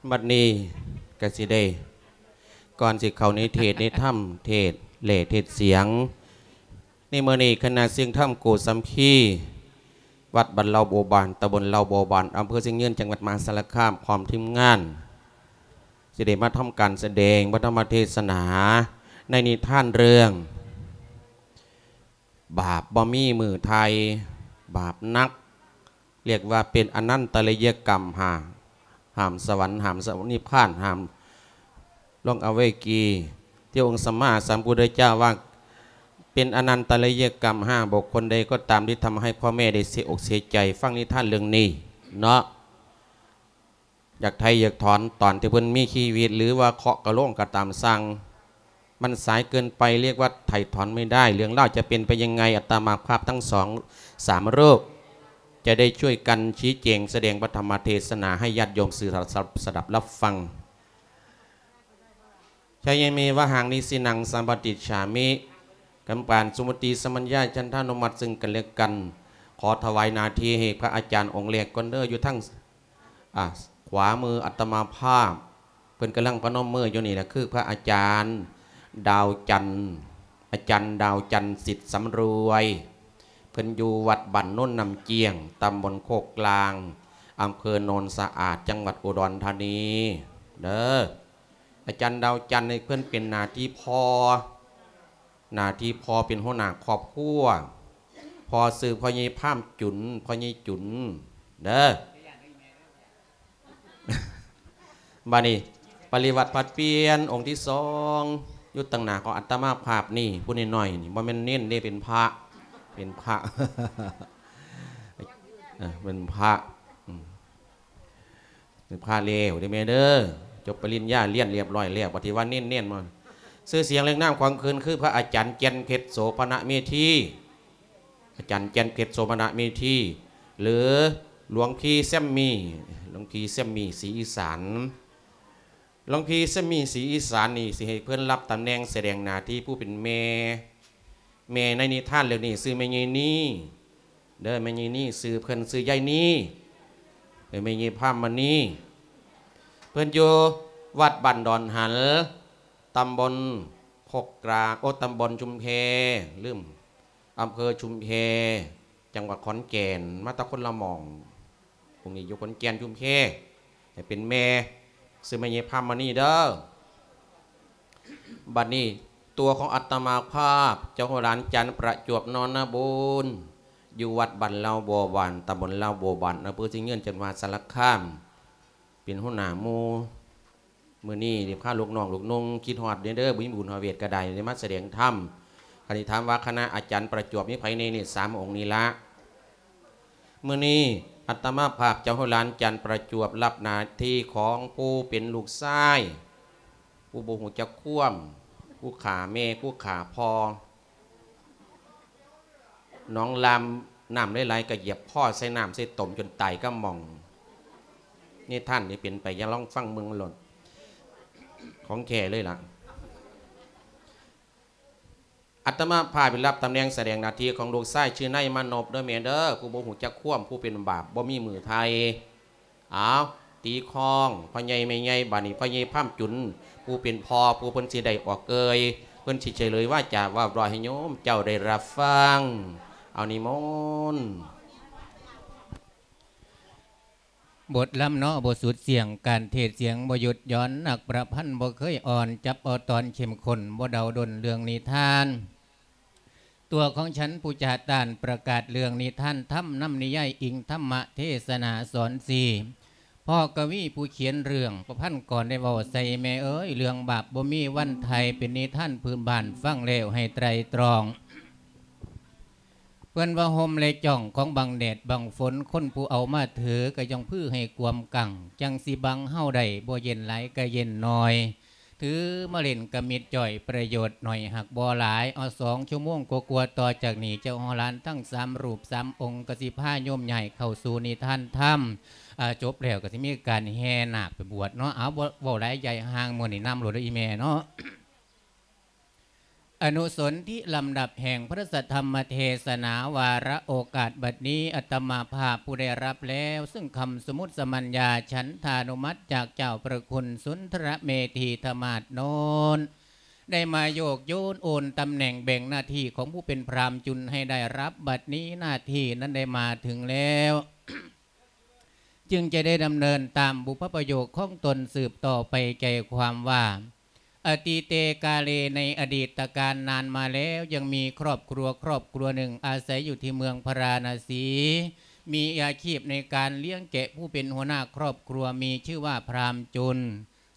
ບັດນີ້ກະຊິໄດ້ ກ່ອນຊິເຂົ້າໃນເທດໃນທຳ ເທດແຫຼ້ເທດສຽງ ໃນມື້ນີ້ຄະນະສຽງທຳໂກສຳພີ ວັດບ້ານເຫຼົ່າບົວບານ ຕຳບົນເຫຼົ່າບົວບານ ອຳເພີຊຽງຍືນ ຈັງຫວັດມະຫາສາລະຄາມ ພ້ອມທີມງານ ຊິໄດ້ມາທຳການສະແດງພະທຳມະເທສະໜາ ໃນນິທານເລື່ອງ ບາບບໍ່ມີມື້ໄຖ່ ບາບໜັກ ລຽກວ່າເປັນອະນັນຕະລະຍະກຳ ຫ້າມສະຫວັນ ຫ້າມສະຫວັນນິບພານ ຫ້າມລົງອະເວກີ ທີ່ອົງສຳມາສຳພຸດທະເຈົ້າວ່າ ເປັນອະນັນຕະລະຍະກຳ ຫ້າມບຸກຄົນໃດກໍຕາມທີ່ທຳໃຫ້ພໍ່ແມ່ໄດ້ເສຍອົກເສຍໃຈ. ຟັງນິທານເລື່ອງນີ້ເນາະ ຢາກໄຖ່ຢາກຖອນຕອນທີ່ເພິ່ນມີຊີວິດ ຫຼືວ່າເຄາະກະໂລງກໍຕາມຊ່າງ ມັນສາຍເກີນໄປ ເອີ້ນວ່າໄຖ່ຖອນໄມ່ໄດ້. ເລື່ອງລາວຈະເປັນໄປຍັງໄງ ອາດຕະມາພາບທັງສອງສາມຮູບ ຈະໄດ້ຊ່ວຍກັນຊີ້ແຈງສະແດງພະທຳມະເທສະໜາໃຫ້ຍາດໂຍມສື່ສະດັບ ສະດັບຮັບຟັງ. ຊາຍະເມວະຫັງ ນິຊິນັງ ສຳປະຕິດສາມິ ກຳປານ ສຸມຸດຕິສະມັນຍາ ສັນທານຸມັດ ຊຶ່ງກັນແລະກັນ. ຂໍຖວາຍໜ້າທີ່ໃຫ້ພະອາຈານອົງແລກກ່ອນເດີ ຢູ່ທາງ ອາ ຂວາມືອາດຕະມາພາບ ເພິ່ນກຳລັງປະນົມມືຢູ່ນີ້ແຫຼະ ຄືພະອາຈານ ດາວຈັນ ອາຈານດາວຈັນ ສິດສຳລວຍ ເພິ່ນຢູ່ວັດບ້ານໂນນນ້ຳຈຽງ ຕຳບົນໂຄກກລາງ ອຳເພີໂນນສະອາດ ຈັງຫວັດອຸດອນທານີເດີ. ອາຈານດາວຈັນນີ້ເພິ່ນເປັນໜ້າທີ່ພໍ່ ໜ້າທີ່ພໍ່ເປັນຫົວໜ້າຄອບຄົວ ພໍ່ຊື່ພໍ່ໃຫຍ່ພາມຈຸນ ພໍ່ໃຫຍ່ຈຸນເດີ. ບາດນີ້ປະລິວາດຜັດປ່ຽນອົງທີສອງ ຢູ່ຕາງໜ້າຂອງອາດຕະມາພາບນີ້ ຜູ້ນ້ອຍໆນີ້ ບໍ່ແມ່ນເນນເດ້ ເປັນພະ ເປັນພະ ເອີ ເປັນພະ ອືມ ເປັນພະແລ້ວເດ້ແມ່ເດີ ຈົບປະລິນຍາ ຮຽນລຽບຮ້ອຍແລ້ວ ປະຕິວັດເນນໆ ມາ ຊື່ສຽງເລື່ອງນາມຂອງເພິ່ນຄືພະອາຈານ ແກ່ນເພັດ ໂສພະນະເມທີ ອາຈານ ແກ່ນເພັດ ໂສພະນະເມທີ ຫຼື ຫຼວງພີ່ແຊມມີ ຫຼວງພີ່ແຊມມີ ສີອີສານ. ຫຼວງພີ່ແຊມມີ ສີອີສານນີ້ ຊິໃຫ້ເພິ່ນຮັບຕຳແໜ່ງສະແດງໜ້າທີ່ຜູ້ເປັນແມ່. ແມ່ໃນນິທານເລື່ອງນີ້ຊື່ແມ່ໃຫຍ່ນີ ເດີ ແມ່ໃຫຍ່ນີ ຊື່ເພິ່ນຊື່ຍາຍນີ ເອີ ແມ່ໃຫຍ່ພາມມະນີ ເພິ່ນຢູ່ວັດບ້ານດອນຫັນ ຕຳບົນໂຄກກລາງ ໂອ ຕຳບົນຊຸມແພ ລືມ ອຳເພີຊຸມແພ ຈັງຫວັດຂອນແກ່ນ ມາແຕ່ຄົນລະໝ່ອງ ພວກນີ້ຢູ່ຂອນແກ່ນ ຊຸມແພ ໃຫ້ເປັນແມ່ ຊື່ແມ່ໃຫຍ່ພາມມະນີເດີ. ບັດນີ້ຕົວຂອງອາດຕະມາພາບ ເຈົ້າຫົວຫຼານຈັນ ປະຈວບ ນອນນະບູນ ຢູ່ວັດບ້ານເຫຼົ່າບົວບານ ຕຳບົນເຫຼົ່າບົວບານ ອຳເພີຊຽງຍືນ ຈັງຫວັດສາລະຄາມ ເປັນຫົວໜ້າໝູ່. ມື້ນີ້ໄດ້ພາລູກນ້ອງລູກນຸ່ງ ຄິດຮອດເດີ ບໍ່ມີບຸນຮອດເວດກໍໄດ້ ໄດ້ມາສະແດງທຳ. ຄັນຊິຖາມວ່າຄະນະອາຈານປະຈວບມີໃຜແດ່ນີ້ ສາມອົງນີ້ລະ. ມື້ນີ້ອາດຕະມາພາບເຈົ້າຫົວຫຼານຈັນປະຈວບ ຮັບໜ້າທີ່ຂອງຜູ້ເປັນລູກຊາຍ ຜູ້ບໍ່ຮູ້ຈັກຄວາມ ຜູ້ຂ້າແມ່ ຜູ້ຂ້າພໍ່. ໜອງລາມ ນ້ຳຫຼາຍໆ ກໍຢຽບຄໍໃສ່ນ້ຳໃສ່ຕົມຈົນຕາຍກະໝ່ອງ. ນິທານນີ້ເປັນໄປ ຢ່າລອງຟັງເບິ່ງໂລດ ຂອງແທ້ເລີຍລະ. ອາດຕະມາພາບໄດ້ຮັບຕຳແໜ່ງສະແດງໜ້າທີ່ຂອງລູກຊາຍ ຊື່ນາຍມານົບເດີແມ່ເດີ ຜູ້ບໍ່ຮູ້ຈັກຄວາມ ຜູ້ເປັນບາບ ບໍ່ມີມື້ໄຖ່. ອ້າວ ຕີຄອງ ພໍ່ໃຫຍ່ແມ່ໃຫຍ່ ບາດນີ້ພໍ່ໃຫຍ່ພາມຈຸນ ຜູ້ເປັນພໍ່ ຜູ້ເພິ່ນຊິໄດ້ອອກເອີ່ຍ ເພິ່ນຊິສະເຫຼີຍວາຈາເວົ້າລອຍໃຫ້ໂຍມເຈົ້າໄດ້ຮັບຟັງ. ເອົານິມົນ. ບົດລຳເນາະ ບໍ່ສຸດສຽງ ການເທດສຽງບໍ່ຢຸດຢ່ອນ ນັກປະພັນບໍ່ເຄີຍອ່ອນ ຈັບເອົາຕອນເຂັ້ມຂຸ້ນ ບໍ່ເດົາດົນເລື່ອງນິທານ. ຕົວຂອງສັນຜູ້ຈາຕ້ານ ປະກາດເລື່ອງນິທານທຳ ນຳນິຍາຍອີງທຳມະເທສະໜາສອນສີ່. ພໍ່ກະວີຜູ້ຂຽນເລື່ອງ ປະພັນກອນໄດ້ເວົ້າໃສ່ ແມ່ເອີຍ ເລື່ອງບາບບໍ່ມີວັນໄຖ່ ເປັນນິທານພື້ນບ້ານ ຟັງແລ້ວໃຫ້ໄຕຣຕຣອງ. ເພິ່ນວ່າຮົ່ມ ແລະ ຈ່ອງຂອງບັງແດດບັງຝົນ ຄົນຜູ້ເອົາມາຖື ກະຢ່ອງພືໃຫ້ກວມກັງ ຈັ່ງຊິບັງເຮົາໄດ້ ບໍ່ເຢັນຫຼາຍກະເຢັນໜ້ອຍ. ຖືມາຫຼິ້ນກະມິດຈ່ອຍ ປະໂຫຍດໜ້ອຍຫາກບໍ່ຫຼາຍ. ເອົາສອງຊົ່ວໂມງກວ່າໆ ຕໍ່ຈາກນີ້ ເຈົ້າຮອດຫຼານທັງສາມຮູບສາມອົງ ກະຊິພາໂຍມຍ້າຍເຂົ້າສູ່ນິທານທຳ. ອາ ຈົບແລ້ວກະຊິມີການແຫ່ນາກໄປບວດເນາະ. ເອົາ ບໍ່ເວົ້າຫຼາຍໃຫຍ່ຫ່າງ ມື້ນີ້ນຳໂລດເດີອີ່ແມ່ເນາະ. ອະນຸສົນທິລຳດັບແຫ່ງພະສັດທຳມະເທສະໜາ ວາລະໂອກາດບັດນີ້ ອາດຕະມາພາບຜູ້ໄດ້ຮັບແລ້ວ ຊຶ່ງຄຳສົມມຸດສະມັນຍາ ສັນທານຸມັດ ຈາກເຈົ້າພະຄຸນສຸນທະລະເມທີທະມາດໂນນ ໄດ້ມາໂຍກໂຍນໂອນຕຳແໜ່ງແບ່ງໜ້າທີ່ຂອງຜູ້ເປັນພຣາມຈຸນໃຫ້ໄດ້ຮັບ ບັດນີ້ໜ້າທີ່ນັ້ນໄດ້ມາເຖິງແລ້ວ ຈຶ່ງຈະໄດ້ດຳເນີນຕາມບຸບພະປະໂຫຍກຂອງຕົນສືບຕໍ່ໄປ ໃຈຄວາມວ່າ ອະຕິເຕກາເລ ໃນອະດີດຕະການນານມາແລ້ວ ຍັງມີຄອບຄົວຄອບຄົວໜຶ່ງອາໄສຢູ່ທີ່ເມືອງພາລານະສີ ມີອາຊີບໃນການລ້ຽງແກະ ຜູ້ເປັນຫົວໜ້າຄອບຄົວມີຊື່ວ່າພຣາມຈຸນ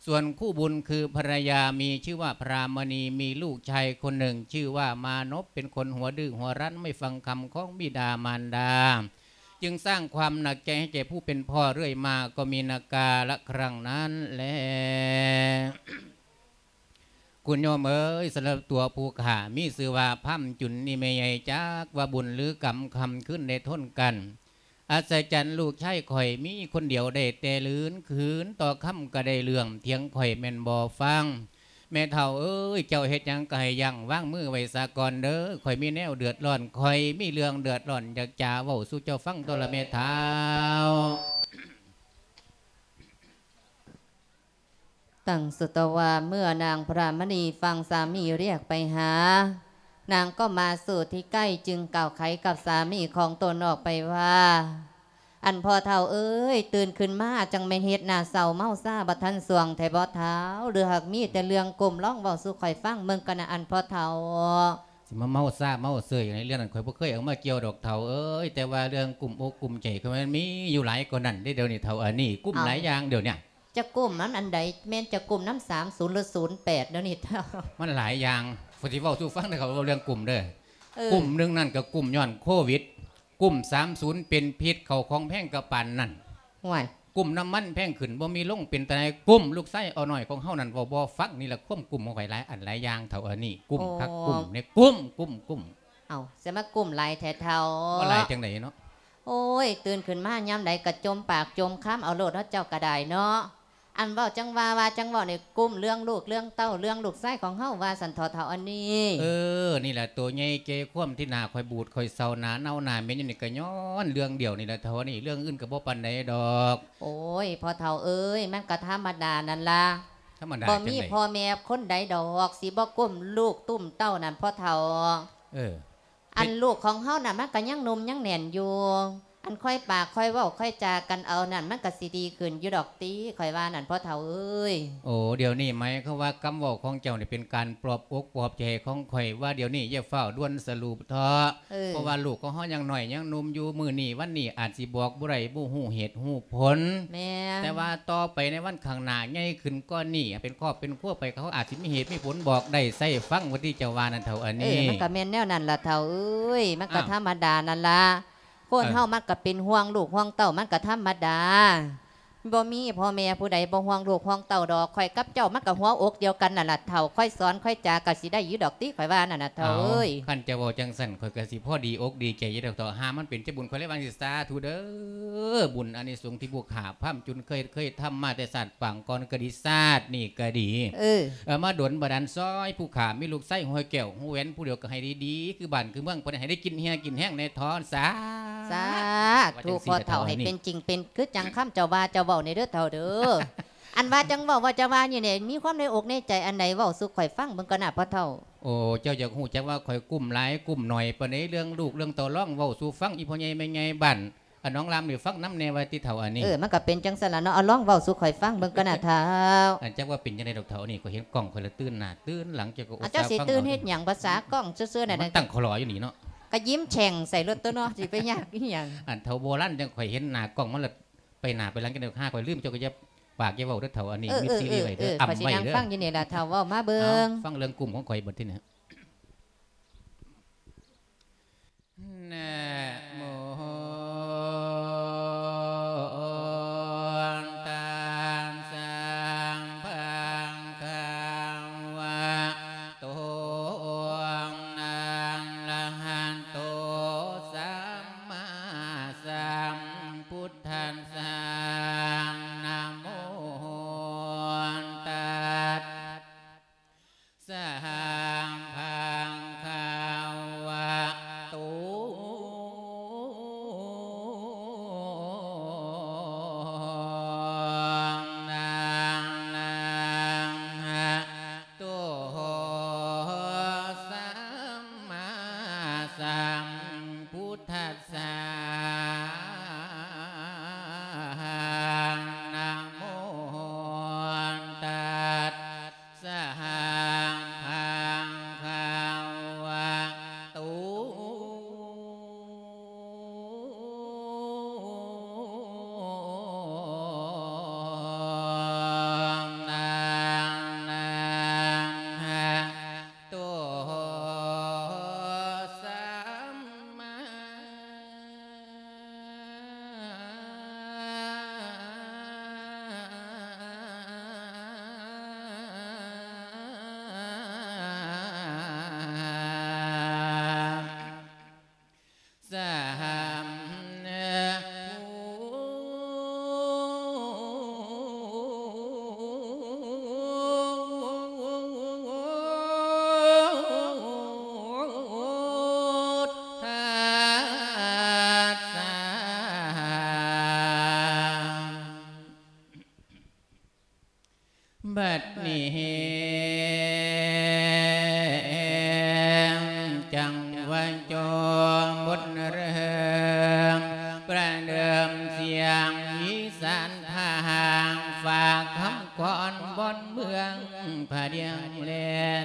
ສ່ວນຄູ່ບຸນຄືພັນລະຍາມີຊື່ວ່າພຣາມະນີ ມີລູກຊາຍຄົນໜຶ່ງຊື່ວ່າມານົບ ເປັນຄົນຫົວດື້ຫົວຣັນ ໄມ່ຟັງຄຳຂອງບິດາມານດາ ຈຶ່ງສ້າງຄວາມໜັກໃຈໃຫ້ແກ່ຜູ້ເປັນພໍ່ເລື້ອຍມາ ກໍມີນາກາລະຄັ້ງນັ້ນແລ. ຄຸນໂຍມເອີຍ, ສຳລັບຕົວຜູ້ຂ້າມີຊື່ວ່າພຣາມຈຸນນີ້ ແມ່ໃຫຍ່ຈັກວ່າບຸນຫຼືກຳ ຄ່ຳຄືນໄດ້ທົນກັນ ອັດສະຈັນ ລູກຊາຍຂ້ອຍມີຄົນດຽວໄດ້ແຕ່ລືນ ຄືນຕໍ່ຄ່ຳກໍໄດ້ເລື່ອງ ຖຽງຂ້ອຍແມ່ນບໍ່ຟັງ. ແມ່ເຖົ້າເອີຍ, ເຈົ້າເຮັດຫຍັງກໍໃຫ້ຢັ້ງວາງມືໄວ້ສາກ່ອນເດີ, ຂ້ອຍມີແນວເດືອດຮ້ອນ, ຂ້ອຍມີເລື່ອງເດືອດຮ້ອນ ຢາກຈາເວົ້າສູ່ເຈົ້າຟັງໂຕລະແມ່ເຖົ້າ. ຕັ້ງສຸດຕະວາ ເມື່ອນາງພຣາມະນີຟັງສາມີຮຽກໄປຫາ, ນາງກໍມາສູ່ທີ່ໃກ້ ຈຶ່ງກ່າວໄຂກັບສາມີຂອງຕົນອອກໄປວ່າ, ອັນພໍ່ເຖົ້າເອີຍ, ຕື່ນຂຶ້ນມາຈັ່ງແມ່ນເຮັດໜ້າເສົ້າເມົາຊາບໍ່ທັນຊ່ວງແທ້ບໍເຖົ້າ? ຫຼືຫາກມີແຕ່ເລື່ອງກຸ້ມ ລອງເວົ້າສູ່ຂ້ອຍຟັງເບິ່ງກະນະ ອັນພໍ່ເຖົ້າ. ຊິມາເມົາຊາເມົາເຊີຍໃນເລື່ອງນັ້ນ ຂ້ອຍບໍ່ເຄີຍເອົາມາກ່ຽວດອກເຖົ້າເອີຍ, ແຕ່ວ່າເລື່ອງກຸ້ມອົກກຸ້ມໃຈ ຂ້ອຍມັນມີຢູ່ຫຼາຍກວ່ານັ້ນເດ້ ດຽວນີ້ເຖົ້າ. ອັນນີ້ກຸ້ມ ເອົ້າ ຫຼາຍຢ່າງດຽວນີ້. ຈະກຸ້ມນຳອັນໃດ? ແມ່ນຈະກຸ້ມນຳສາມສູນ ຫຼື ສູນແປດ ດຽວນີ້ເຖົ້າ? ມັນຫຼາຍຢ່າງ, ຂ້ອຍຊິເວົ້າສູ່ຟັງເດີ ເຂົາເວົ້າເລື່ອງກຸ້ມເດີ. ເອີ ກຸ້ມໜຶ່ງນັ້ນກໍກຸ້ມຍ້ອນໂຄວິດ, ກຸ້ມສາມສູນເປັນພິດ, ເຂົ້າຂອງແພງກະປານນັ້ນ. ຫ້ວຍ ກຸ້ມນ້ຳມັນແພງຂຶ້ນ ບໍ່ມີລົງ ເປັນຕາໃດ ກຸ້ມ. ລູກຊາຍເອົານ້ອຍຂອງເຮົານັ້ນເວົ້າບໍ່ຟັງ, ນີ້ລະຄວາມກຸ້ມຂອງຂ້ອຍຫຼາຍອັນຫຼາຍຢ່າງເຖົ້າ. ອັນນີ້ກຸ້ມຄັກ ໂອ້ ກຸ້ມແນ່ ກຸ້ມ ກຸ້ມ ກຸ້ມ. ເອົ້າ ຊິມາກຸ້ມຫຼາຍແທ້ເຖົ້າ? ບໍ່ຫຼາຍຈັ່ງໃດເນາະ? ໂອ້ຍ ຕື່ນຂຶ້ນມາຍາມໃດກໍຈົ່ມປາກຈົ່ມຄຳເອົາໂລດເນາະ ເຈົ້າກໍໄດ້ເນາະ. ອັນເວົ້າຈັ່ງວ່າ ວ່າຈັ່ງເວົ້ານີ້ ກຸ້ມເລື່ອງລູກເລື່ອງເຕົ້າ ເລື່ອງລູກຊາຍຂອງເຮົາວ່າຊັ້ນເຖາະເຖົ້າອັນນີ້. ເອີ ນີ້ລະໂຕໃຫຍ່ແກ່ຄວາມທີ່ໜ້າຂ້ອຍບູດ ຂ້ອຍເສົ້າ ໜ້າເນົ່າໜ້າເໝັນຢູ່ນີ້ ກໍຍ້ອນເລື່ອງດຽວນີ້ລະເຖົ້າອັນນີ້, ເລື່ອງອື່ນກໍບໍ່ປານໃດດອກ. ໂອ້ຍ ພໍ່ເຖົ້າເອີຍ, ມັນກໍທຳມະດານັ້ນລະ, ທຳມະດາ ບໍ່ມີພໍ່ແມ່ຄົນໃດດອກ ຊິບໍ່ກຸ້ມລູກຕຸ້ມເຕົ້ານັ້ນ ພໍ່ເຖົ້າ. ເອີ ອັນລູກຂອງເຮົານະ ມັນກໍຍັງໜຸ່ມຍັງແໜ້ນຢູ່, ອັນຄ່ອຍປາກຄ່ອຍເວົ້າຄ່ອຍຈາກັນເອົານັ້ນ ມັນກໍຊິດີຂຶ້ນຢູ່ດອກຕິ ຂ້ອຍວ່ານັ້ນ ພໍ່ເຖົ້າເອີຍ. ໂອ້ ດຽວນີ້ໝາຍຄວາມວ່າຄຳເວົ້າຂອງເຈົ້ານີ້ເປັນການປອບອົກປອບໃຈຂອງຂ້ອຍ ວ່າດຽວນີ້ຢ່າຟ້າວດ່ວນສະຫຼຸບເຖາະ. ເອີ ເພາະວ່າລູກຂອງເຮົາຍັງນ້ອຍຍັງໜຸ່ມຢູ່, ມື້ນີ້ວັນນີ້ອາດຊິບອກບໍ່ໄດ້ ບໍ່ຮູ້ເຫດຮູ້ຜົນ. ແມ່ນ. ແຕ່ວ່າຕໍ່ໄປໃນວັນຂ້າງໜ້າໃຫຍ່ຂຶ້ນກວ່ານີ້ ເປັນຄອບເປັນຄົວໄປ ເຂົາອາດຊິມີເຫດມີຜົນບອກໄດ້ ໃສ່ຟັງວ່າທີ່ເຈົ້າວ່ານັ້ນເຖົ້າອັນນີ້. ເອີ ມັນກໍແມ່ນແນວນັ້ນລະເຖົ້າເອີຍ, ມັນກໍ ອ້າວ ທຳມະດານັ້ນລະ. ຄົນເຮົາ ເອີ ມັນກໍເປັນຫ່ວງລູກຫ່ວງເຕົ້າ ມັນກໍທຳມະດາ. ບໍ່ມີພໍ່ແມ່ຜູ້ໃດບໍ່ຫ່ວງລູກຫ່ວງເຕົ້າດອກ. ຂ້ອຍກັບເຈົ້າມັນກໍຫົວອົກດຽວກັນນັ້ນລະເຖົ້າ, ຄ່ອຍສອນຄ່ອຍຈາກໍຊິໄດ້ຢູ່ດອກຕິ ຂ້ອຍວ່ານັ້ນນະເຖົ້າເອີຍ. ຄັນເຈົ້າເວົ້າຈັ່ງຊັ້ນ ຂ້ອຍກໍຊິພໍດີອົກດີໃຈຢູ່ດອກເຖົ້າ. ຫາມັນເປັນເຈົ້າບຸນ ຂ້ອຍເລີຍວ່າຈັ່ງຊີ້ ສາທຸເດີ. ບຸນອານິສົງທີ່ຜູ້ຂ້າພຣາມຈຸນເຄີຍ ເຄີຍທຳມາແຕ່ຊາດປາງກ່ອນກໍດີ ຊາດນີ້ກໍດີ ເອີ ເອີ ມາດົນບັນດານຊ່ອຍຜູ້ຂ້າມີລູກຊາຍຫົວແກ້ວຫົວແຫວນຜູ້ດຽວ ກໍໃຫ້ດີໆ ຄືບ້ານຄືເມືອງເພິ່ນ ໃຫ້ໄດ້ກິນເຫື່ອກິນແຮງແດ່ເຖາະ. ສາ ສາທຸ ພໍ່ເຖົ້າ ໃຫ້ເປັນຈິງເປັນຄືຈັ່ງຄຳເຈົ້າວ່າເຈົ້າເວົ້ານີ້ເດີເຖົ້າເດີ. ອັນວ່າຈັ່ງເວົ້າວ່າຈະວ່ານີ້ແຫຼະ ມີຄວາມໃນອົກໃນໃຈອັນໃດ ເວົ້າສູ່ຂ້ອຍຟັງເບິ່ງກ່ອນນະພໍ່ເຖົ້າ. ໂອ້ ເຈົ້າຢາກຮູ້ຈັກວ່າຂ້ອຍກຸ້ມຫຼາຍກຸ້ມໜ້ອຍປານໃດ ເລື່ອງລູກເລື່ອງເຕົ້າ ລອງເວົ້າສູ່ຟັງ ອີພໍ່ໃຫຍ່ແມ່ໃຫຍ່ບ້ານ ອັນນ້ອງລຳນີ້ ຟັງນຳແດ່ວ່າຕິເຖົ້າອັນນີ້. ເອີ ມັນກໍເປັນຈັ່ງຊັ້ນລະເນາະ, ເອົາລອງເວົ້າສູ່ຂ້ອຍຟັງເບິ່ງກ່ອນນະເຖົ້າ. ອັນຈັກວ່າເປັນຈັ່ງໃດດອກເຖົ້າ ອັນນີ້ຂ້ອຍເຫັນກ້ອງຂ້ອຍລະຕື່ນໜ້າຕື່ນຫຼັງ ເຈົ້າກໍອຸດສ່າ ເຈົ້າຊິຕື່ນເຮັດຫຍັງ ພາສາກ້ອງຊື່ໆ ນັ້ນ ມັນຕັ້ງຂໍລໍຢູ່ນີ້ເນາະ ກໍຍິ້ມແສງໃສ່ໂລດຕົວເນາະ ຊິໄປຍາກອີຫຍັງ. ອັນເຖົ້າໂບລານຈັ່ງຂ້ອຍເຫັນໜ້າກ້ອງມັນລະ ໄປໜ້າໄປຫຼັງ ຈັ່ງໃດຫາຂ້ອຍລືມ ເຈົ້າກໍຢ່າ ປາກຢ່າເວົ້າເດີເຖົ້າ ອັນນີ້ ເອີ ມິດຊີຣີໄວ້ເດີ ເອີ ເອີ ອຳໄວ້ເດີ. ຂ້ອຍຊິນັ່ງຟັງຢູ່ນີ້ລະເຖົ້າ ເວົ້າມາເບິ່ງ. ເອົ້າ ຟັງເລື່ອງກຸ້ມຂອງຂ້ອຍບັດທີນີ້. ນະໂມ ຕັດສະ ພະຄະວະໂຕ ອະລະຫະໂຕ ສຳມາສຳພຸດທັດສະ ນະໂມ ຕັດສະ ພະ ບັດນີ້ແຮງ ຈັງວ່າຈໍບົດເລີ່ມ ປະເດີມສຽງວິສານພາງ ຝາກຄຳກອນບ່ອນເມືອງ ພະດຽງແລ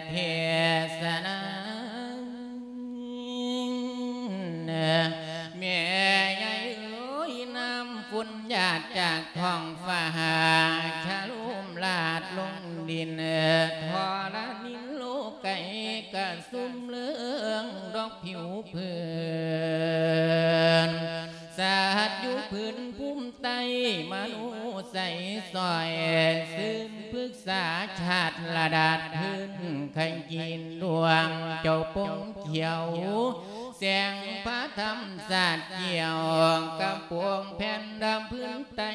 ເທສະນາ ແມ່ໃຫຍ່ເອີຍ ນ້ຳຝົນຫຍາດຈາກທ້ອງຟ້າ ຊະໂລມລາດລົງດິນ ທໍລະນິນໂລກໄກ ກະຊຸ່ມເຫຼືອງດອກຜິວເພີນ ສັດຢູ່ພື້ນພູມໃຕ້ ມະໂນໃສຊ່ອຍ ຊື່ນພຶກສາຊາດລະດາດ ພື້ນໄຂ່ຈີນດວງເຈົ້າປົງຂຽວ ແສງພະທຳສາດກ່ຽວ ກະໂປງແຜ່ນດຳພື້ນໃຕ້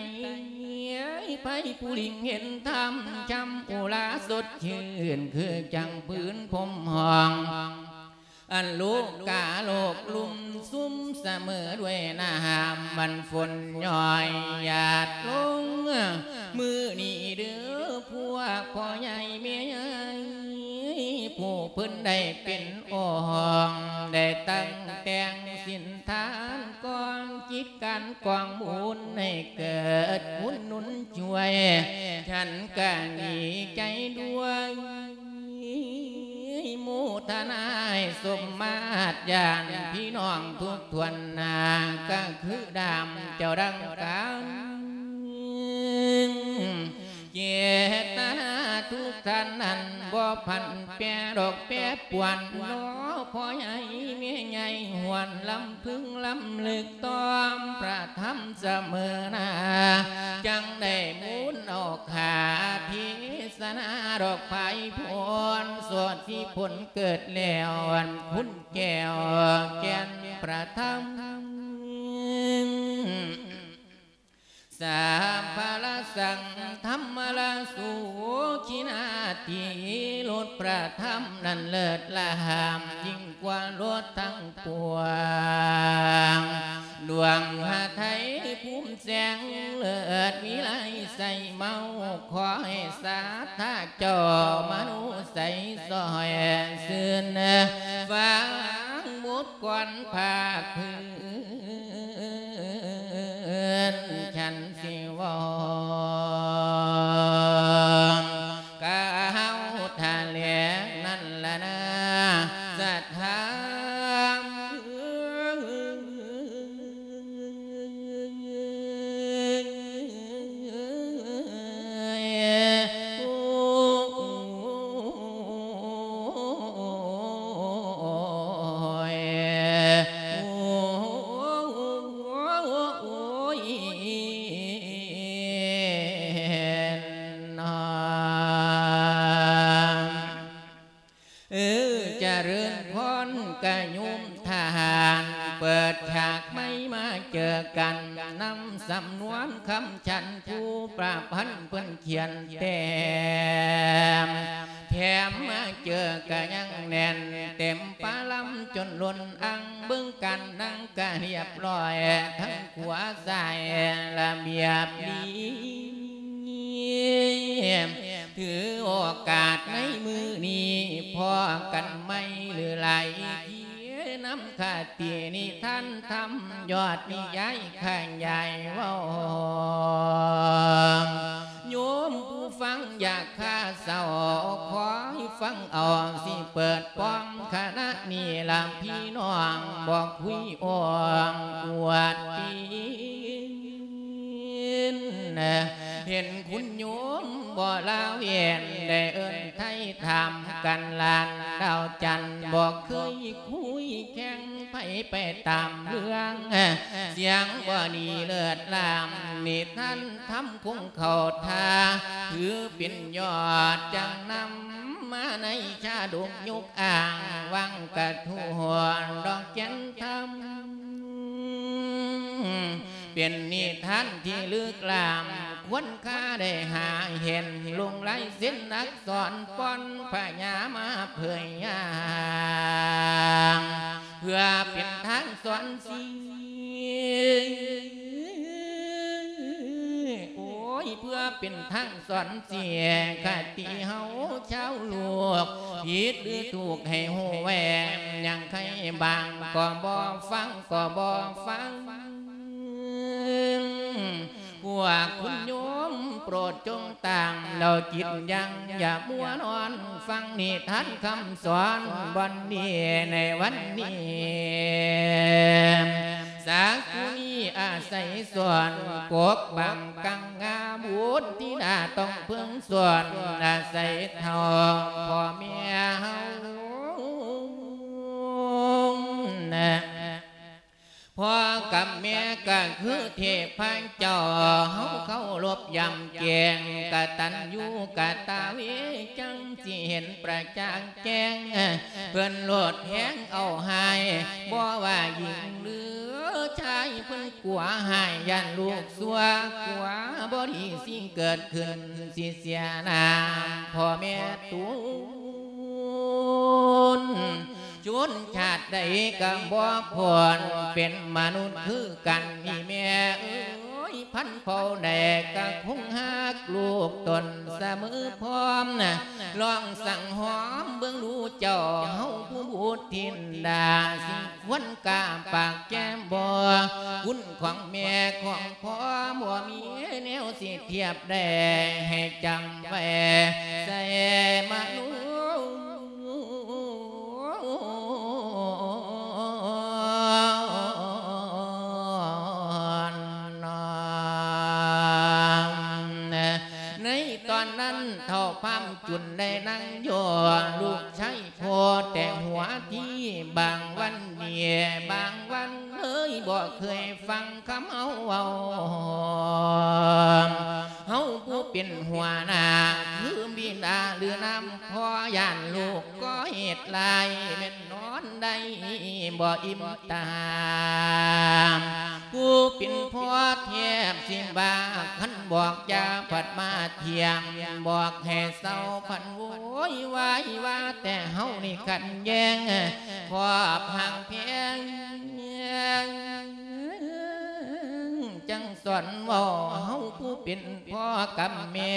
ໃຜຜູ້ລິງເຫັນທຳ ຊ່ຳອຸລາສົດຊື່ນ ຄືຈັ່ງພື້ນພົມຫ້ອງ ອັນໂລກາໂລກລຸ່ມຊຸ່ມສະເໝີດ້ວຍນ້ຳ ມັນຝົນຍ້ອຍຫຍາດລົງ ມື້ນີ້ເດີພວກພໍ່ໃຫຍ່ແມ່ໃຫຍ່ ຜູ້ເພິ່ນໄດ້ເປັນອົງ ໄດ້ຕັ້ງແຕ່ງສິນທານກອງ ກິດການກອງບຸນໃຫ້ເກີດບຸນໜູນຊ່ວຍ ສັນກະດີໃຈດ້ວຍ ໂມທະນາໃຫ້ສົມມາດ ຍາດພີ່ນ້ອງທຸກຖ້ວນໜ້າ ກະຄືດາມເຈົ້າດັ່ງກັນ ເຈດຕະນາທຸກທ່ານນັ້ນ ບໍ່ຜັນແປດອກແປປວນ ເນາະພໍ່ໃຫຍ່ແມ່ໃຫຍ່ ຫວນລຳ ເພິ່ງລຳລຶກຕໍ່ພະທຳສະເໝີໜ້າ ຈັ່ງໄດ້ໝູນເອົາຄາເທສະນາ ດອກພາຍພົນ ສວດທີ່ຜົນເກີດແລ້ວ ອັນຄຸນແກ້ວແກ່ນພະທຳ ສາພະລະສັງທຳມະລະສູ ຄີນາທີລົດພະທຳນັ້ນເລີດລ້ຳ ຍິ່ງກວ່າລົດທັງປວງ ດວງຫະໄທພູມແສງເລີດວິໄລໃສເມົາ ຂໍໃຫ້ສາທາເຈົ້າມະໂນໃສຊ່ອຍຊື່ນ ຟັງບົດກອນພາກພື້ນ ສັນ ຊິເວົ້າກ່າວຖະແຫຼງນັ້ນລະນາ ສະຖານ ເອີ ຈະເລີນພອນກະໂຍມທ່ານ ເປີດສາກໃໝ່ມາເຈີກັນ ນຳສຳນວນຄຳສັນ ຜູ້ປະພັນເພິ່ນຂຽນແຕ້ມ ແຖມມາເຈີກະຍັງແໜ້ນ ເຕັມປະລຳຈົນລົ້ນອັ່ງ ເບິ່ງກັນນັ່ງກະຮຽບຮ້ອຍ ທັງຂວາຊ້າຍລະບຽບດີ ຖືໂອກາດໃນມື້ນີ້ ພໍ້ກັນໃໝ່ຫຼືຫຼາຍທີ່ ນຳຄະຕິນິທານທຳ ຍອດນິຍາຍຂະຫຍາຍເວົ້າ ໂຍມຜູ້ຟັງຢ່າຄາເສົ້າ ຂໍໃຫ້ຟັງເອົາ ຊິເປີດປ້ອງຄະນະນີ້ລະ ພີ່ນ້ອງບໍ່ຄຸຍອ່ອງອວດປີນ ເຫັນຄຸນໂຍມບໍ່ລາເວັ້ນ ໄດ້ເອີ້ນໄຖ່ຖາມກັນລ້ານດາວຈັນ ບໍ່ເຄີຍຄຸຍແຂ່ງໃຜໄປຕາມເລື່ອງ ສຽງບໍ່ດີເລີດລ້ຳ ນິທານທຳຄົງເຂົ້າທ່າ ຖືເປັນຍອດຈັກນຳມາໃນຊາດົກຍົກອ້າງ ວັງກະທົວດອກແກ່ນທຳ ເປັນນິທານທີ່ລຶກລ້ຳ ຄວນຄາໄດ້ຫາເຫັນ ລົງລາຍເຊັນອັກສອນ ປ່ອນພະຍາມາເຜີຍຢ່າງ ເພື່ອເປັນທາງສອນສີ ໂອ້ຍ ເພື່ອເປັນທາງສອນເສຍຄະຕິເຮົາຊາວໂລກ ຜິດຫຼືຖືກໃຫ້ຮູ້ແວ່ ຍັງໃຄບາງກໍບໍ່ຟັງ ກໍບໍ່ຟັງ ພວກຄຸນໂຍມໂປດຈົ່ງຕາມ ແລ້ວຈິດຢັ້ງ ຢ່າມົວນອນຟັງນິທານຄຳສອນບ່ອນນີ້ໃນວັນນີ້ ສາກຸນີອາໄສສອນປົກປັງກັງງາບຸດທິດາຕ້ອງເພິ່ງສອນອາໄສເທົ່າພໍ່ແມ່ເຮົາ ພໍ່ກັບແມ່ກໍຄືເທບພະເຈົ້າ ເຮົາເຄົາລົບຢຳແກງ ກະຕັນຍູກະຕະເວ ຈັ່ງຊິເຫັນປະຈັກແຈ້ງ ເພິ່ນໂລດແຮງເອົາຮ້າຍ ບໍ່ວ່າຍິງຫຼືຊາຍ ເພິ່ນກົວຮ້າຍ ຢ້ານລູກຊົ່ວ ກົວບໍ່ດີຊິເກີດຂຶ້ນ ຊິເສຍໜ້າພໍ່ແມ່ຕູນ ຊົນຊາດໃດກໍບໍ່ພົ້ນ ເປັນມະນຸດຄືກັນນີ້ແມ່ເອີຍ ພັນເຜົ່າໃດກໍຄົງຮັກລູກຕົນສະເໝີພ້ອມ ລອງສັງຫອມເບິ່ງດູເຈົ້າ ເຮົາຜູ້ບຸດທິນດາ ຊິຄວນກ້າປາກແກ້ມບໍ່ ຄຸນຂອງແມ່ຂອງພໍ່ ບໍ່ມີແນວຊິທຽບໄດ້ ໃຫ້ຈຳໄວ້ໃສ່ມະນຸດ ໃນຕອນນັ້ນ ເຖົ້າພາມຈຸນໄດ້ນັ່ງຢູ່ ລູກຊາຍພໍ່ແຕ່ຫົວທີ ບາງວັນເດ ບາງວັນເລີຍ ບໍ່ເຄີຍຟັງຄຳເຮົາເວົ້າ ເຮົາຜູ້ເປັນຫົວໜ້າ ຄືບິດາຫຼືນຳພໍ່ ຢ້ານລູກກໍ່ເຮັດລາຍ ແມ່ນນອນໄດ້ບໍ່ອີ່ມຕາ ຜູ້ເປັນພໍ່ແທບຊິບາກ ຄັນບອກຢ່າພັດມາຖຽງ ບອກໃຫ້ເຊົາພັດໂວຍວາຍ ວ່າແຕ່ເຮົານີ້ຂັດແຍ່ງ ຄອບຫາກແພງ ຈັ່ງສອນເວົ້າ ເຮົາຜູ້ເປັນພໍ່ກັບແມ່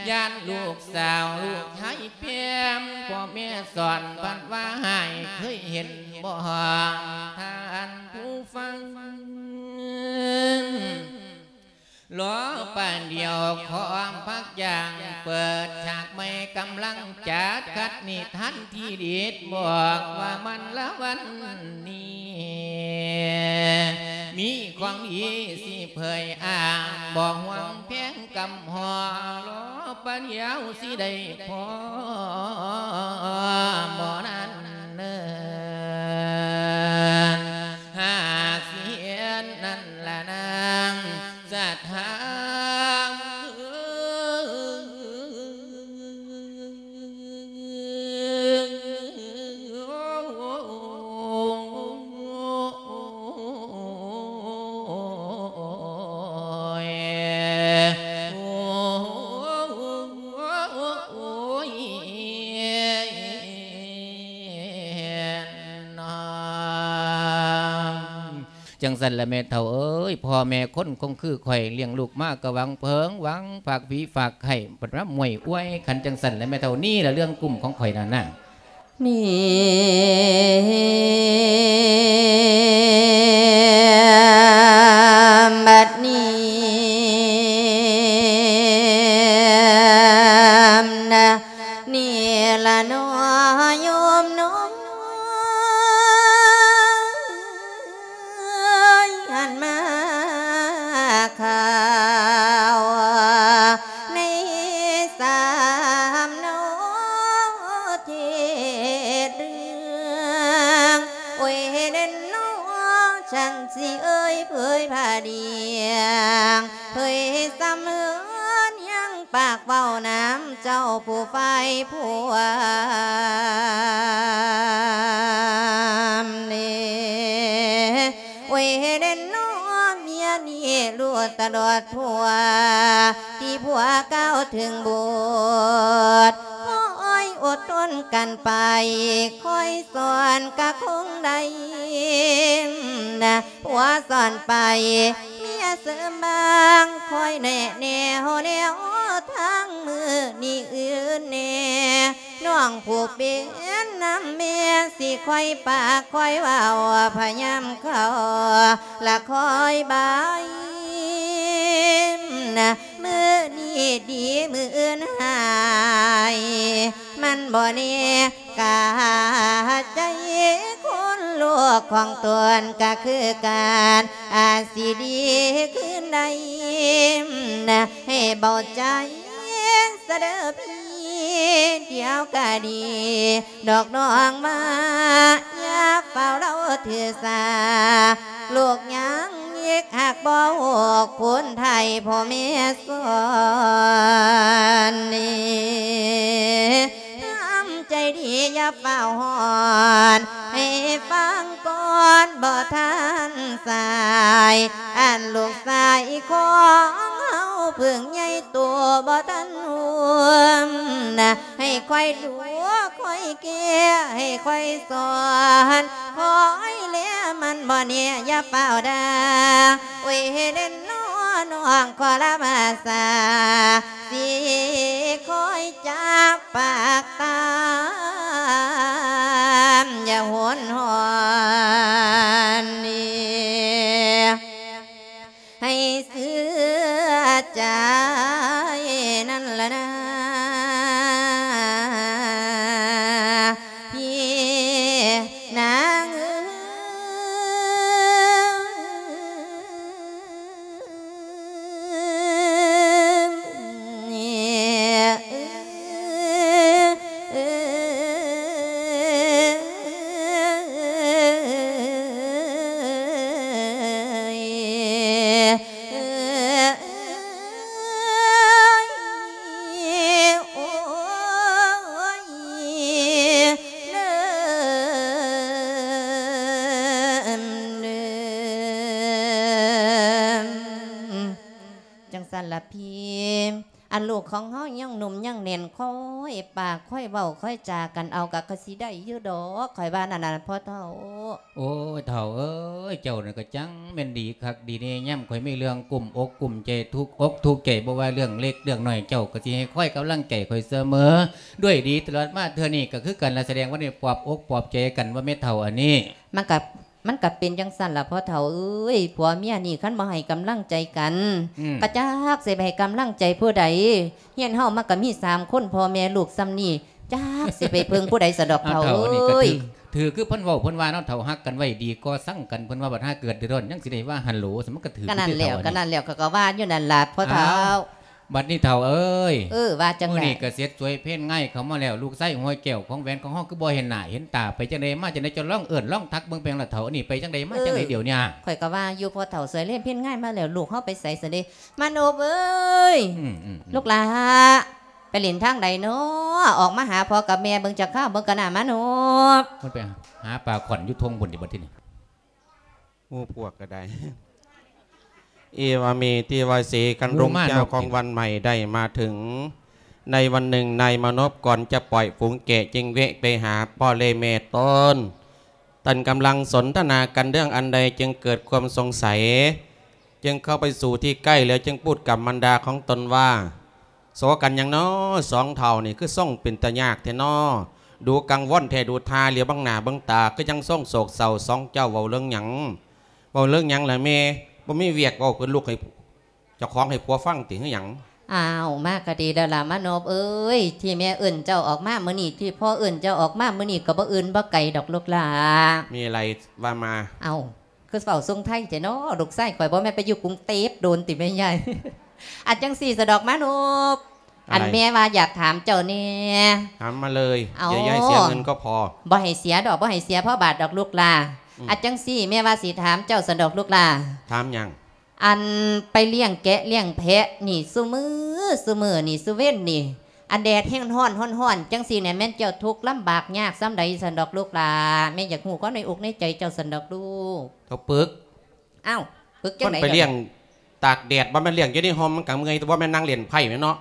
ຢ້ານລູກສາວລູກຊາຍແພງ ພໍ່ແມ່ສອນພັດວ່າໃຫ້ ເຄີຍເຫັນບໍ່ ທ່ານຜູ້ຟັງ ລໍປານດຽວ ຂໍພັກຢ່າງ ເປີດສາກໃໝ່ ກຳລັງຈັດຂັດນິທານທີ່ເດັດ ບອກວ່າມັນລະວັນນີ້ ມີຂອງດີຊິເຜີຍອ້າງ ບໍ່ຫວງແພງກຳຮອ ລໍປານດຽວຊິໄດ້ພໍ ບໍ່ນັ້ນເນີນ ຫາກຊິເຫັນນັ້ນລະນາງສັດທາ ຈັ່ງຊັ້ນລະແມ່ເຖົ້າເອີຍ ພໍ່ແມ່ຄົນຄົງຄືຂ້ອຍ ລ້ຽງລູກມາກໍຫວັງເພິ່ງ ຫວັງຝາກຜີຝາກໄຂ້ ບັດມາມ້ວຍອວຍ ຄັນຈັ່ງຊັ້ນລະແມ່ເຖົ້າ ນີ້ລະເລື່ອງກຸ້ມຂອງຂ້ອຍນັ້ນນະ. ນີ້ ບັດນີ້ນະ ນີ້ລະເນາະໂຍມເນາະ ອັນມາຂ່າວໃນສາມເນາະເຈັດເລື່ອງ ໂອ້ຍເດັ່ນເນາະ ສັນຊິເອີຍເຜີຍຜ້າດຽງ ເຜີຍສຳເຮືອນຍັງປາກເວົ້ານຳເຈົ້າຜູ້ຝ່າຍພວມເນ ໂອ້ຍເດັ່ນເນາະ ເມຍນີ້ຮູ້ຕະຫຼອດທົ່ວ ທີ່ຜົວກ່າວເຖິງບຸດ ຄອຍອົດທົນກັນໄປ ຄອຍສອນກະຄົງໄດ້ນະ ຜົວສອນໄປ ເມຍ ເສີມບາງ ຄອຍແນະແນວແນວທາງ ມື້ນີ້ອື່ນແດ່ ນ້ອງຜູ້ເປັນນຳແມ່ ຊິຄອຍປາກຄອຍເວົ້າ ພະຍາມເຂົ້າ ລະຄອຍບາຍ ມື້ນີ້ດີ ມື້ອື່ນຮ້າຍ ມັນບໍ່ແນ່ ກະໃຈຄົນລູກຂອງຕົນກະຄືກັນ ອາດຊິດີຄືນໄດ້ ໃຫ້ເບົາໃຈຊະເດີພີ່ ດຽວກະດີດອກນ້ອງມາ ຢ່າຟ້າວເລົາຖືສາ ລູກຍັງ ເຮັກຮັກບໍ່ຮູ້ ຄົນໄທພໍ່ແມ່ສອນນີ້ ທຳໃຈດີຢ່າຟ້າວຮ້ອນ ໃຫ້ຟັງກ່ອນບໍ່ທັນສາຍ ອັນລູກຊາຍຂອງເຮົາເພິ່ງໃຫຍ່ໂຕບໍ່ທັນຮູ້ນະ ໃຫ້ຄອຍດູຄອຍແກ້ ໃຫ້ຄອຍສອນ ຄອຍແລ ມັນບໍ່ແນ່ ຢ່າຟ້າວດ່າ ໂອ້ຍເດນນໍ ນ້ອງຂໍລາພາສາ ຊິຄອຍຈັບປາກຕາມ ຢ່າຫົນຫອນ ໃຫ້ເຊື່ອໃຈນັ້ນລະນາ ພີ່ນາງເອີຍ. ຈັ່ງຊັ້ນລະພີ້ ອັນລູກຂອງເຮົາຍັງໜຸ່ມຍັງແໜ້ນ ຄ່ອຍປາກຄ່ອຍເວົ້າຄ່ອຍຈາກັນເອົາ ກະຄືຊິໄດ້ຢູ່ດອກ ຂ້ອຍວ່ານັ້ນນະພໍ່ເຖົ້າ. ໂອ້ຍ ເຖົ້າເອີຍ ເຈົ້ານີ້ກະຈັ່ງແມ່ນດີຄັກດີແນ່ ຍາມຂ້ອຍມີເລື່ອງກຸ້ມອົກກຸ້ມໃຈ ທຸກອົກທຸກໃຈ ບໍ່ວ່າເລື່ອງເລັກເລື່ອງນ້ອຍ ເຈົ້າກະຊິໃຫ້ຄອຍກຳລັງໃຈຂ້ອຍສະເໝີ ດ້ວຍດີຕະຫຼອດມາ. ເທື່ອນີ້ກະຄືກັນລະ ສະແດງວ່າໄດ້ປອບອົກປອບໃຈກັນວ່າແມ່ເຖົ້າອັນນີ້ ມັນກະ ມັນກະເປັນຈັ່ງຊັ້ນລະພໍ່ເຖົ້າເອີຍ ຜົວເມຍນີ້ຄັນບໍ່ໃຫ້ກຳລັງໃຈກັນ ອືມ ກະຈັກຊິໄປໃຫ້ກຳລັງໃຈຜູ້ໃດ ເຮືອນເຮົາມັນກະມີສາມຄົນ ພໍ່ແມ່ລູກຊ່ຳນີ້ ຈັກຊິໄປເພິ່ງຜູ້ໃດສະດອກເຖົ້າເອີຍ. ຖືກ ຖືກຄືເພິ່ນເວົ້າເພິ່ນວ່າເນາະ ເຖົ້າຮັກກັນໄວ້ດີກໍຊັງກັນ ເພິ່ນວ່າບັດຫາເກີດເດືອດຮ້ອນ ຍັງຊິໄດ້ວ່າຫັ້ນໂຫຼ ມັນກະຖືກ. ກະນັ້ນແຫຼ້ວ ກະນັ້ນແຫຼ້ວ ຂ້ອຍກະວ່າຢູ່ນັ້ນລະພໍ່ເຖົ້າ. ບັດນີ້ເຖົ້າເອີຍ ເອີ ວ່າຈັ່ງໃດ? ມື້ນີ້ກະເສັດສວຍເພນງາຍເຂົ້າມາແລ້ວ ລູກຊາຍຫົວແກ້ວຂອງແຫວນຂອງເຮົາຄືບໍ່ເຫັນໜ້າເຫັນຕາ ໄປຈັ່ງໃດມາຈັ່ງໃດ ເຈົ້າລອງເອີ້ນລອງທັກເບິ່ງເປັນຫຍັງລະເຖົ້າ ອັນນີ້ໄປຈັ່ງໃດມາຈັ່ງໃດດຽວນີ້? ຂ້ອຍກະວ່າຢູ່ພໍ່ເຖົ້າ ສວຍເພນງາຍມາແລ້ວ ລູກເຮົາໄປໃສຊັ້ນເດ? ມາໂນບເອີຍ ອືມໆໆ ລູກຫຼາ ໄປເຫຼັ້ນທາງໃດນໍ? ອອກມາຫາພໍ່ກັບແມ່ເບິ່ງຈັກຄາວເບິ່ງກະໜ້າມາໂນບ. ມັນໄປຫາປາຂອນຢູ່ທົ່ງພຸ້ນຕິບັດທີນີ້. ໝູ່ພວກກະໄດ້ ເອວາເມ ເທວາເສ ຄັນລຸງເຈົ້າຂອງວັນໃໝ່ໄດ້ມາເຖິງ ໃນວັນໜຶ່ງນາຍມານົບກ່ອນຈະປ່ອຍຝູງແກະຈຶ່ງແວະໄປຫາພໍ່ແລະແມ່ຕົນ ທ່ານກຳລັງສົນທະນາກັນເລື່ອງອັນໃດຈຶ່ງເກີດຄວາມສົງໄສ ຈຶ່ງເຂົ້າໄປສູ່ທີ່ໃກ້ແລ້ວຈຶ່ງພູດກັບມານດາຂອງຕົນວ່າ ໂສກັນຫຍັງນໍ ສອງເຖົ້ານີ້ຄືຊົງເປັນຕາຍາກແທ້ນໍ ດູກັງວົນແທ້ ດູທ່າຫຼຽວເບິ່ງໜ້າເບິ່ງຕາຄືຈັ່ງຊົງໂສກເສົ້າ ສອງເຈົ້າເວົ້າເລື່ອງຫຍັງ ເວົ້າເລື່ອງຫຍັງລະແມ່ ບໍ່ມີວຽກເວົ້າຄືລູກໃຫ້ເຈົ້າຂອງໃຫ້ຜົວຟັງຕິ ຄືຫຍັງ? ອ້າວ ມາກະດີແລ້ວລະມານົບເອີຍ ທີ່ແມ່ເອີ້ນເຈົ້າອອກມາມື້ນີ້ ທີ່ພໍ່ເອີ້ນເຈົ້າອອກມາມື້ນີ້ ກະບໍ່ອື່ນບໍ່ໄກດອກລູກຫຼາ. ມີອະໄລວ່າມາ. ເອົ້າ ຄືເວົ້າຊົງໄທແທ້ນໍ ລູກຊາຍຂ້ອຍບໍ່ແມ່ນໄປຢູ່ກຸງເທບໂດນຕິແມ່ໃຫຍ່? ອັນຈັ່ງຊີ້ສະດອກມານົບ ອະໄລ? ອັນແມ່ວ່າຢາກຖາມເຈົ້າແດ່. ຖາມມາເລີຍ ເອົ້າ ຢ່າໃຫ້ເສຍເງິນກໍພໍ. ບໍ່ໃຫ້ເສຍດອກ ບໍ່ໃຫ້ເສຍພໍບາດດອກລູກຫຼາ. ອືມ ອັນຈັ່ງຊີ້ແມ່ວ່າຊິຖາມເຈົ້າຊັ້ນດອກລູກຫຼາ. ຖາມຫຍັງ? ອັນໄປລ້ຽງແກະລ້ຽງແພະນີ້ ຊຸມື້ ຊຸມື້ນີ້ ຊຸເວັນນີ້ ອັນແດດແຮງຮ້ອນ ຮ້ອນໆ ຈັ່ງຊີ້ແນ່ ແມ່ນເຈົ້າທຸກລຳບາກຍາກສ່ຳໃດຊັ້ນດອກລູກຫຼາ? ແມ່ຢາກຮູ້ຄວາມໃນອົກໃນໃຈເຈົ້າຊັ້ນດອກລູກ. ເຖົ້າປຶກ. ອ້າວ ປຶກຈັ່ງໃດ? ມັນໄປລ້ຽງຕາກແດດ ບໍ່ແມ່ນລ້ຽງຢູ່ໃນຮົ່ມ ມັນກະເມື່ອຍ ແຕ່ບໍ່ແມ່ນນັ່ງຫຼິ້ນໄພ້ແມ່ນເນາະ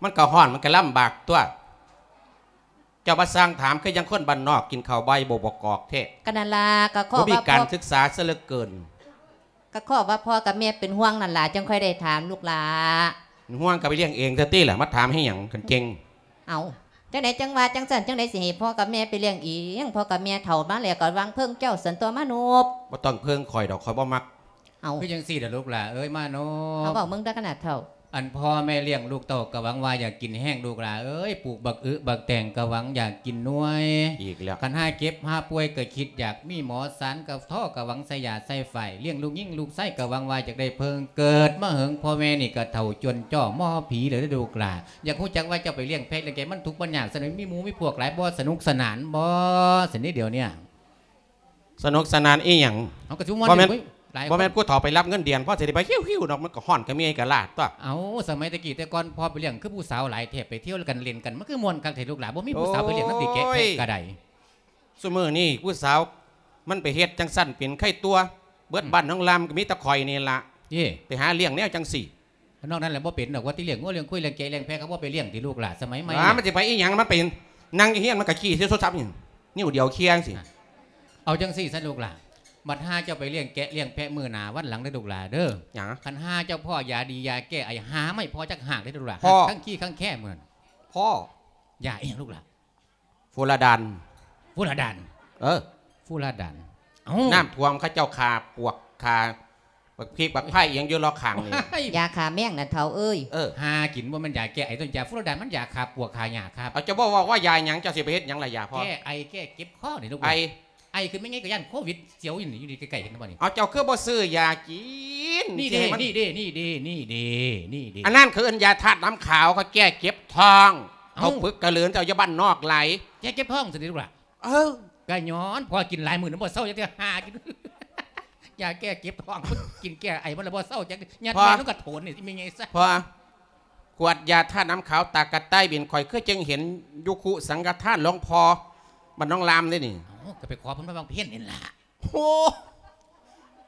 ມັນກະຮ້ອນ ມັນກະລຳບາກຕົວະ. ເຈົ້າມາສ້າງຖາມ ຄືຈັ່ງຄົນບ້ານນອກກິນເຂົ້າບ່າຍບໍ່ປະກອບແທ້. ກະນັ້ນລະ ກະຂໍວ່າ ບໍ່ມີການສຶກສາຊະເຫຼືອເກີນ. ຂໍວ່າພໍ່ກັບແມ່ເປັນຫ່ວງນັ້ນລະ ຈັ່ງຄ່ອຍໄດ້ຖາມລູກຫຼ້າ. ເປັນຫ່ວງກໍໄປລ້ຽງເອງຊະຕິລະ ມາຖາມໃຫ້ຫຍັງ ຄັນເກັ່ງ. ເອົ້າ ຈັ່ງໃດຈັ່ງວ່າຈັ່ງຊັ້ນ ຈັ່ງໃດຊິໃຫ້ພໍ່ກັບແມ່ໄປລ້ຽງເອງ? ພໍ່ກັບແມ່ເຖົ້າມາແລ້ວກໍຫວັງເພິ່ງເຈົ້າຊັ້ນຕົວະມະນຸບ. ບໍ່ຕ້ອງເພິ່ງຂ້ອຍດອກ ຂ້ອຍບໍ່ມັກ. ເອົ້າ ຄືຈັ່ງຊີ້ດອກລູກຫຼ້າເອີຍ ມາໂນ. ເອົາ ເວົ້າເບິ່ງເດີຂະໜາດເຖົ້າ. ອັນພໍ່ແມ່ລ້ຽງລູກເຕົ້າກໍຫວັງວ່າຢາກກິນແຮງລູກຫຼ້າເອີຍ ປູກບັກອຶບັກແຕງກໍຫວັງຢາກກິນໜ່ວຍ. ອີກແລ້ວ. ຄັນຫາເຈັບຫາປ່ວຍກໍຄິດຢາກມີໝໍສານ ກໍທໍກໍຫວັງໃສ່ຢາໃສ່ຝ້າຍ ລ້ຽງລູກຍິງລູກຊາຍກໍຫວັງວ່າຢາກໄດ້ເພິ່ງ. ເກີດມາເຫິງພໍ່ແມ່ນີ້ກໍເຖົ້າຈົນຈ້ອ ໝໍຜີແລ້ວເດີລູກຫຼ້າ. ຢາກຮູ້ຈັກວ່າເຈົ້າໄປລ້ຽງແພະລ້ຽງແກະ ມັນທຸກມັນຍາກ ສະໜຸກ ມີໝູ່ມີພວກຫຼາຍບໍ່? ສະໜຸກສະໜານບໍ່ຊັ້ນນີ້ດຽວເນີ້ຍ? ສະໜຸກສະໜານອີ່ຫຍັງ? ເຮົາກໍຊິມ່ວນ ບໍ່ແມ່ນ ຢູ່ເວີຍ ຫຼາຍຄົນ ບໍ່ແມ່ນຜູ້ເຖົ້າໄປຮັບເງິນເດືອນ ພໍຊິໄດ້ໄປຫິວໆດອກ ມັນກໍຮ້ອນກໍເມື່ອຍກໍລ້າຕົວະ. ເອົາ ສະໄໝແຕ່ກີ້ແຕ່ກ່ອນພໍ່ໄປລ້ຽງ ຄືຜູ້ສາວຫຼາຍແທ້ ໄປທ່ຽວກັນຫຼິ້ນກັນ ມັນຄືມ່ວນຄັກແທ້ລູກຫຼ້າ ບໍ່ມີຜູ້ສາວໄປລ້ຽງນຳຕິແກະແພະກໍໄດ້. ໂອ້ຍ ຊຸມື້ນີ້ຜູ້ສາວມັນໄປເຮັດຈັ່ງຊັ້ນເປັນໄຄຕົວະ ເບິດ ອືມ ບ້ານນ້ອງລາມກໍມີແຕ່ຂ້ອຍນີ້ລະ ເອີ ໄປຫາລ້ຽງແນວຈັ່ງຊີ້. ນອກນັ້ນແຫຼະບໍ່ເປັນດອກ ວ່າແຕ່ລ້ຽງງົວລ້ຽງຄວາຍລ້ຽງແກະລ້ຽງແພະ ເຂົາບໍ່ໄປລ້ຽງຕິລູກຫຼ້າ ສະໄໝໃໝ່. ວ່າມັນຊິໄປອີ່ຫຍັງ ມັນໄປນັ່ງຢູ່ເຮືອນ ມັນກໍຂີ້ໃສ່ໂທລະສັບນີ້ ນິ້ວດຽວເຄຍຈັ່ງຊີ້. ເອົາຈັ່ງຊີ້ຊະລູກຫຼ້າ ບັດຫາເຈົ້າໄປລ້ຽງແກະລ້ຽງແພະມື້ໜ້າວັນຫຼັງເດີລູກຫຼ້າເດີ. ຫຍັງ? ຄັນຫາເຈົ້າພໍ້ຢາດີຢາແກ້ໄອ ຫາມາໃຫ້ພໍ່ຈັກຮາກເດີລູກຫຼ້າ ຮາກທັງຂີ້ທັງແຄມື້ນັ້ນ. ພໍ່ ຢາອີ່ຫຍັງລູກຫຼ້າ? ຟູລາດານ. ຟູລາດານ? ເອີ ຟູລາດານ. ເອົ້າ ນ້ຳຖ້ວມ ເຂົາເຈົ້າຂ້າປວກ ຂ້າບັກພິກບັກໄຜ່ອີ່ຫຍັງຢູ່ລອກຂ້າງນີ້. ຢາຂ້າແມງນະເຖົ້າເອີຍ. ເອີ ຫາກິນ ບໍ່ແມ່ນຢາແກ້ໄອຕົວນີ້ ຢາຟູລາດານ ມັນຢາຂ້າປວກຂ້າຫຍ້າຄັບ. ເອົາ ເຈົ້າບໍ່ເວົ້າວ່າຢາຫຍັງ ເຈົ້າຊິໄປເຮັດຫຍັງລະຢາພໍ່? ແກ້ໄອແກ້ເຈັບຄໍນີ້ລູກ. ໄອ ໄອຂຶ້ນແມ່ນຫຍັງ ກໍຢ້ານໂຄວິດສຽວຢູ່ນີ້ ຢູ່ໃກ້ໆກັນບໍ່ນີ້. ເອົາ ເຈົ້າຄືບໍ່ຊື້ຢາກິນ? ນີ້ເດ້ ນີ້ເດ້ ນີ້ເດ້ ນີ້ເດ້ ນີ້ເດ້. ອັນນັ້ນເຂົາເອີ້ນຢາທາດນ້ຳຂາວ ເຂົາແກ້ເຈັບທ້ອງ. ເອົ້າ ເຂົາຝຶກກະເລີນ ເຈົ້າຢູ່ບ້ານນອກຫຼາຍ ແກ້ເຈັບທ້ອງຊັ້ນຕິລູກຫຼ້າ. ເອີ ກະຍ້ອນພໍ່ກິນຫຼາຍມື້ນະ ບໍ່ເຊົາຈັກເທື່ອ ຫາກິນຢາແກ້ເຈັບທ້ອງ ກິນແກ້ໄອມັນລະບໍ່ເຊົາຈັກ ຍັດແມ່ນລົງກະໂຖນນີ້ ຊິແມ່ນຫຍັງຊະ. ພໍ່ ຂວດຢາທາດນ້ຳຂາວຕາກະຕ່າຍບິນ ຂ້ອຍຄືຈັ່ງເຫັນຢູ່ຄຸສັງຄະທານຫຼວງພໍ່ບ້ານໜອງລາມເດ້ນີ້. ເອົ້າ ກໍໄປຂໍເພິ່ນມາບາງເພັນນີ້ລະ. ໂອ້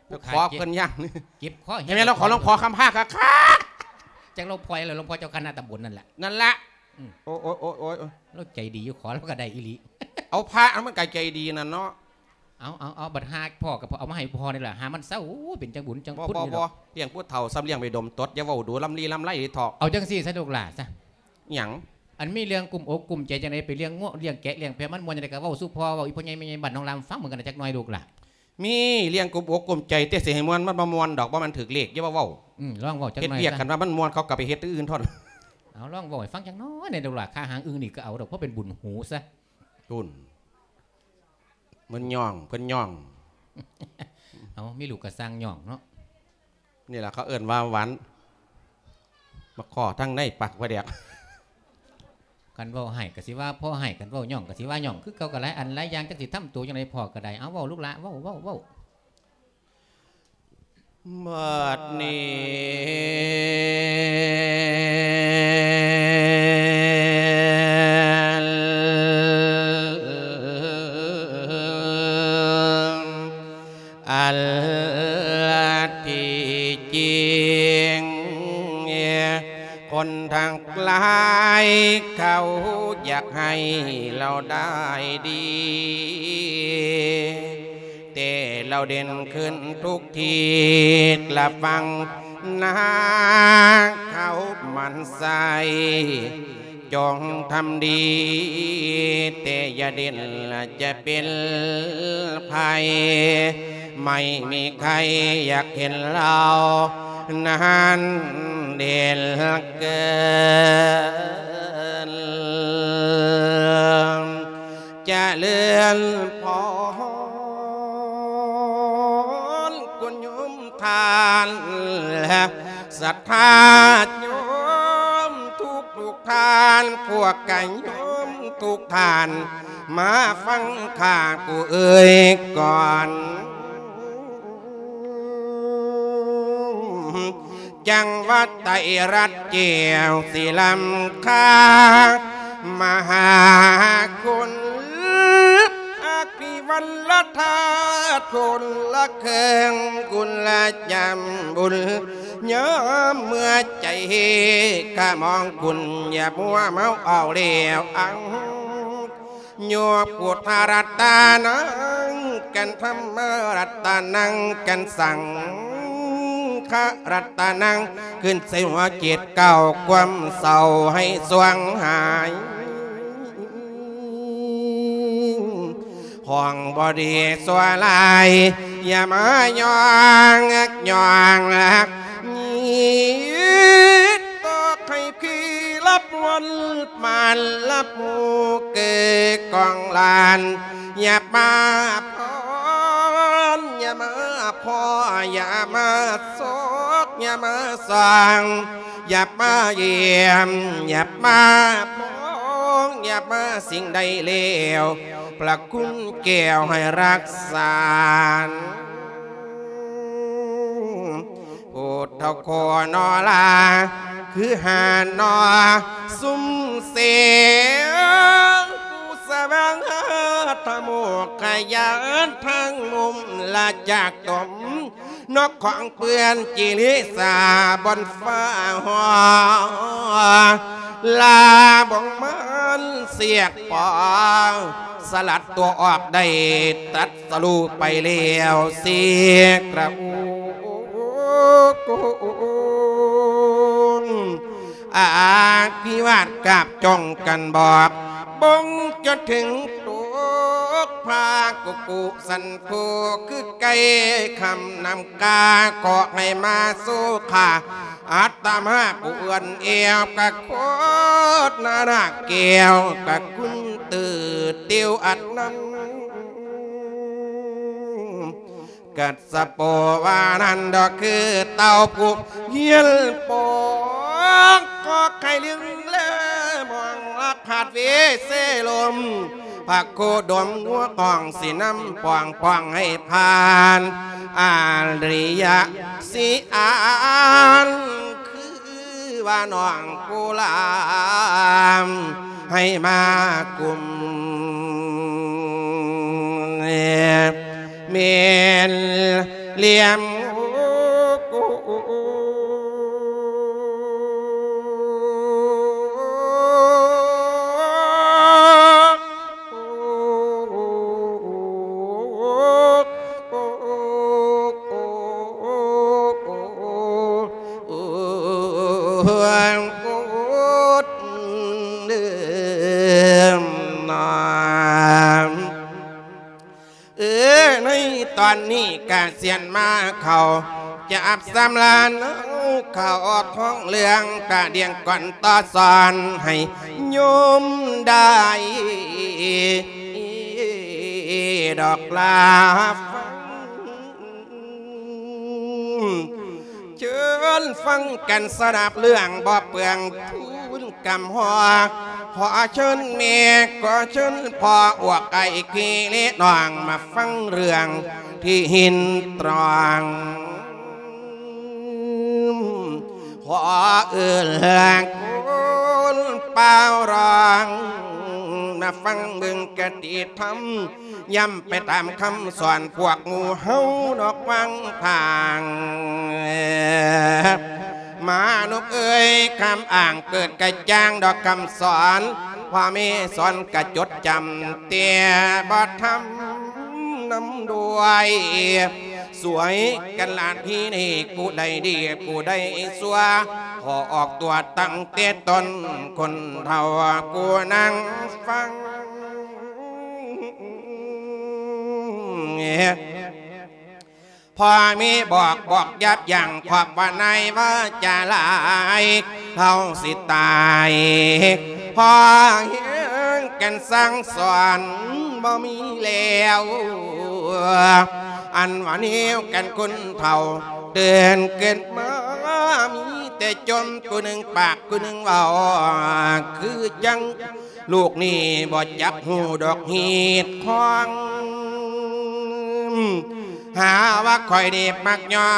ໄປຂໍເພິ່ນຢ່າງນີ້ ເຈັບຄໍແຮງ ແມ່ນລະ ຂໍຫຼວງພໍ່ຄຳພາຄັກໆ. ຈັກຫຼວງພໍ່ຫຍັງລະ ຫຼວງພໍ່ເຈົ້າຄະນະຕຳບົນນັ້ນລະ ນັ້ນລະ. ອືມ ໂອ້ຍ ໂອ້ຍ ໂອ້ຍ ໂອ້ຍ ລາວໃຈດີຢູ່ ຂໍລາວກໍໄດ້ອີ່ຫຼີ. ເອົາ ພະມັນກໍໃຈດີນັ້ນເນາະ. ເອົາ ເອົາ ເອົາ ບັດຫາພໍ່ກໍເອົາມາໃຫ້ພໍ່ນີ້ລະ ຫາມັນເຊົາ. ໂອ້ຍ ເປັນຈັ່ງບຸນຈັ່ງຄຸນນີ້ດອກ. ບໍ່ ບໍ່ ບໍ່ ລ້ຽງຜູ້ເຖົ້າສ່ຳລ້ຽງໄປດົມຕົດ ຢ່າເວົ້າດູລຳລີລຳໄລເດເຖາະ. ເອົາຈັ່ງຊີ້ຊະລູກຫຼ້າຊະ ຫຍັງ? ອັນມີເລື່ອງກຸ້ມອົກກຸ້ມໃຈຈັ່ງໃດ ໄປລ້ຽງງົວລ້ຽງແກະລ້ຽງແພະ ມັນມ່ວນຈັ່ງໃດກໍເວົ້າສູ່ພໍ່ ເວົ້າອີ່ພໍ່ໃຫຍ່ແມ່ໃຫຍ່ບ້ານໜອງລາມຟັງເບິ່ງກັນນະຈັກໜ້ອຍລູກຫຼ້າ. ມີ ລ້ຽງກຸ້ມອົກກຸ້ມໃຈ ແຕ່ຊິໃຫ້ມ່ວນມັນບໍ່ມ່ວນດອກ ບໍ່ແມ່ນຖືກເລກ ຢ່າມາເວົ້າ. ອືມ ລອງເວົ້າຈັກໜ້ອຍ ເຮັດວຽກ ຊະ ຄັນວ່າມັນມ່ວນ ເຂົາກໍໄປເຮັດອັນອື່ນເທົ່ານັ້ນ. ເອົາ ລອງເວົ້າໃຫ້ຟັງຈັກໜ້ອຍແດ່ລູກຫຼ້າ ຂ້າຫາງອຶ່ງນີ້ກໍເອົາດອກ ພໍເປັນບຸນຫູຊະ. ພຸ້ນ ເພິ່ນຍ້ອງ ເພິ່ນຍ້ອງ. ເອົາ ມີລູກກໍສ້າງຍ້ອງເນາະ. ນີ້ລະເຂົາເອີ້ນວ່າຫວານ ມາຂໍທາງໃນປາກປາແດກ. ຄັນເວົ້າໃຫ້ກໍຊິວ່າພໍ່ໃຫ້ ຄັນເວົ້າຍ້ອງກໍຊິວ່າຍ້ອງ ຄືເກົ່າກໍຫຼາຍອັນຫຼາຍຢ່າງ ຈັກຊິທຳໂຕຈັ່ງໃດພໍ່ກໍໄດ້. ເອົາ ເວົ້າລູກຫຼ້າ ເວົ້າ ເວົ້າ ເວົ້າ. ບັດນີ້ ອັນທີ່ຈິງ ຄົນທັງຫຼາຍເຂົາຢາກໃຫ້ລາວໄດ້ດີ ແຕ່ລາວເດັ່ນຂຶ້ນທຸກທິດລະຟັງນາ ເຂົາໝັ້ນໃສ່ ຈົ່ງທຳດີ ແຕ່ຢ່າເດັ່ນລະຈະເປັນໄພ ໄມ່ມີໃຄຢາກເຫັນລາວນັ້ນເດັ່ນເກີນ. ຈະເລີນພອນ ຄຸນໂຍມທ່ານ ແລະ ສັດທາໂຍມທຸກໆທ່ານ ພວກກະໂຍມທຸກທ່ານ ມາຟັງຂ້າຜູ້ເອີ່ຍກ່ອນ. ຈັງຫວັດໄຕລັດແກ້ວສີລຳຄາ ມະຫາຄຸນ ອະພິວັນລະທາດຄົນລະເຄິ່ງ ຄຸນລະຈຳບຸນ ຍາມເມື່ອໃຈຂະມອງຄຸນ ຢ່າມົວເມົາເອົາແລ້ວອັງ ໂຍ ພຸດທະລັດຕະນັງກັນ ທຳມະລັດຕະນັງກັນສັງ ຂະລັດຕະນັງ ຂຶ້ນໃສ່ຫົວເຈັດເກົ້າ ຄວາມເສົ້າໃຫ້ສວງຫາຍ ຫ້ອງບໍ່ດີຊົ່ວຮ້າຍ ຢ່າມາຍ້ອງ ຍ້ອງ ຍິດຕໍ່ໃຫ້ ທີ່ລັບວັນປານລັບໝູ່ເກີກອງຫຼານ ຢ່າມາພອນ ຢ່າມາພໍ້ ຢ່າມາຊອກ ຢ່າມາສ່ອງ ຢ່າມາຢ້ຽມ ຢ່າມາມອງ ຢ່າມາສິ່ງໃດແລ້ວ ພະຄຸນແກ້ວໃຫ້ຮັກສາ ຜູ້ເຖົ້າຂໍນໍລາ ຄືຫານໍຊຸມເສ ຜູ້ສະຫວ່າງຫາທະໂມກຂະຍານທາງມຸມລະຈາກຕົມ ນອກຂອງເປື້ອນຈິລິສາບ່ອນຟ້າຫໍ ລາບ່ອງມັນສຽກປອງ ສະຫຼັດຕົວອອກໄດ້ຕັດສະຮູ້ໄປແລ້ວເສກລະໂອ ອາພິວາດກາບຈ້ອງກັນບອກ ບົ່ງຈົນເຖິງຕົກພາກຸກຸສັນໂທ ຄືໄກ່ຄ່ຳນ້ຳກາ ຂໍໃຫ້ມາສູ່ຂ້າ ອາດຕະມາຜູ້ເອື້ອນແອວ ກະໂຄດນານາແກ້ວ ກະຄຸນຕື້ຕິວອັດນຳ ກັດສະໂປວານັນດອກ ຄືເຕົ້າຜູ້ຮຽນປອງ ກໍໃຫ້ລຶ້ງແລມອງລະຂາດເວເສລົມ ພະໂຄດົມຫົວກອງ ຊິນຳປ່ອງປ່ອງໃຫ້ຜ່ານ ອາລິຍະຊິອານ ຄືວ່ານ້ອງໂກລາມ ໃຫ້ມາກຸມເມນລຽມ ເອີ ໃນຕອນນີ້ກະສຽນມາເຂົ້າ ຈັບສຳລານເອົາເຂົ້າອອກຫ້ອງເລື່ອງ ກະດຽງກ່ອນຕໍ່ສອນໃຫ້ໂຍມໄດ້ດອກລາຟັງ ເຊີນຟັງກັນສະດັບເລື່ອງບໍ່ເປືອງທູນກຳຮອກ ຂໍເຊີນແມ່ ຂໍເຊີນພໍ່ ອວກອ້າຍກີເລນ້ອງ ມາຟັງເລື່ອງທີ່ຫີນຕຣອງ ຂໍເອີ້ນຄົນປ່າວຮ້ອງ ມາຟັງເບິ່ງຄະຕິທຳ ຢ້ຳໄປຕາມຄຳສອນພວກໝູ່ເຮົານອກວັງທາງ ມານຸບເອີຍ ຄຳອ້າງເກີດກະຈ່າງດອກຄຳສອນ ພໍ່ແມ່ສອນກະຈົດຈຳ ແຕ່ບໍ່ທຳນຳດ້ວຍ ຊ່ວຍກັນລາດທີ່ນີ້ ຜູ້ໃດດີຜູ້ໃດຊົ່ວ ຂໍອອກຕົວຕັ້ງແຕ່ຕົ້ນ ຄົນເຖົ້າຜູ້ນັ່ງຟັງ ພໍ່ແມ່ບອກ ບອກຢ່າຢັ້ງ ຄວາມວ່າໃນວາຈາຫຼາຍ ເຮົາຊິຕາຍ ພໍແຮງກັນສັ່ງສອນບໍ່ມີແລ້ວ ອັນວ່າແນວກັນຄົນເຖົ້າ ເຕີນເກີດມາມີແຕ່ຈົ່ມ ຜູ້ໜຶ່ງປາກຜູ້ໜຶ່ງເວົ້າ ຄືຈັ່ງ ລູກນີ້ບໍ່ຈັກຮູ້ດອກຮີດຄອງ ຫາວ່າຂ້ອຍນີ້ມັກຍ້ອ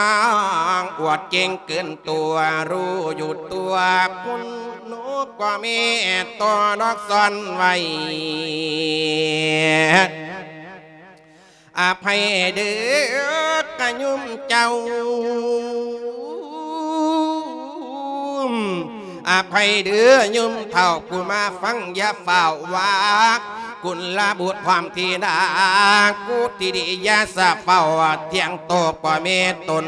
ງ ອວດເກັ່ງເກີນຕົວ ຮູ້ຢູ່ຕົວ ຄຸນນົກກວ່າແມ່ຕໍ່ນອກສອນໄວ້ ອະໄພເດີກະໂຍມເຈົ້າ ອະໄພເດີໂຍມເຖົ້າ ຜູ້ມາຟັງຢ່າຟ້າວວ່າ ກຸນລະບຸດຄວາມທີດາ ກຸທິລິຍາສະເຝົ້າ ທ່ຽງໂຕພໍ່ແມ່ຕົນ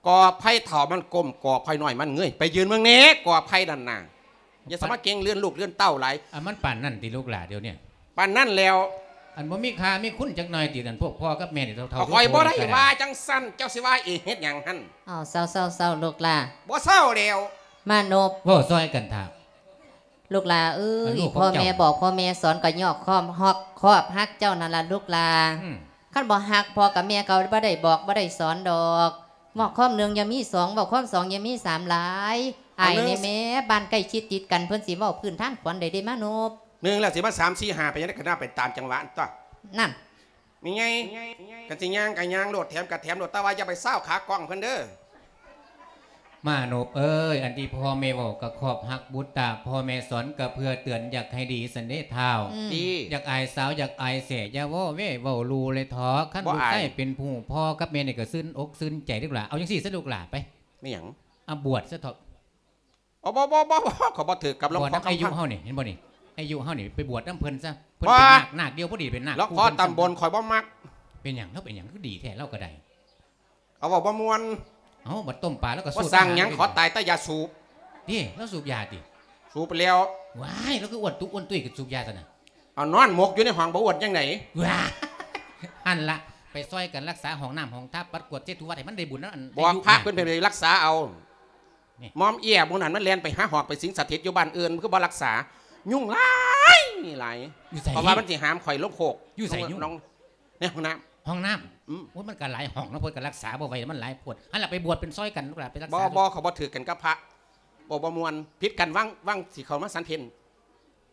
ກອໄຜ່ເຖົ້າມັນກົ້ມ ກອໄຜ່ນ້ອຍມັນເງີຍ ໄປຢືນເບິ່ງແດ່ກອໄຜ່ນັ້ນນະ. ຢ່າສະມາເກັ່ງເລື່ອນລູກເລື່ອນເຕົ້າຫຼາຍ. ອັນມັນປານນັ້ນຕິລູກຫຼ້າດຽວນີ້? ປານນັ້ນແລ້ວ. ອັນບໍ່ມີຄ່າມີຄຸນຈັກໜ່ອຍຕິ ອັນພວກພໍ່ກັບແມ່ນີ້ເຖົ້າໆ ຂ້ອຍບໍ່ໄດ້ວ່າຈັ່ງຊັ້ນ ເຈົ້າຊິວ່າເອງເຮັດຫຍັງຫັ້ນ? ເອົາ ເຊົາໆໆ ລູກຫຼ້າ. ບໍ່ເຊົາແລ້ວ. ມານົບ ເວົ້າຊ່ອຍກັນຖ້າ. ລູກຫຼ້າເອີຍ ພໍ່ແມ່ບອກ ພໍ່ແມ່ສອນ ກໍຍ້ອນຄວາມຮັກ ຄວາມຮັກເຈົ້ານັ້ນລະລູກຫຼ້າ. ອືມ ຄັນບໍ່ຮັກ ພໍ່ກັບແມ່ກໍບໍ່ໄດ້ບອກ ບໍ່ໄດ້ສອນດອກ. ເວົ້າຄວາມໜຶ່ງຢ່າມີສອງ ເວົ້າຄວາມສອງຢ່າມີສາມຫຼາຍ. ອາຍແດ່ແມ່ ບ້ານໃກ້ຊິດຕິດກັນ ເພິ່ນຊິເວົ້າພື້ນຖານຂວັນໄດ້ເດ້ມານົບ. ໜຶ່ງແລ້ວຊິມາສາມ ສີ່ ຫ້າ ໄປຈັ່ງໃດ ກໍໜ້າໄປຕາມຈັງຫວະຕົວະ. ນັ້ນ ມີໄງ ຄັນຊິຍ່າງກໍຍ່າງໂລດ ແຖມກໍແຖມໂລດ ແຕ່ວ່າຢ່າໄປຊາວຂາກ້ອງເພິ່ນເດີ້. ມານົບເອີຍ ອັນທີ່ພໍ່ແມ່ເວົ້າກໍຂອບຮັກບຸດຕາ ພໍ່ແມ່ສອນກໍເພື່ອເຕືອນ ຢາກໃຫ້ດີຊັ້ນເດ້ທ້າວ. ອືມ ຢາກອາຍສາວ ຢາກອາຍແສ ຢ່າເວົ້າແວ່ເວົ້າຫຼູ່ເລີຍເຖາະ. ຄັນລູກຊາຍເປັນຜູ້ ພໍ່ກັບແມ່ນີ້ກໍຊື່ນອົກຊື່ນໃຈເດ້ລະ. ເອົາຈັ່ງຊີ້ຊະລູກຫຼ້າ ໄປ. ແມ່ນຫຍັງ? ອາ ບວດຊະເຖາະ. ອໍ ບໍ່ໆໆໆ ຂ້ອຍບໍ່ຖືກກັບຫຼວງພໍ່ຄຳພັນ. ອາຍຸເຮົານີ້ ເຫັນບໍ່ນີ້ ອາຍຸເຮົານີ້ ໄປບວດນຳເພິ່ນຊະ. ເພິ່ນເປັນນາກ ນາກດຽວພໍດີ ເປັນນາກ ຫຼວງພໍ່ຕຳບົນຂ້ອຍບໍ່ມັກ. ເປັນຫຍັງ ລາວເປັນຫຍັງຄືດີແທ້ ລາວກໍໄດ້. ເອົາ ເວົ້າບໍ່ມ່ວນ. ເອົາ ບັດຕົ້ມປາລາວກໍສູບ ບໍ່ສ້າງຫຍັງ ຂໍຕາຍແຕ່ຢ່າສູບ. ເດ້ ລາວສູບຢາຕິ? ສູບໄປແລ້ວ. ວ້າຍ ລາວຄືອ້ວນຕຸອ້ວນຕຸ້ຍ ກໍສູບຢາຊັ້ນນະ. ເອົາ ນອນໝົກຢູ່ໃນຫ້ອງ ບໍ່ອ້ວນຈັ່ງໃດ? ວ້າ ຫັ້ນລະ ໄປຊ່ອຍກັນລັກສາຫ້ອງນ້ຳຫ້ອງທ່າ ປັດກວາດເຊັດຖູວັດໃຫ້ມັນໄດ້ບຸນນຳ. ບອກພະເພິ່ນໄປລັກສາເອົາ. ນີ້ ໝອມເອຍໝູ່ນັ້ນມັນແລ່ນໄປຫາຮອກໄປສິງສະຖິດຢູ່ບ້ານອື່ນ ມັນຄືບໍ່ລັກສາ? ຍຸງຫຼາຍຫຼາຍ. ຢູ່ໃສ? ເພາະວ່າມັນຊິຫາມຂ້ອຍລົງໂຄກ. ຢູ່ໃສຍຸງ? ໃນຫ້ອງນ້ຳ. ຫ້ອງນ້ຳ? ອືມ. ໂອ້ຍ ມັນກໍຫຼາຍຫ້ອງເນາະ ເພິ່ນກໍລັກສາບໍ່ໄຫວ ມັນຫຼາຍໂພດ. ຫັ້ນລະ ໄປບວດເປັນຊ່ອຍກັນ ລູກຫຼ້າໄປລັກສາ. ບໍ່ ບໍ່ ເຂົາບໍ່ຖືກກັນກັບພະ ບໍ່ ບໍ່ມ່ວນ. ຜິດກັນຫວ່າງ ຫວ່າງຊິເຂົ້າມາສັນເພັນ.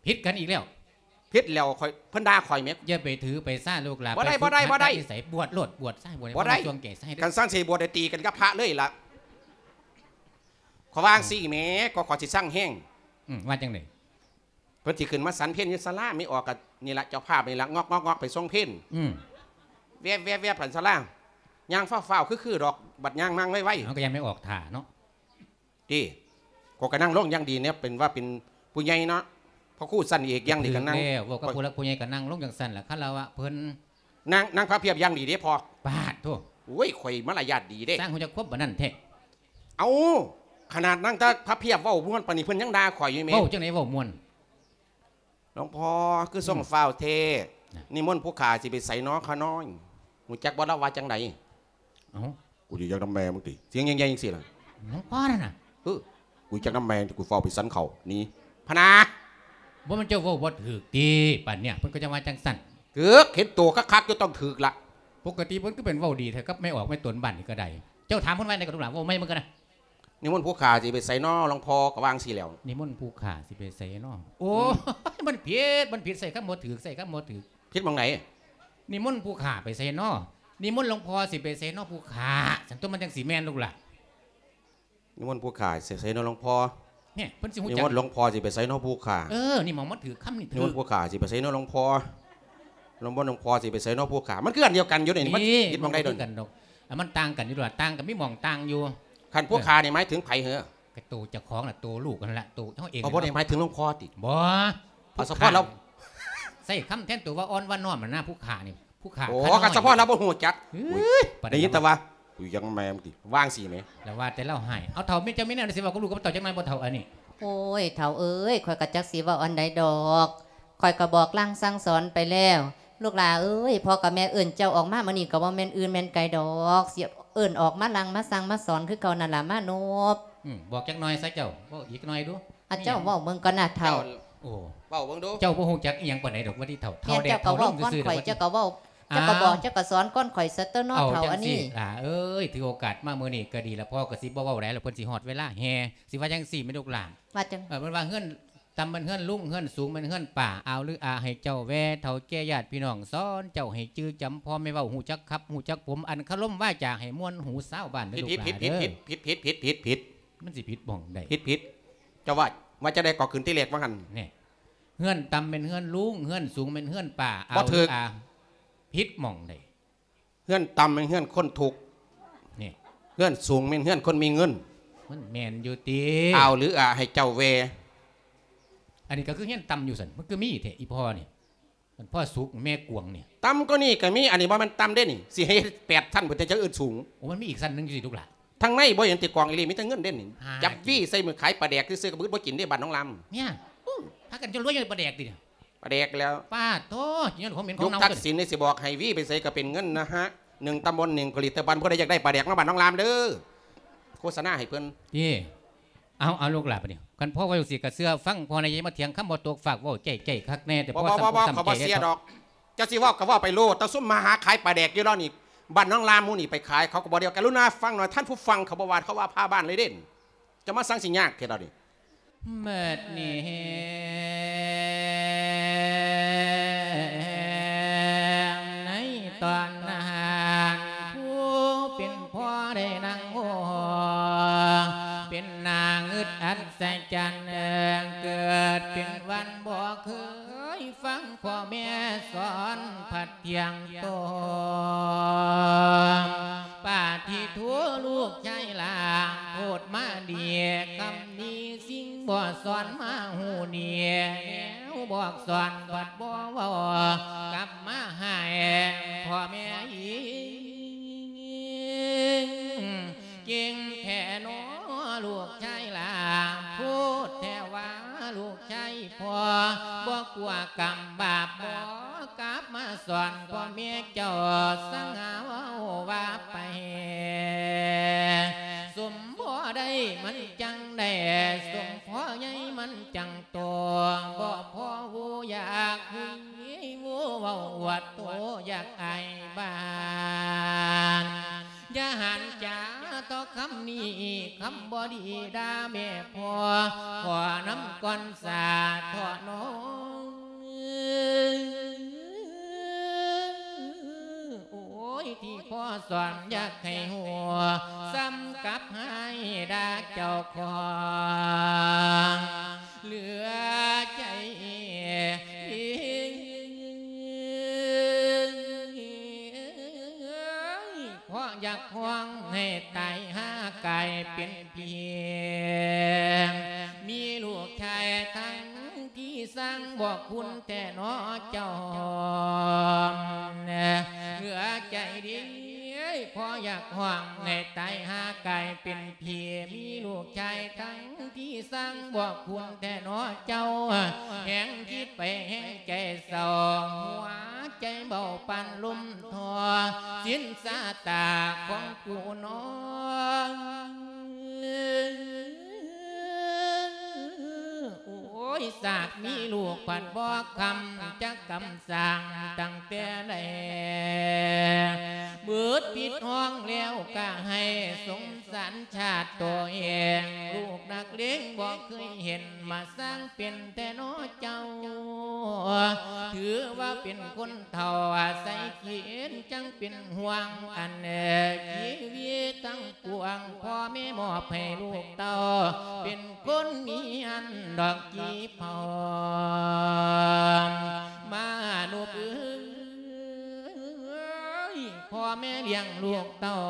ຜິດກັນອີກແລ້ວ. ຜິດແລ້ວ ຂ້ອຍ ເພິ່ນດ່າຂ້ອຍແໝ. ຢ່າໄປຖືໄປສາລູກຫຼ້າ. ບໍ່ໄດ້ ບໍ່ໄດ້ ບໍ່ໄດ້. ບວດໂລດ ບວດຊະ ບວດໃຫ້ເຂົາມາຊ່ວງແກ້ໄຂ. ຄັນຊັ້ນຊິບວດໄດ້ຕີກັນກັບພະເລີຍລະ. ຂ້ອຍວ່າຈັ່ງຊີ້ແໝ ກໍຂ້ອຍຊິຊັງແຮງ. ອືມ ວ່າຈັ່ງໃດ? ເພິ່ນຊິຂຶ້ນມາສັນເພັນຢູ່ສາລາ ມີອອກກະນີ້ລະ ເຈົ້າພາບນີ້ລະ ງອກໆໆ ໄປສົ່ງເພັນ. ອືມ. ແວບໆໆ ຜ່ານສາລາ ຍ່າງຟ້າວໆ ຄືໆ ດອກ ບັດຍ່າງມາໄວໆ. ເຮົາກໍຍັງໄປອອກທ່າເນາະ. ຕິ ກໍກະນັ່ງລົງຢ່າງດີແນວເປັນວ່າເປັນຜູ້ໃຫຍ່ເນາະ ພະຄູຊັ້ນເອກຢ່າງດີກະນັ່ງ. ແລ້ວ ເວົ້າກັບຜູ້ຫຼັກຜູ້ໃຫຍ່ກະນັ່ງລົງຈັ່ງຊັ້ນລະ ຄາລະວະເພິ່ນ. ນາງ ນາງພະພຽບຢ່າງດີເດ້ພໍ່. ປາດໂທ້. ໂອ້ຍ ຂ້ອຍມາລະຍາດດີເດ້. ຊ່າງຮູ້ຈັກຄວາມປານນັ້ນແທ້. ເອົ້າ ຂະໜາດນາງຕາພະພຽບເວົ້າມ່ວນປານນີ້ ເພິ່ນຍັງດ່າຂ້ອຍຢູ່ແມ. ເວົ້າຈັ່ງໃດເວົ້າມ່ວນ? ຫຼວງພໍ່ຄືສົ່ງ ອືມ ຟ້າວແທ້. ນະ ນິມົນຜູ້ຂ້າຊິໄປໃສນໍຂ້ານ້ອຍ? ຮູ້ຈັກບໍ່ລາວວ່າຈັ່ງໃດ? ເອົ້າ ກູຊິຈັກນຳແມ່ມຶງຕິ ສຽງໃຫຍ່ໆ ຈັ່ງຊີ້ລະ. ຫຼວງພໍ່ນັ້ນນະ. ເອີ ກູຈັກນຳແມ່ມຶງຕິ ກູຟ້າວໄປສັນເຂົ້າ ໜີ ພະນາ. ບໍ່ແມ່ນເຈົ້າເວົ້າບໍ່ຖືກຕິ ປານເນີ້ຍ ເພິ່ນກໍຈັ່ງວ່າຈັ່ງຊັ້ນ. ຖືກ ເຫັນໂຕຄັກໆ ກໍຕ້ອງຖືກລະ. ປົກກະຕິເພິ່ນຄືເປັນເວົ້າດີແທ້ກັບແມ່ອອກແມ່ຕົນບ້ານນີ້ກໍໄດ້. ເຈົ້າຖາມເພິ່ນວ່າໃດກໍລູກຫຼ້າ ເວົ້າໃໝ່ເບິ່ງກັນນະ. ນິມົນຜູ້ຂ້າຊິໄປໃສນໍ ຫຼວງພໍ່ ກໍວ່າຈັ່ງຊີ້ແລ້ວ. ນິມົນຜູ້ຂ້າຊິໄປໃສນໍ? ໂອ້ຍ ອືມ ມັນຜິດ ມັນຜິດ ໃຊ້ຄຳບໍ່ຖືກ ໃຊ້ຄຳບໍ່ຖືກ. ຜິດໝ່ອງໃດ? ນິມົນຜູ້ຂ້າໄປໃສນໍ? ນິມົນຫຼວງພໍ່ຊິໄປໃສນໍຜູ້ຂ້າ? ຊັ້ນຕົວະ ມັນຈັ່ງຊິແມ່ນລູກຫຼ້າ. ນິມົນຜູ້ຂ້າຊິໄປໃສນໍ ຫຼວງພໍ່? ນີ້ ເພິ່ນຊິຮູ້ຈັກ. ນິມົນຫຼວງພໍ່ຊິໄປໃສນໍຜູ້ຂ້າ? ເອີ ນີ້ໝ່ອງມັນຖືກຄຳນີ້. ນິມົນຜູ້ຂ້າຊິໄປໃສນໍ ຫຼວງພໍ່? ນິມົນຫຼວງພໍ່ຊິໄປໃສນໍຜູ້ຂ້າ? ມັນຄືອັນດຽວກັນຢູ່ນີ້ ມັນຜິດໝ່ອງໃດດອກ? ມັນຄືກັນດອກ ມັນຕ່າງກັນຢູ່ດອກ ຕ່າງກໍມີໝ່ອງຕ່າງຢູ່. ຄັນຜູ້ຂ້ານີ້ໝາຍເຖິງໃຜເຫືອ? ກໍໂຕເຈົ້າຂອງລະ ໂຕລູກຫັ້ນລະ ໂຕເຮົາເອງ. ບໍ່ໄດ້ໝາຍເຖິງຫຼວງພໍ່ຕິ? ບໍ່. ເອົາສະເພາະລາວ ໃຊ້ຄຳແທນຕົວວ່າອ່ອນວ່ານ້ອມຫັ້ນນະ ຜູ້ຂ້ານີ້ ຜູ້ຂ້າ. ໂອ້ ຄັນສະເພາະລາວບໍ່ຮູ້ຈັກ. ໄດ້ຍິນແຕ່ວ່າ ກູຍັງແມ່ມຶງຕິ ວ່າຈັ່ງຊີ້ແໝ. ລະວ່າແຕ່ລາວຮ້າຍ. ເອົາ ເຖົ້າ ມີ ເຈົ້າມີແນວໃດຊິເວົ້າກັບລູກກັບເຕົ້າຈັກໜ່ອຍບໍ່ ເຖົ້າ ອັນນີ້? ໂອ້ຍ ເຖົ້າເອີຍ ຂ້ອຍກໍຈັກຊິເວົ້າອັນໃດດອກ. ຂ້ອຍກໍບອກລາງສັ່ງສອນໄປແລ້ວ ລູກຫຼ້າເອີຍ ພໍ່ກັບແມ່ເອີ້ນເຈົ້າອອກມາມື້ນີ້ ກໍບໍ່ແມ່ນອື່ນແມ່ນໄກດອກ ຊິເອີ້ນອອກມາລາງມາສັ່ງມາສອນຄືເກົ່ານັ້ນລະ ມານົບ. ອືມ ບອກຈັກໜ່ອຍຊະເຈົ້າ ເວົ້າອີກໜ່ອຍດູ. ອາ ເຈົ້າເວົ້າເບິ່ງກ່ອນນະເຖົ້າ. ໂອ້ ເວົ້າເບິ່ງດູ. ເຈົ້າບໍ່ຮູ້ຈັກອີ່ຫຍັງປານໃດດອກ ວ່າທີ່ເຖົ້າ ເຖົ້າແດ່ເຖົ້າລົງຊື່ໆ. ແມ່ນ ເຈົ້າກໍເວົ້າກ່ອນຂ້ອຍ ເຈົ້າກໍເວົ້າ ເຈົ້າກໍບອກ ເຈົ້າກໍສອນກ່ອນຂ້ອຍຊະຕົວະເນາະ ເຖົ້າ. ອັນນີ້ຫຼ້າເອີຍ ຖືໂອກາດມາມື້ນີ້ກໍດີລະ ພໍ່ກໍຊິບໍ່ເວົ້າຫຼາຍລະ ເພິ່ນຊິຮອດເວລາແຫ່. ຊິວ່າຈັ່ງຊີ້ແມ່ລູກຫຼ້າ ວ່າຈັ່ງ ເອີ ເພິ່ນວ່າເຮືອນ ຕ່ຳແມ່ນເຮືອນລຸງ ເຮືອນສູງແມ່ນເຮືອນປ້າ ອາວຫຼືອາໃຫ້ເຈົ້າແວ່ ເຖົ້າແກ່ຍາດພີ່ນ້ອງ ສອນເຈົ້າໃຫ້ຈື່ຈຳພໍ່ແມ່ເວົ້າ ຮູ້ຈັກຂັບ ຮູ້ຈັກຜົມ ອັນຄາລົມວາຈາໃຫ້ມ່ວນຫູຊາວບ້ານເດີລູກຫຼານເດີ. ຜິດ ຜິດ ຜິດ ຜິດ ຜິດ ຜິດ ຜິດ. ມັນຊິຜິດໝ່ອງໃດ? ຜິດ ຜິດ. ເຈົ້າວ່າ ວ່າຈັ່ງໃດກໍຂຶ້ນທີແລກວ່າຫັ້ນ. ນີ້ ເຮືອນຕ່ຳແມ່ນເຮືອນລຸງ ເຮືອນສູງແມ່ນເຮືອນປ້າ ອາວຫຼືອາ ຜິດໝ່ອງໃດ? ເຮືອນຕ່ຳແມ່ນເຮືອນຄົນທຸກ ນີ້ ເຮືອນສູງແມ່ນເຮືອນຄົນມີເງິນ. ມັນແມ່ນຢູ່ຕິ? ອາວຫຼືອາໃຫ້ເຈົ້າແວ່. ອັນນີ້ກໍຄືເຮືອນຕ່ຳຢູ່ຊັ້ນ ມັນຄືມີແທ້ ອີ່ພໍ່ນີ້ ອັນພໍ່ສຸກແມ່ກວງນີ້. ຕ່ຳກວ່ານີ້ກໍມີ ອັນນີ້ບໍ່ແມ່ນຕ່ຳເດ້ນີ້ ຊິໃຫ້ເຮັດແປດຊັ້ນພຸ້ນ ຈັ່ງຈະເອີ້ນສູງ. ໂອ້ ມັນມີອີກຊັ້ນໜຶ່ງຢູ່ຕິລູກຫຼ້າ? ທາງໃນບໍ່ເຫັນຕິກອງອີ່ຫຼີ ມີແຕ່ເງິນເດ້ນີ້. ຫາ ຈັບວີໃສ່ມືຂາຍປາແດກຊື່ໆ ກໍບໍ່ອຶດບໍ່ກິນເດ້ ບ້ານໜອງລາມ. ເມຍ ໂອ້ ພາກັນຈົນລວຍຍ້ອນປາແດກຕິ? ປາແດກແລ້ວ. ປາດໂທ້ ຍ້ອນຂອງເໝັນຂອງເນົ່າ. ຍຸກທັກສິນນີ້ຊິບອກໃຫ້ ວີໄປໃສກໍເປັນເງິນນະຮະ ໜຶ່ງຕຳບົນໜຶ່ງຜະລິດຕະພັນ. ຜູ້ໃດຢາກໄດ້ປາແດກມາບ້ານໜອງລາມເດີ້ ໂຄສະນາໃຫ້ເພິ່ນ. ເອີ ເອົາ ເອົາ ລູກຫຼານ ບາດນີ້ ຄັນພໍ່ເວົ້າຈັ່ງຊີ້ກໍເຊື່ອຟັງພໍ່ນະ ຢ່າມາຖຽງຄຳບໍ່ຕົກຟາກ ເວົ້າໃຈໆຄັກແນ່ ແຕ່ ບໍ່ ພໍ ບໍ່ ສຳ ບໍ່ ຄວາມ ເຂົາບໍ່ເຊື່ອດອກ. ເຈົ້າຊິເວົ້າກໍເວົ້າໄປໂລດ ແຕ່ຊຸມມາຫາຂາຍປາແດກຢູ່ລາວນີ້ ບ້ານໜອງລາມໝູ່ນີ້ໄປຂາຍ ເຂົາກໍບໍ່ໄດ້ ກະລຸນາຟັງໜ່ອຍ ທ່ານຜູ້ຟັງ ເຂົາບໍ່ວ່າ ເຂົາວ່າພາບ້ານເລີຍເດ້. ເຈົ້າມາສັງຊິຍາກແທ້ດອກນີ້. ບັດນີ້ໃນຕອນນັ້ນ ຜູ້ເປັນພໍ່ໄດ້ນັ່ງໂອ້ ເປັນໜ້າງຶດອັດສະຈັນ ເກີດເປັນວັນບໍ່ເຄີຍ ຟັງພໍ່ແມ່ສອນພັດທ່ຽງໂຕ. ປາທິໂທ ລູກຊາຍຫຼ້າ ໂພດມາດີ ຄຳດີສິ່ງບໍ່ສອນມາຮູ້ດີ ແນວບອກສອນພັດບໍ່ເວົ້າ ກັບມາໃຫ້ພໍ່ແມ່ອີກ. ເກັ່ງແທ້ໜໍລູກຊາຍຫຼ້າ ໂພດແທ້ວ່າລູກຊາຍພໍ່ ບໍ່ກົວກຳບາບບໍ່ ກັບມາສອນພໍ່ແມ່ເຈົ້າ ສັງຫາເວົ້າວ່າໄປ ສົມພໍ່ໃດມັນຈັ່ງໄດ້ ສົມພໍ່ໃຫຍ່ມັນຈັ່ງໂຕ ບໍ່ພໍຮູ້ຢາກຮູ້ ເວົ້າອວດໂຕຢາກອາຍບ້ານ ຢ່າຫັນຈາຕໍ່ຄຳນີ້ ຄຳບໍ່ດີດ່າແມ່ພໍ່ ຂໍນຳກ່ອນສາເຖາະນ້ອງ. ໂອ້ຍ ທີ່ພໍ່ສອນຢາກໃຫ້ຮູ້ ສ່ຳກັບໃຫ້ດ່າເຈົ້າຂອງ ເຫຼືອໃຈ ເພາະຢາກຮ້ອງໃຫ້ຕາຍຫາກາຍເປັນຜີ ມີລູກຊາຍທັງທີ່ຊ່າງບໍ່ຄຸນແທ້ເນາະເຈົ້າ ເຫຼືອໃຈເດ້ ເພາະຢາກຮ້ອງໃຫ້ຕາຍຫາກາຍເປັນ ພີ່ມີລູກຊາຍທັງທີ່ຊ່າງບໍ່ຄຸນແທ້ເນາະເຈົ້າ ແຮງຄິດໄປແຮງໃຈເສົ້າ ຫົວໃຈເບົາປານລົມທໍ່ ສິນຊາຕາຂອງກູນ້ອງ ໂອ້ຍ ສາກມີລູກພັດບໍ່ຄຳ ຈັກກຳສ້າງຕັ້ງແຕ່ໃດ ເບີດປິດຫ້ອງແລ້ວກະໃຫ້ສົງສານຊາດໂຕເອງ ລູກນັກເລງບໍ່ເຄີຍເຫັນ ມາສ້າງເປັນແທ້ເນາະເຈົ້າ ຖືວ່າເປັນຄົນເຖົ້າ ອາໄສເຂນ ຈັ່ງເປັນຫ່ວງອັນຊີວິດທັງປວງ ພໍ່ແມ່ມອບໃຫ້ລູກເຕົ້າ ເປັນຄົນມີອັນດອກກີເຜົາ ມະນຸດເອີຍ ພໍ່ແມ່ລ້ຽງລູກເຕົ້າ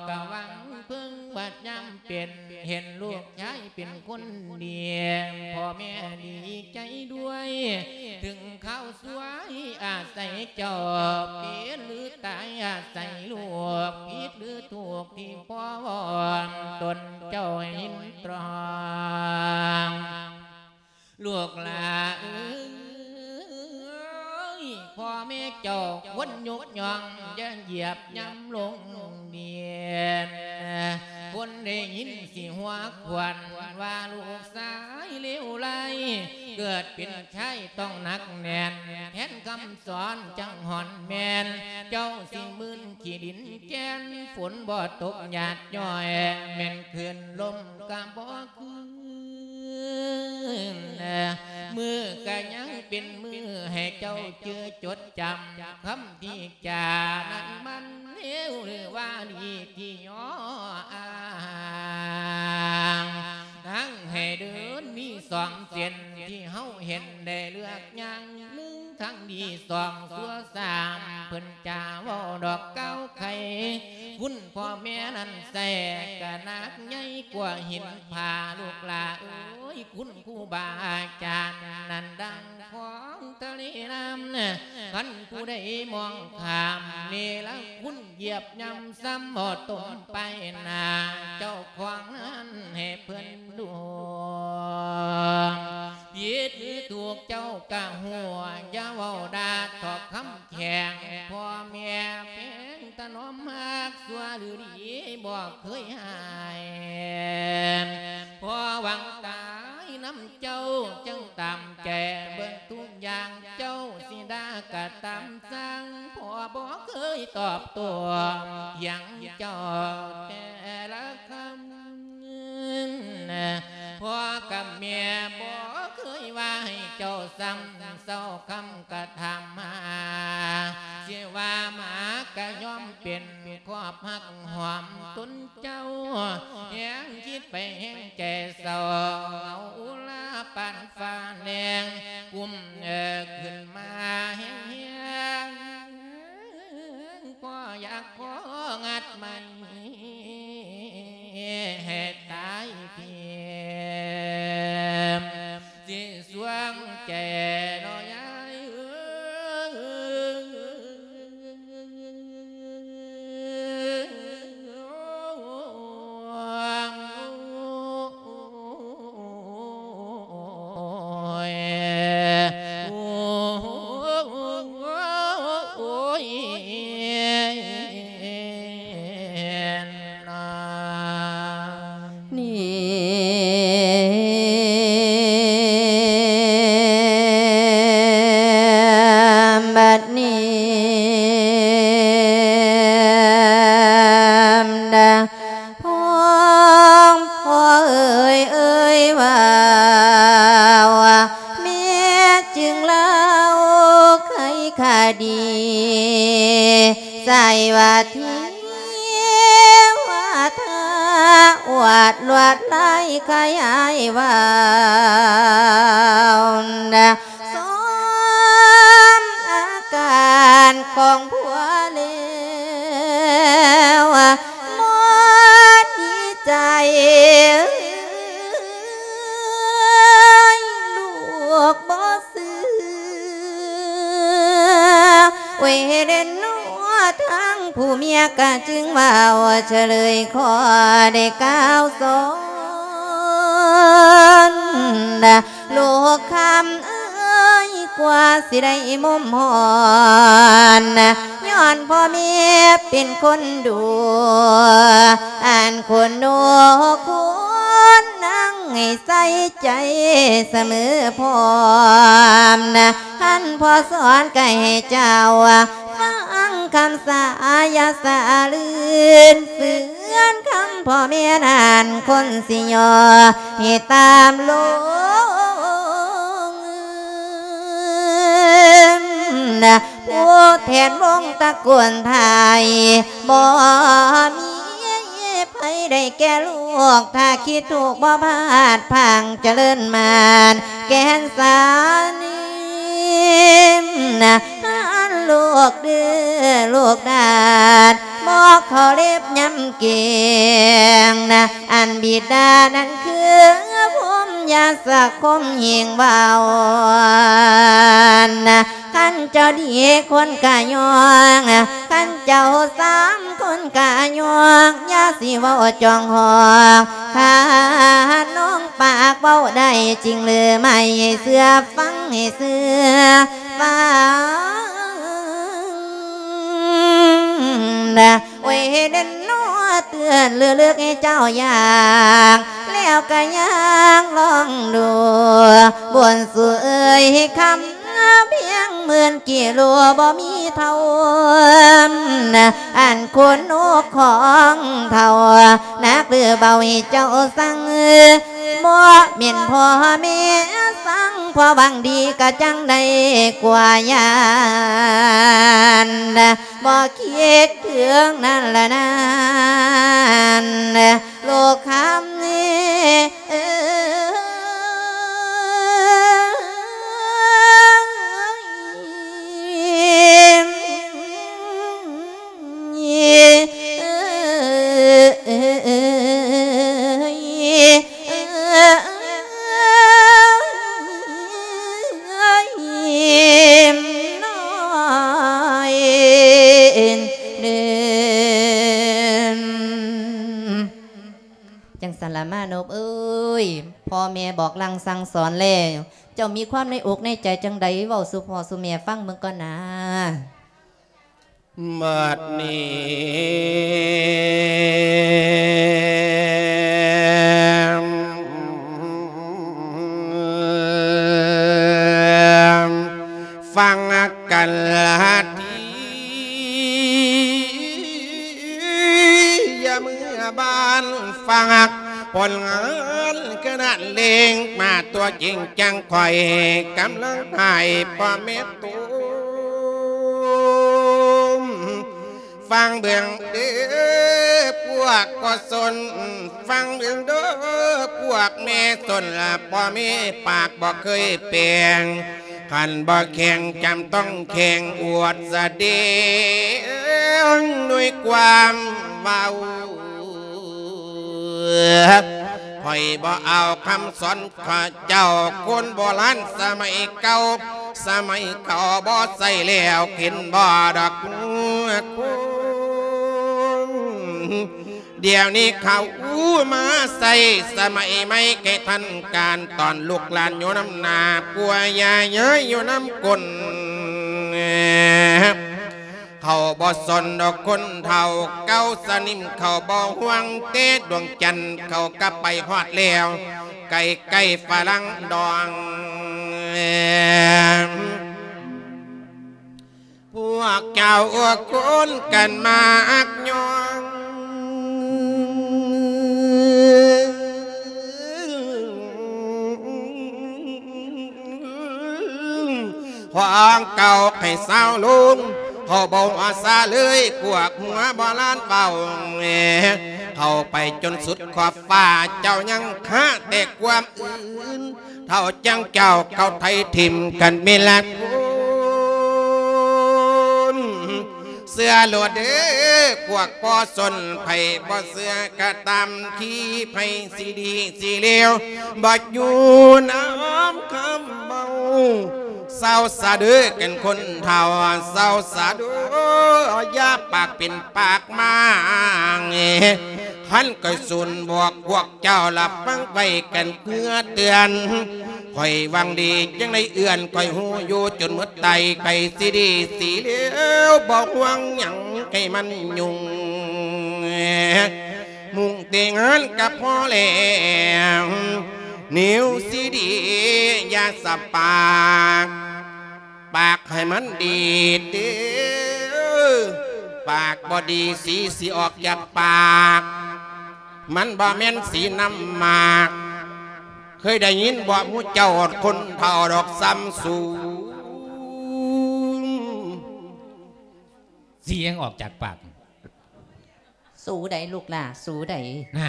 ກະຫວັງເພິ່ງ ບັດຍາມເປັນເຫັນລູກຊາຍເປັນຄົນດີ ພໍ່ແມ່ດີໃຈດ້ວຍ ເຖິງຄາວ ຊ່ວຍອາໄສເຈົ້າ ເປັນຫຼືຕາຍອາໄສລູກ ຜິດຫຼືຖືກທີ່ພໍ່ວອນ ຕົນເຈົ້າເຫັນຕອງ ລູກຫຼ້າເອີຍ ພໍ່ແມ່ເຈົ້າຄວນຍົກຍ້ອງ ຢ່າຢຽບຫຍ້ຳລົງດິນ ຄົນໄດ້ຍິນຊິຫົວຂວັນ ວ່າລູກຊາຍເລວໄຫຼ ເກີດເປັນ ຊາຍຕ້ອງໜັກແໜ້ນ ແທນຄຳສອນຈັ່ງຮ່ອນແມ່ນ ເຈົ້າຊິມື່ນຂີ້ດິນແກ່ນ ຝົນບໍ່ຕົກຫຍາດຍ້ອຍ ແມ່ນຄື້ນລົມກະບໍ່ຄືນ ມື້ກະຍັງເປັນມື້ໃຫ້ເຈົ້າຈື່ຈົດຈຳ ຄຳທີ່ຈານັ້ນມັນເລວຫຼືວ່າດີທີ່ຍໍອ້າງ ທາງໃຫ້ເດີນມີສອງເສັ້ນ ທີ່ເຮົາເຫັນໄດ້ເລືອກຍ່າງ ໜຶ່ງທາງດີ ສອງຊົ່ວ ສາມເພິ່ນຈາເວົ້າດອກກ່າວໄຂ ຄຸນພໍ່ແມ່ນັ້ນໃສ່ກະໜັກໃຫຍ່ກວ່າຫີນຜາ ລູກຫຼ້າເອີຍ ຄຸນຄູບາອາຈານນັ້ນ ດັ່ງຂອງທະເລນ້ຳ ຄັນຜູ້ໃດມອງຂ້າມເນລະຄຸນ ຢຽບຍ່ຳຊ້ຳບໍ່ຕົມໄປໜ້າເຈົ້າຂອງນັ້ນໃຫ້ເພິ່ນດູ ຜິດຫຼືຖືກເຈົ້າກະຮູ້ ຢ່າເວົ້າດ່າຖອກຄຳແຂງ ພໍ່ແມ່ແພງຖະໜອມຮັກຊົ່ວຫຼືດີບໍ່ເຄີຍຮ້າຍ ພໍຫວັງຕາຍນຳເຈົ້າ ຈຶ່ງຕາມໃຈເບິດທຸກຢ່າງ ເຈົ້າຊິດ່າກະຕາມຊ່າງ ພໍ່ບໍ່ເຄີຍຕອບໂຕ້ຫຍັງເຈົ້າແຕ່ລະຄຳ ພໍ່ກັບແມ່ບໍ່ເຄີຍວ່າໃຫ້ເຈົ້າຊ້ຳ ເຊົາຄຳກະຖາມຫາ ຊິວ່າໝາກະຍອມເປັນ ຄອບຮັກຫອມຕົນເຈົ້າ ແຮງຄິດໄປແຮງໃຈເສົ້າ ເອົາອຸລາປານຟ້າແນງ ກຸ້ມເອີຂຶ້ນມາແຮງໆ ກໍຢາກຂໍງັດໄມ້ໃຫ້ຕາຍພຽງ ຊິສວງແຈເນາະຍາຍເອີຍ ໂອ້ຍ ໂອ້ຍ ນາ ນີ້ ບັດນີ້ ພອງພໍ່ເອີຍ ເອີຍວ່າ ແມ່ຈຶ່ງເລົ່າໄຂຄະດີ ໃສ່ວ່າເທວະທາອວດລວດລາຍໄຂອ້າຍເວົ້າ ຊອມອາການຂອງຜົວແລ້ວ ໝົດໃຈ ລູກບໍ່ເຊື່ອ ເວເດນ ທາງຜູ້ເມຍກະຈຶ່ງເວົ້າ ສະເຫຼີຍຂໍໄດ້ກ່າວສອນ ລູກຄຳເອີຍ ກວ່າຊິໄດ້ມຸມຮອນ ຍ້ອນພໍ່ແມ່ເປັນຄົນດູ ອັນຄຸນໜູຄຸນນາງໃຫ້ໃສ່ໃຈສະເໝີພ້ອມ ຄັນພໍ່ສອນກະໃຫ້ເຈົ້າ ຟັງຄຳສາ ຢ່າສະເລື່ອນເຟືອນຄຳພໍ່ແມ່ນັ້ນ ຄົນຊິຍໍໃຫ້ຕາມລົງ ຜູ້ແທນວົງຕະໂກນໄທ ບໍ່ມີໃຜໄດ້ແກ່ລູກ ຖ້າຄິດທຸກບໍ່ພາດພັງ ຈະເລີນໝານແກ່ນສານ ອັນລູກດື້ລູກດາດ ໝອກເຂົ້າເລັບຍຳເກງ ອັນບິດານັ້ນຄືພົມຍາສະຄົມເຮງເວົ້າ ຄັນເຈົ້າດີຄົນກະຍ້ອງ ຄັນເຈົ້າສາມຄົນກະຍ້ອງ ຢ່າຊິເວົ້າຈ້ອງຮອງ ຖ້ານ້ອງປາກເວົ້າໄດ້ຈິງຫຼືໄໝ ໃຫ້ເຊື່ອຟັງ ໃຫ້ເຊື່ອຟັງ ໂອ້ຍ ເດັ່ນໜໍເຕືອນເລືອກໃຫ້ເຈົ້າຢ່າງ ແລ້ວກະຍ່າງລອງດູ ບຸນສູ່ເອີຍຄຳພຽງໝື່ນກິໂລບໍ່ມີເທົ່າ ອັນໂຄນນົກຂອງເຖົ້າ ໜັກຫຼືເບົາໃຫ້ເຈົ້າສັ່ງ ບໍ່ແມ່ນພໍ່ແມ່ສັ່ງ ພໍ່ຫວັງດີກະຈັ່ງໄດ້ກວ່າຢ້ານ ບໍ່ຄິດເຖິງນັ້ນລະນັ້ນ ລູກຄຳເອີຍ. ມານົບເອີຍ ພໍ່ແມ່ບອກສັ່ງສັ່ງສອນແລ້ວ ເຈົ້າມີຄວາມໃນອົກໃນໃຈຈັ່ງໃດ ເວົ້າສູ່ພໍ່ສູ່ແມ່ຟັງເບິ່ງກ່ອນນາ. ບັດນີ້ ຟັງກັນລະທີ ຢ່າເມືອບ້ານ ຝາກຜົນງານຂະໜາດເລັ່ງ ມາຕົວຈິງຈັງຂ້ອຍ ກຳລັງໃຫ້ພໍ່ແມ່ໂຕ ຟັງເບິ່ງເດີພວກພໍ່ຊົນ ຟັງເບິ່ງເດີພວກແມ່ຊົນ ລະພໍ່ແມ່ປາກບໍ່ເຄີຍແປງ ຄັນບໍ່ແຂງຈຳຕ້ອງແຂງອວດສະແດງດ້ວຍຄວາມເວົ້າ. ຂ້ອຍບໍ່ເອົາຄຳສອນຂະເຈົ້າ ຄົນໂບລານສະໄໝເກົ່າ ສະໄໝເກົ່າບໍ່ໃຊ້ແລ້ວ ກິນບໍ່ດອກຄົນ ດຽວນີ້ເຂົາມາໃຊ້ສະໄໝໃໝ່ ແກ່ທັນການ ຕອນລູກຫຼານຢູ່ນຳໜ້າ ປົວຍາຍາຍຢູ່ນຳກົ້ນ ເຂົາບໍ່ສົນດອກຄົນເຖົ້າເກົ່າສະໜິມ ເຂົາບໍ່ຫ່ວງແຕ່ດວງຈັນ ເຂົາກໍໄປຮອດແລ້ວ ໃກ້ໆຝຣັ່ງດອງ. ພວກເຈົ້າຄົນກັນມາອັກຍອງ ຂອງເກົ່າໃຫ້ສາວລົງ ເຂົາບໍ່ອາສາເລີຍ ພວກຫົວໂບລານເວົ້າ ເຂົ້າໄປຈົນສຸດຂອບຟ້າ ເຈົ້າຍັງຄາແຕ່ຄວາມອື່ນ ເຖົ້າຈັ່ງເຈົ້າເຂົາໄຖຖິ້ມກັນເມລະຄຸນ ເຊື່ອໂລດເດີພວກພໍ່ຊົນ ໃຜບໍ່ເຊື່ອກໍຕາມທີ່ ໃຜຊິດີຊິເລວ ບໍ່ຢູ່ນຳຄຳເວົ້າ ເຊົາສະເດີກັນຄົນເຖົ້າ ເຊົາສະເດີ ຢ່າປາກເປັນປາກມາງ ຄັນຂ້ອຍສູນບອກພວກເຈົ້າລະຟັງໄວ້ກັນເພື່ອເຕືອນ ຂ້ອຍຫວັງດີຈັ່ງໄດ້ເອື້ອນ ຂ້ອຍຮູ້ຢູ່ຈົນໝົດໄຕ ໃຜຊິດີຊິເລວ ບໍ່ຫວັງຫຍັງໃຫ້ມັນຫຍຸ້ງ ມຸ່ງແຕ່ງານກໍພໍແລ້ວ ແນວຊິດີຢ່າສະປາກ ປາກໃຫ້ມັນດີເດີ ປາກບໍ່ດີສີຊິອອກຈາກປາກ ມັນບໍ່ແມ່ນສີນ້ຳໝາກ ເຄີຍໄດ້ຍິນບໍ່ໝູ່ເຈົ້າຄົນເຖົ້າດອກສ່ຳສູ ສີຫຍັງອອກຈາກປາກ? ສູໃດລູກຫຼ້າ ສູໃດ? ນະ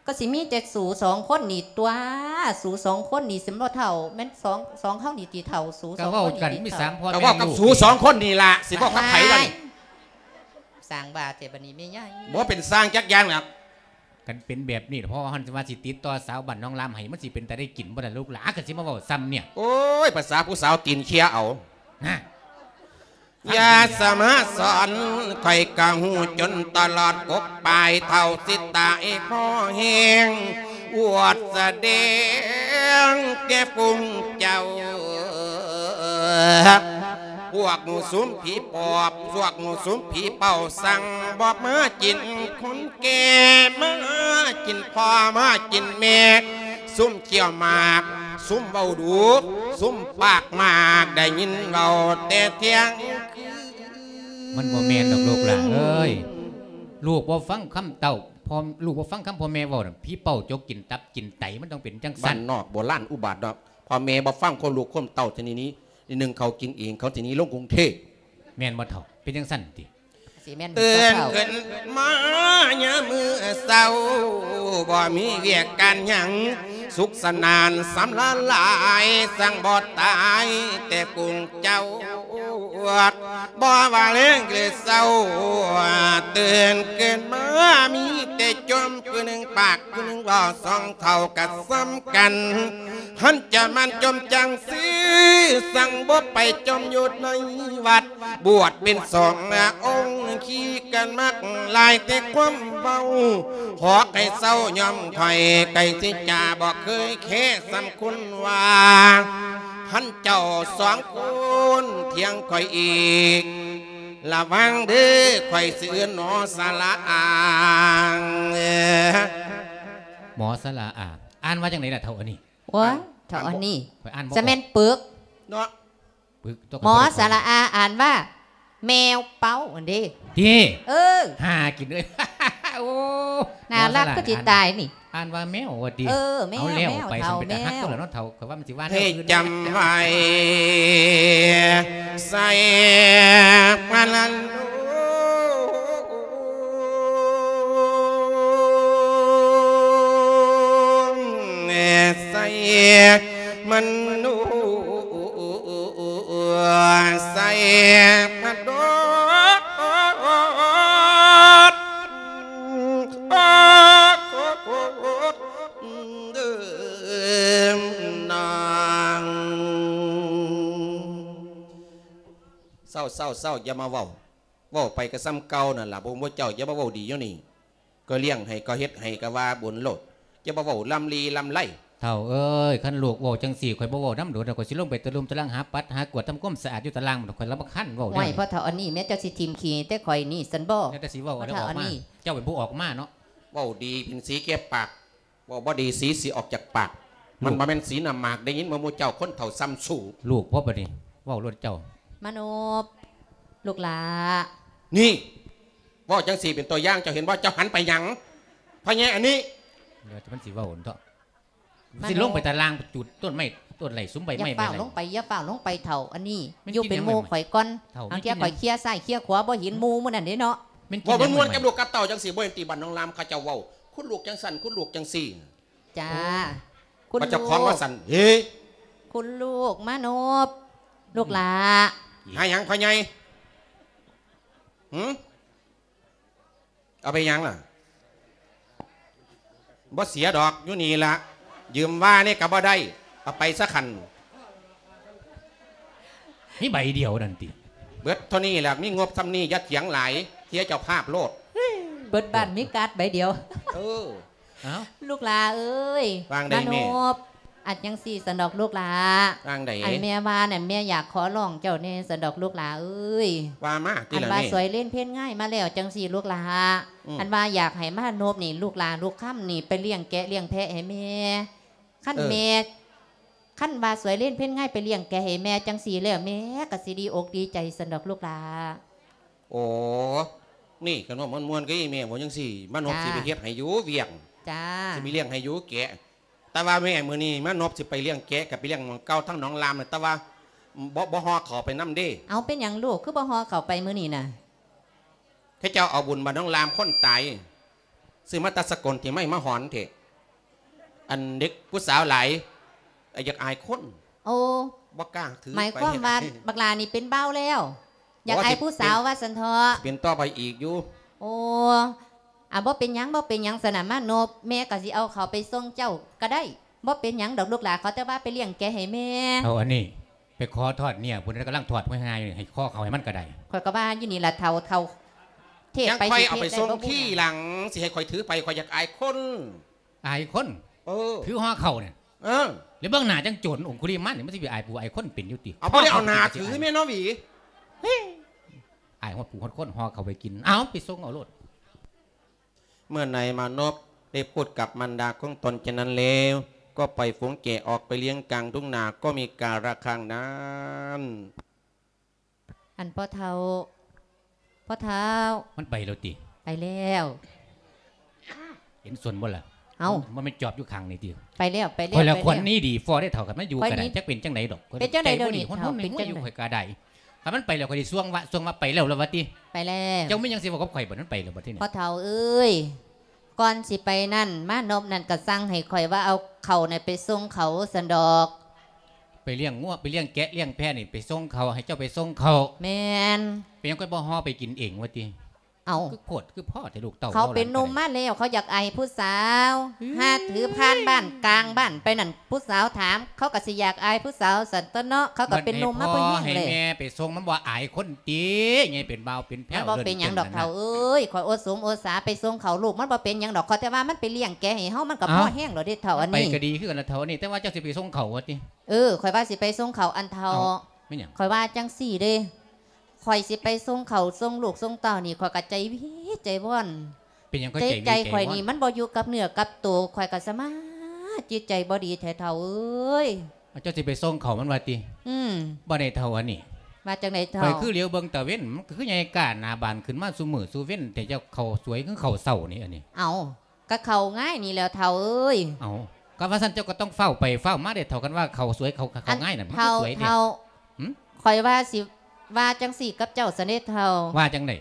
ກໍຊິມີແຕ່ສູສອງຄົນນີ້ຕົວະ ສູສອງຄົນນີ້ຊິບໍ່ເຖົ້າ ແມ່ນສອງ ສອງເຮົານີ້ຕິເຖົ້າ ສູສອງຄົນນີ້ຕິເຖົ້າ ກໍເວົ້າກັນມີສາມພໍ່ແມ່ລູກ ກໍເວົ້າກັບສູສອງຄົນນີ້ລະ ຊິເວົ້າກັບໃຜລະນີ້? ສ້າງວ່າແທ້ບັດນີ້ແມ່ໃຫຍ່ ບໍ່ເປັນສ້າງຈັກຢ່າງລະ ຄັນເປັນແບບນີ້ ເພາະວ່າເຮົາວ່າຊິຕິດຕໍ່ສາວບ້ານໜອງລາມໃຫ້ ມັນຊິເປັນຕາໄດ້ກິນບໍ່ລະລູກຫຼ້າ ກໍຊິມາເວົ້າສ່ຳນີ້ ໂອ້ຍ ພາສາຜູ້ສາວຕີນເຄຍເອົາ ນະ ຢ່າສາມາດສອນ ຂ້ອຍກະຮູ້ຈົນຕະຫຼອດກົກປາຍ ເຖົ້າຊິຕາຍພໍແຮງ ອວດສະແດງແກ່ຝູງເຈົ້າ ພວກໝູ່ຊຸມຜີປອບ ພວກໝູ່ຊຸມຜີເປົ້າ ສັ່ງບໍ່ມາກິນຄົນແກ່ ມາກິນພໍ່ ມາກິນແມ່ ຊຸມ ຂ້ຽວໝາກ ຊຸມເວົ້າດຸ ຊຸມປາກມາກ ໄດ້ຍິນເວົ້າແຕ່ທ່ຽງຄືນ ມັນບໍ່ແມ່ນດອກລູກຫຼ້າເອີຍ ລູກບໍ່ຟັງຄຳເຕົ້າ ພໍ່ ລູກບໍ່ຟັງຄຳພໍ່ແມ່ເວົ້ານະ ຜີເປົ້າຈົກກິນຕັບກິນໄຕ ມັນຕ້ອງເປັນຈັ່ງຊັ້ນ ບ້ານນອກໂບລານອຸບາດເນາະ ພໍ່ແມ່ບໍ່ຟັງຄວາມລູກຄວາມເຕົ້າ ທີນີ້ໜຶ່ງເຂົາກິນເອງ ເຂົາທີນີ້ລົງກຸງເທບ ແມ່ນບໍ່ເຖົ້າ? ເປັນຈັ່ງຊັ້ນຕິ? ຊິແມ່ນ ເຕືອນຂຶ້ນມາຍາມມື້ເຊົ້າ ບໍ່ມີວຽກການຫຍັງ ສຸກສະໜານສຳລານຫຼາຍ ສັ່ງບໍ່ຕາຍແຕ່ປຸງເຈົ້າ ບໍ່ວ່າແລງຫຼືເຊົ້າ ເຕືອນຂຶ້ນມາມີແຕ່ຈົ່ມ ຜູ້ໜຶ່ງປາກ ຜູ້ໜຶ່ງເວົ້າ ສອງເຖົ້າກໍສ່ຳກັນ ຄັນຈະມັນຈົ່ມຈັ່ງຊີ້ ສັ່ງບໍ່ໄປຈົ່ມຢູ່ໃນວັດ ບວດເປັນສອງອົງ ຂີ້ກັນມັກຫຼາຍແຕ່ຄວາມເວົ້າ ຂໍໃຫ້ເຊົາຍອມຂ້ອຍ ໄກ່ສິຈາບໍ່ເຄີຍແຄສຳຄຸນວ່າ ຄັນເຈົ້າສອງຄົນຖຽງຂ້ອຍອີກ ລະວັງເດີ ຂ້ອຍຊິເອີ້ນ ໝໍສະຫຼະອາ. ໝໍສະຫຼະອາ ອ່ານວ່າຈັ່ງໃດລະເຖົ້າອັນນີ້? ໂອ້ຍ ເຖົ້າອັນນີ້ ຂ້ອຍອ່ານບໍ່ອອກ ຈະແມ່ນປຶກເນາະ. ປຶກຕົວະ ໝໍສະຫຼະອາ ອ່ານວ່າ ແມວເປົ້າຫັ້ນເດ້. ຕິ? ເອີ ຫາກິນເອີຍ. ໂອ້ ໜ້າລັກຄືຊິຕາຍນີ້. ອ່ານວ່າແມວວ່າຕິ? ເອີ ແມວ ເອົາແລ້ວ ແມວ ໄປ ເຖົ້າ ຊັ້ນເປັນຕາຮັກ ແມວ ຕົວະເນາະເຖົ້າ. ຂ້ອຍວ່າມັນຊິວ່າແນວອື່ນ. ໃຫ້ຈຳໄວ້ ໃສ່ມະນະໂນ ໃສ່ມະໂນ ໃສ່ມະໂນ ນາງ. ເຊົາ ເຊົາ ເຊົາ ຢ່າມາເວົ້າ. ເວົ້າໄປກໍສ່ຳເກົ່ານັ້ນລະ. ພວກໝູ່ເຈົ້າຢ່າມາເວົ້າດີຢູ່ນີ້. ກໍລ້ຽງໃຫ້ ກໍເຮັດໃຫ້ ກໍວ່າບຸນໂລດ. ຢ່າມາເວົ້າລຳລີລຳໄລ. ເຖົ້າເອີຍ ຄັນລູກເວົ້າຈັ່ງຊີ້ ຂ້ອຍບໍ່ເວົ້ານຳໂດດດອກ. ຂ້ອຍຊິລົງໄປຕະລຸມຕະລັງ ຫາປັດຫາກວາດ ທຳຄວາມສະອາດຢູ່ຕະລາງ. ຂ້ອຍລຳຄານເວົ້າແນວນີ້. ໂອ້ຍ ພໍ່ເຖົ້າອັນນີ້ແມ້ ເຈົ້າຊິຖິ້ມຂີ້ແຕ່ຂ້ອຍນີ້ຊັ້ນບໍ? ແລ້ວແຕ່ຊິເວົ້າ ພໍ່ເຖົ້າອັນນີ້. ເຈົ້າເປັນຜູ້ອອກມາເນາະ. ເວົ້າດີເປັນສີແກ່ປາກ. ເວົ້າບໍ່ດີສີຊິອອກຈາກປາກ. ມັນບໍ່ແມ່ນສີນ້ຳໝາກ. ໄດ້ຍິນບໍ່ໝູ່ເຈົ້າ ຄົນເຖົ້າຊ້ຳຊູ້. ລູກພໍ່ບັດນີ້ ເວົ້າໂລດເຈົ້າ. ມານົບ ລູກຫຼ້າ. ນີ້ ເວົ້າຈັ່ງຊີ້ເປັນຕົວຢ່າງ ເຈົ້າເຫັນບໍ່? ເຈົ້າຫັນໄປຫຍັງ? ພໍ່ໃຫຍ່ອັນນີ້ ດຽວມັນຊິເວົ້າເນາະ. ມານົບ ຊິລົງໄປຕາລ່າງ ຈູດຕົ້ນໄມ້ຕົ້ນໄຫຼ ສຸມໃບໄມ້ ຢ່າຟ້າວລົງໄປ ຢ່າຟ້າວລົງໄປເຖົ້າອັນນີ້. ຢູ່ເປັນໝູ່ຂ້ອຍກ່ອນ. ເຖົ້າ ບາງເທື່ອຂ້ອຍເຄຍຊ້າຍເຄຍຂວາ ບໍ່ເຫັນໝູ່ມື້ນັ້ນເດ້ເນາະ. ເວົ້າມ່ວນໆກັບລູກກັບເຕົ້າຈັ່ງຊີ້ ບໍ່ເຫັນຕິ? ບ້ານໜອງລາມເຂົາເຈົ້າເວົ້າ ຄຸນລູກຈັ່ງຊັ້ນ ຄຸນລູກຈັ່ງຊີ້. ຈ້າ ຄຸນລູກ. ເຈົ້າຂອງວ່າຊັ້ນ ເອີ ຄຸນລູກມານົບ ລູກຫຼ້າ. ຫາຫຍັງພໍ່ໃຫຍ່? ຫື? ເອົາໄປຫຍັງລະ? ບໍ່ເສຍດອກ ຢູ່ນີ້ລະ. ຢືມວ່ານີ້ກໍບໍ່ໄດ້ ເອົາໄປຊະຄັນ. ມີໃບດຽວນັ້ນຕິ? ເບິດເທົ່ານີ້ແຫຼະ ມີງົບຊ່ຳນີ້ ຢ່າຖຽງຫຼາຍ ເສຍເຈົ້າພາບໂລດ. ເບິດບ້ານມີກາດໃບດຽວ. ເອີ ເອົ້າ ລູກຫຼ້າເອີຍ ວ່າງໃດແມ່? ມານົບ ອັນຈັ່ງຊີ້ຊັ້ນດອກລູກຫຼ້າ. ວ່າງໃດ? ອັນແມ່ວ່ານັ້ນ ແມ່ຢາກຂໍຮ້ອງເຈົ້າແດ່ຊັ້ນດອກລູກຫຼ້າເອີຍ. ວ່າມາຕິລະແມ່. ອັນວ່າສວຍເລນເພັນງາຍມາແລ້ວຈັ່ງຊີ້ລູກຫຼ້າ. ອືມ ອັນວ່າຢາກໃຫ້ມານົບນີ້ ລູກຫຼ້າລູກຄຳນີ້ ໄປລ້ຽງແກະລ້ຽງແພະໃຫ້ແມ່. ຄັນ ເອີ ແມ່ ຄັນວ່າສວຍເລນເພັນງາຍໄປລ້ຽງແກະໃຫ້ແມ່ຈັ່ງຊີ້ແລ້ວ ແມ່ກໍຊິດີອົກດີໃຈຊັ້ນດອກລູກຫຼ້າ. ໂອ້ ນີ້ຄັນວ່າມ່ວນໆ ກໍອີແມ່ເວົ້າຈັ່ງຊີ້ ມານົບ ຈ້າ ຊິໄປເຮັດໃຫ້ຢູ່ວຽກ. ຈ້າ ຊິໄປລ້ຽງໃຫ້ຢູ່ແກະ. ແຕ່ວ່າແມ່ ມື້ນີ້ມານົບຊິໄປລ້ຽງແກະ ກໍໄປລ້ຽງໝ່ອງເກົ່າ ທາງໜອງລາມນະ ແຕ່ວ່າບໍ່ ບໍ່ຫໍ່ເຂົ້າໄປນຳເດ້. ເອົາ ເປັນຫຍັງລູກ ຄືບໍ່ຫໍ່ເຂົ້າໄປມື້ນີ້ນະ? ເຂົາເຈົ້າເອົາບຸນບ້ານໜອງລາມ ຄົນຕາຍ ຊື້ມາແຕ່ສະກົນ ທີ່ໄມ້ມາຫອນເທະ. ອັນເດັກຜູ້ສາວຫຼາຍ ອາ ຢາກອາຍຄົນ. ໂອ້ ບໍ່ກ້າຖືໄປ. ໝາຍຄວາມວ່າບັກຫຼ້ານີ້ເປັນບ່າວແລ້ວ ຢາກອາຍຜູ້ສາວວ່າຊັ້ນເຖາະ. ເປັນຕໍ່ໄປອີກຢູ່. ໂອ້ ອາ ບໍ່ເປັນຫຍັງ ບໍ່ເປັນຫຍັງ ສະນະມານົບ ແມ່ກໍຊິເອົາເຂົາໄປສົ່ງເຈົ້າກໍໄດ້. ບໍ່ເປັນຫຍັງດອກລູກຫຼ້າ ຂໍແຕ່ວ່າໄປລ້ຽງແກະໃຫ້ແມ່. ເອົາອັນນີ້ ໄປຂໍທອດເນຍ ຜູ້ນັ້ນກຳລັງທອດຫວຍຫາຍ ໃຫ້ຂໍເຂົ້າໃຫ້ມັນກໍໄດ້. ຂ້ອຍກໍວ່າຢູ່ນີ້ລະເຖົ້າ ເຖົ້າເທດໄປ ຈັ່ງຂ້ອຍເອົາໄປສົ່ງທີຫຼັງ ຊິໃຫ້ຂ້ອຍຖືໄປ ຂ້ອຍຢາກອາຍຄົນ. ອາຍຄົນ? ເອີ ຖືຫໍ່ເຂົ້ານີ້. ເອີ ແລ້ວເບິ່ງໜ້າຈັ່ງໂຈນອົງຄຸລິມານນີ້ ມັນຊິໄປອາຍຜູ້ອາຍຄົນເປັນຢູ່ຕິ? ເອົາ ບໍ່ໄດ້ເອົາໜ້າຖືແມ່ນເນາະຫວີ. ເຮີ້ຍ ອາຍຮອດຜູ້ຮອດຄົນ ຫໍ່ເຂົ້າໄປກິນ. ເອົາ ໄປສົ່ງເອົາໂລດ. ເມື່ອໃດມານົບໄດ້ພູດກັບມານດາຂອງຕົນເຊັ່ນນັ້ນແລ້ວ ກໍປ່ອຍຝູງແກະອອກໄປລ້ຽງກາງທົ່ງນາ ກໍມີກາລະຄັງນັ້ນ. ອັນພໍ່ເຖົ້າ ພໍ່ເຖົ້າ. ມັນໄປແລ້ວຕິ? ໄປແລ້ວ. ເຫັນສົນບໍ່ລະ? ເອົ້າ ມັນແມ່ນຈອບຢູ່ຂ້າງນີ້ຕິ? ໄປແລ້ວ ໄປແລ້ວ. ຂ້ອຍລະຄວນນີ້ດີພໍໄດ້ເຖົ້າ ຄັນມັນຢູ່ກໍໄດ້ ຈັກເປັນຈັ່ງໃດດອກ. ເປັນຈັ່ງໃດດຽວນີ້ເຖົ້າ? ເປັນຫຍັງຢູ່ຂ້ອຍກໍໄດ້. ຄັນມັນໄປແລ້ວ ຂ້ອຍຊິສ່ວງວະ ສ່ວງວ່າໄປແລ້ວລະວ່າຕິ? ໄປແລ້ວ. ເຈົ້າມີຫຍັງຊິເວົ້າກັບຂ້ອຍບໍ່? ມັນໄປແລ້ວບັດທີນີ້. ພໍ່ເຖົ້າເອີຍ ກ່ອນຊິໄປນັ້ນ ມານົບນັ້ນກໍສັ່ງໃຫ້ຂ້ອຍວ່າເອົາເຂົ້ານັ້ນໄປສົ່ງເຂົາຊັ້ນດອກ. ໄປລ້ຽງງົວ ໄປລ້ຽງແກະລ້ຽງແພະນີ້ ໄປສົ່ງເຂົາ ໃຫ້ເຈົ້າໄປສົ່ງເຂົາ. ແມ່ນ. ເປັນຫຍັງຂ້ອຍບໍ່ຫໍ່ໄປກິນເອງວ່າຕິ? ເອົ້າ ຄືໂພດຄືພໍ້ແທ້ລູກເຕົ້າ ເຂົາເປັນໜຸ່ມມາແລ້ວ ເຂົາຢາກອາຍຜູ້ສາວ ຫາຖືຜ່ານບ້ານກາງບ້ານໄປນັ້ນ ຜູ້ສາວຖາມ ເຂົາກໍຊິຢາກອາຍຜູ້ສາວຊັ້ນຕົວະເນາະ ເຂົາກໍເປັນໜຸ່ມມາພໍແຮງແລ້ວ ໃຫ້ແມ່ໄປສົ່ງ ມັນບໍ່ອາຍຄົນຕິ ໃຫຍ່ເປັນບ່າວເປັນແພ້ວ ມັນບໍ່ເປັນຫຍັງດອກເຖົ້າເອີຍ ຂ້ອຍອົດສົມອົດສາໄປສົ່ງເຂົາ ລູກມັນບໍ່ເປັນຫຍັງດອກ ຂ້ອຍແຕ່ວ່າມັນໄປລ້ຽງແກະໃຫ້ເຮົາ ມັນກໍພໍແຮງແລ້ວເດ້ເຖົ້າອັນນີ້ ໄປກໍດີຄືກັນລະເຖົ້າອັນນີ້ ແຕ່ວ່າເຈົ້າຊິໄປສົ່ງເຂົາວ່າຕິ ເອີ ຂ້ອຍວ່າຊິໄປສົ່ງເຂົາ ອັນເຖົ້າ ເອົ້າ ແມ່ນຫຍັງ ຂ້ອຍວ່າຈັ່ງຊີ້ເດ້ ຂ້ອຍຊິໄປສົ່ງເຂົາ ສົ່ງລູກ ສົ່ງເຕົ້ານີ້ ຂ້ອຍກໍໃຈວິດໃຈວອນ ເປັນຫຍັງຂ້ອຍໃຈວິດໃຈວອນ ໃຈຂ້ອຍນີ້ມັນບໍ່ຢູ່ກັບເນື້ອກັບໂຕ ຂ້ອຍກໍສະມາດ ຈິດໃຈບໍ່ດີແທ້ເຖົ້າເອີຍ ເຈົ້າຊິໄປສົ່ງເຂົາມັນວ່າຕິ ອືມ ບໍ່ໄດ້ເຖົ້າອັນນີ້ ວ່າຈັ່ງໃດເຖົ້າ ຂ້ອຍຄືຫຼຽວເບິ່ງຕາເວັນ ມັນຄືໃຫຍ່ກ້າໜ້າບານຂຶ້ນມາຊຸມື້ຊຸເວັນແທ້ ເຈົ້າເຂົ້າສວຍຄືເຂົ້າເຊົ້ານີ້ ອັນນີ້ ເອົ້າ ກະເຂົ້າງາຍນີ້ແຫຼ້ວເຖົ້າເອີຍ ເອົ້າ ກະວ່າຊັ້ນເຈົ້າກໍຕ້ອງຟ້າວໄປຟ້າວມາເດ້ເຖົ້າ ຄັນວ່າເຂົ້າສວຍເຂົ້າ ເຂົ້າງາຍນັ້ນ ມັນຄືສວຍເດ້ ເຖົ້າ ຫຶ ຂ້ອຍວ່າຊິວ່າຈັ່ງຊີ້ກັບເຈົ້າຊັ້ນເດ້ເຖົ້າ ວ່າຈັ່ງໃດ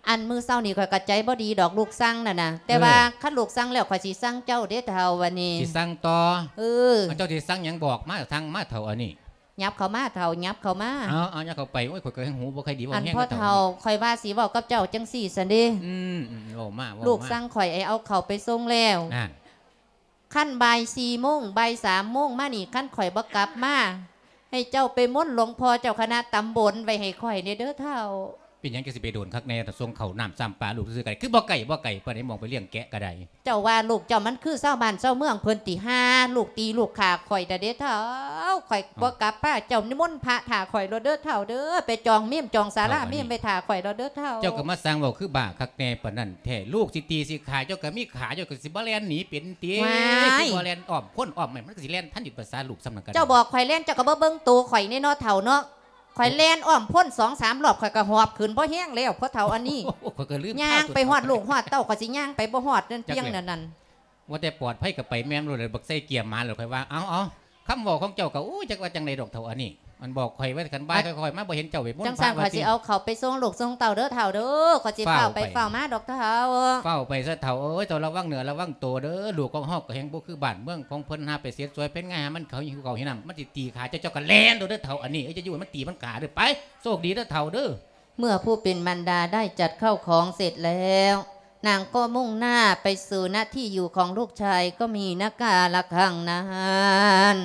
ອັນມື້ເຊົ້ານີ້ຂ້ອຍກະໃຈບໍ່ດີດອກ ລູກສັ່ງນັ້ນນະ ແຕ່ວ່າ ເອີ ຄັນລູກສັ່ງແລ້ວ ຂ້ອຍຊິສັ່ງເຈົ້າເດ້ເຖົ້າ ບາດນີ້ ຊິສັ່ງຕໍ່ ເອີ ເຈົ້າຊິສັ່ງຫຍັງບອກມາ ສັ່ງມາເຖົ້າອັນນີ້ ຫຍັບເຂົ້າມາເຖົ້າ ຫຍັບເຂົ້າມາ ເອົາ ເອົາ ຫຍັບເຂົ້າໄປ ໂອ້ຍ ຂ້ອຍກໍຫູບໍ່ຄ່ອຍດີ ເວົ້າແຮງ ອັນພໍ່ເຖົ້າ ຂ້ອຍວ່າຊິເວົ້າກັບເຈົ້າຈັ່ງຊີ້ຊັ້ນເດ້ ອືມ ເວົ້າມາ ເວົ້າມາ ລູກສັ່ງຂ້ອຍໃຫ້ເອົາເຂົ້າໄປສົ່ງແລ້ວ ນັ້ນ ຄັນບ່າຍສີ່ໂມງ ບ່າຍສາມໂມງມານີ້ ຄັນຂ້ອຍບໍ່ກັບມາ ໃຫ້ເຈົ້າໄປມົນຫຼວງພໍ່ເຈົ້າຄະນະຕຳບົນໄວ້ໃຫ້ຂ້ອຍແດ່ເດີເຖົ້າ ເປັນຫຍັງຈັ່ງຊິໄປໂດນຄັກແນ່ ຖ້າສົ່ງເຂົ້ານ້ຳຊ້ຳປາລູກຊື່ໆ ກໍໄດ້ ຄືບໍ່ໄກ ບໍ່ໄກປານໃດ ໝ່ອງໄປລ້ຽງແກະກໍໄດ້ ເຈົ້າວ່າລູກເຈົ້າມັນຄືຊາວບ້ານຊາວເມືອງເພິ່ນຕິ ຫາລູກຕີລູກຂ້າຂ້ອຍດາເດເຖົ້າ ຂ້ອຍບໍ່ກັບພາເຈົ້າ ນິມົນພະຖ້າຂ້ອຍໂລດເດີເຖົ້າເດີ ໄປຈອງເມມຈອງສາລາເມມໄວ້ຖ້າຂ້ອຍໂລດເດີເຖົ້າ ເຈົ້າກໍມາສ້າງເວົ້າຄືບ້າຄັກແນ່ປານນັ້ນແທ້ ລູກຊິຕີຊິຂ້າເຈົ້າກໍມີຂາ ເຈົ້າກໍຊິບໍ່ແລ່ນໜີເປັນຕິ ຄືບໍ່ແລ່ນອ້ອມຄົນອ້ອມໄມ້ ມັນກໍຊິແລ່ນທັນຢູ່ພາສາລູກສ່ຳນັ້ນກໍໄດ້ ເຈົ້າບອກຂ້ອຍແລ່ນ ເຈົ້າກໍບໍ່ເບິ່ງໂຕຂ້ອຍແນ່ເນາະເຖົ້າເນາະ ຂ້ອຍແລ່ນອ້ອມພົ້ນສອງສາມລອບ ຂ້ອຍກໍຫອບຂຶ້ນ ພໍແຮງແລ້ວ ພໍເຖົ້າອັນນີ້ ຍ່າງໄປຮອດລູກຮອດເຕົ້າ ຂ້ອຍຊິຍ່າງໄປບໍ່ຮອດນັ້ນພຽງນັ້ນ ວ່າແຕ່ປອດໄພກໍໄປແມ່ນໂລດ ບັກໃສ່ເກຍໝາໂລດ ຂ້ອຍວ່າ ເອົາໆ ຄຳເວົ້າຂອງເຈົ້າກໍ ໂອ້ຍ ຈັກວ່າຈັ່ງໃດດອກເຖົ້າອັນນີ້ ມັນບອກຂ້ອຍວ່າຄັນບ່າຍຂ້ອຍມາບໍ່ເຫັນເຈົ້າໄປມົນພະ ຈັ່ງຊັ້ນຂ້ອຍຊິເອົາເຂົ້າໄປສົ່ງລູກສົ່ງເຕົ້າເດີເຖົ້າເດີ ຂ້ອຍຊິຟ້າວໄປຟ້າວມາດອກເຖົ້າ ຟ້າວໄປຊະເຖົ້າເອີຍ ເຈົ້າລະວັງເນື້ອລະວັງໂຕເດີ ລູກຂອງເຮົາກໍແຮ່ງບໍ່ຄືບ້ານເມືອງຂອງເພິ່ນ ຫາໄປເສັດສວຍເປັນໄງ ຫາມັນເຂົ້າຫິວເຂົ້າຫ້ຳ ມັນຊິຕີຂາເຈົ້າ ເຈົ້າກໍແລ່ນໂລດເດີເຖົ້າອັນນີ້ ເອີຍ ຢ່າຢູ່ໃຫ້ມັນຕີມັນຂ້າເດີ ໄປ ໂຊກດີເດີເຖົ້າເດີ ເມື່ອຜູ້ເປັນມານດາໄດ້ຈັດເຂົ້າຂອງເສັດແລ້ວ ນາງກໍມຸ່ງໜ້າໄປສູ່ນະທີ່ຢູ່ຂອງລູກຊາຍ ກໍມີນະກາລະຄັງນັ້ນ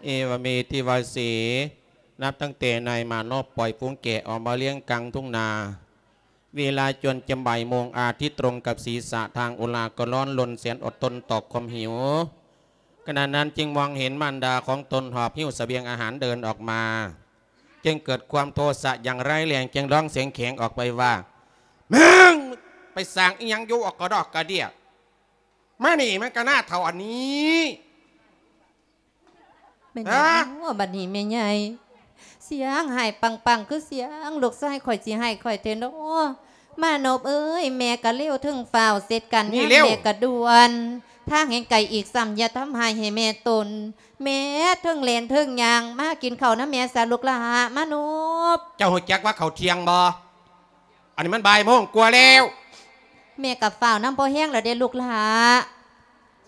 ເອວະເມ ທິວາສີ ນັບຕັ້ງແຕ່ນາຍມານົບປ່ອຍຝູງແກະອອກມາລ້ຽງກາງທົ່ງນາ ເວລາຈົນຈະບ່າຍໂມງ ອາທິດຕຣົງກັບສີສະ ທາງອຸລາກໍຮ້ອນລົນແສນອົດທົນຕໍ່ຄວາມຫິວ ຂະນະນັ້ນຈຶ່ງມອງເຫັນມານດາຂອງຕົນຫອບຫິ້ວສະບຽງອາຫານເດີນອອກມາ ຈຶ່ງເກີດຄວາມໂທສະຢ່າງຮ້າຍແຮງ ຈຶ່ງຮ້ອງສຽງແຂງອອກໄປວ່າ ມຶງໄປສ້າງອີ່ຫຍັງຢູ່ອອກກະດອກກະເດຍ ມານີ້ມັນກະໜ້າເຖົ້າອັນນີ້ ແມ່ນຫຍັງເນາະບັດນີ້ແມ່ໃຫຍ່ ສຽງຮ້າຍປັງໆ ຄືສຽງລູກຊາຍຂ້ອຍຊິຮ້າຍຂ້ອຍແທ້ເນາະ ມານົບເອີຍ ແມ່ກະເລວເທິງຟ້າວ ເສັດການງານແມ່ກະດ່ວນ ທາງແຫ່ງໄກອີກຊ້ຳ ຢ່າທຳຮ້າຍໃຫ້ແມ່ຕົນ ແມ່ເທິງແລ່ນເທິງຍ່າງ ມາກິນເຂົ້ານຳແມ່ຊະລູກຫຼ້າ ມານົບ ເຈົ້າຮູ້ຈັກວ່າເຂົ້າທ່ຽງບໍ່? ອັນນີ້ມັນບ່າຍໂມງກວ່າແລ້ວ ແມ່ກໍຟ້າວນຳພໍແຮງແລ້ວເດ້ລູກຫຼ້າ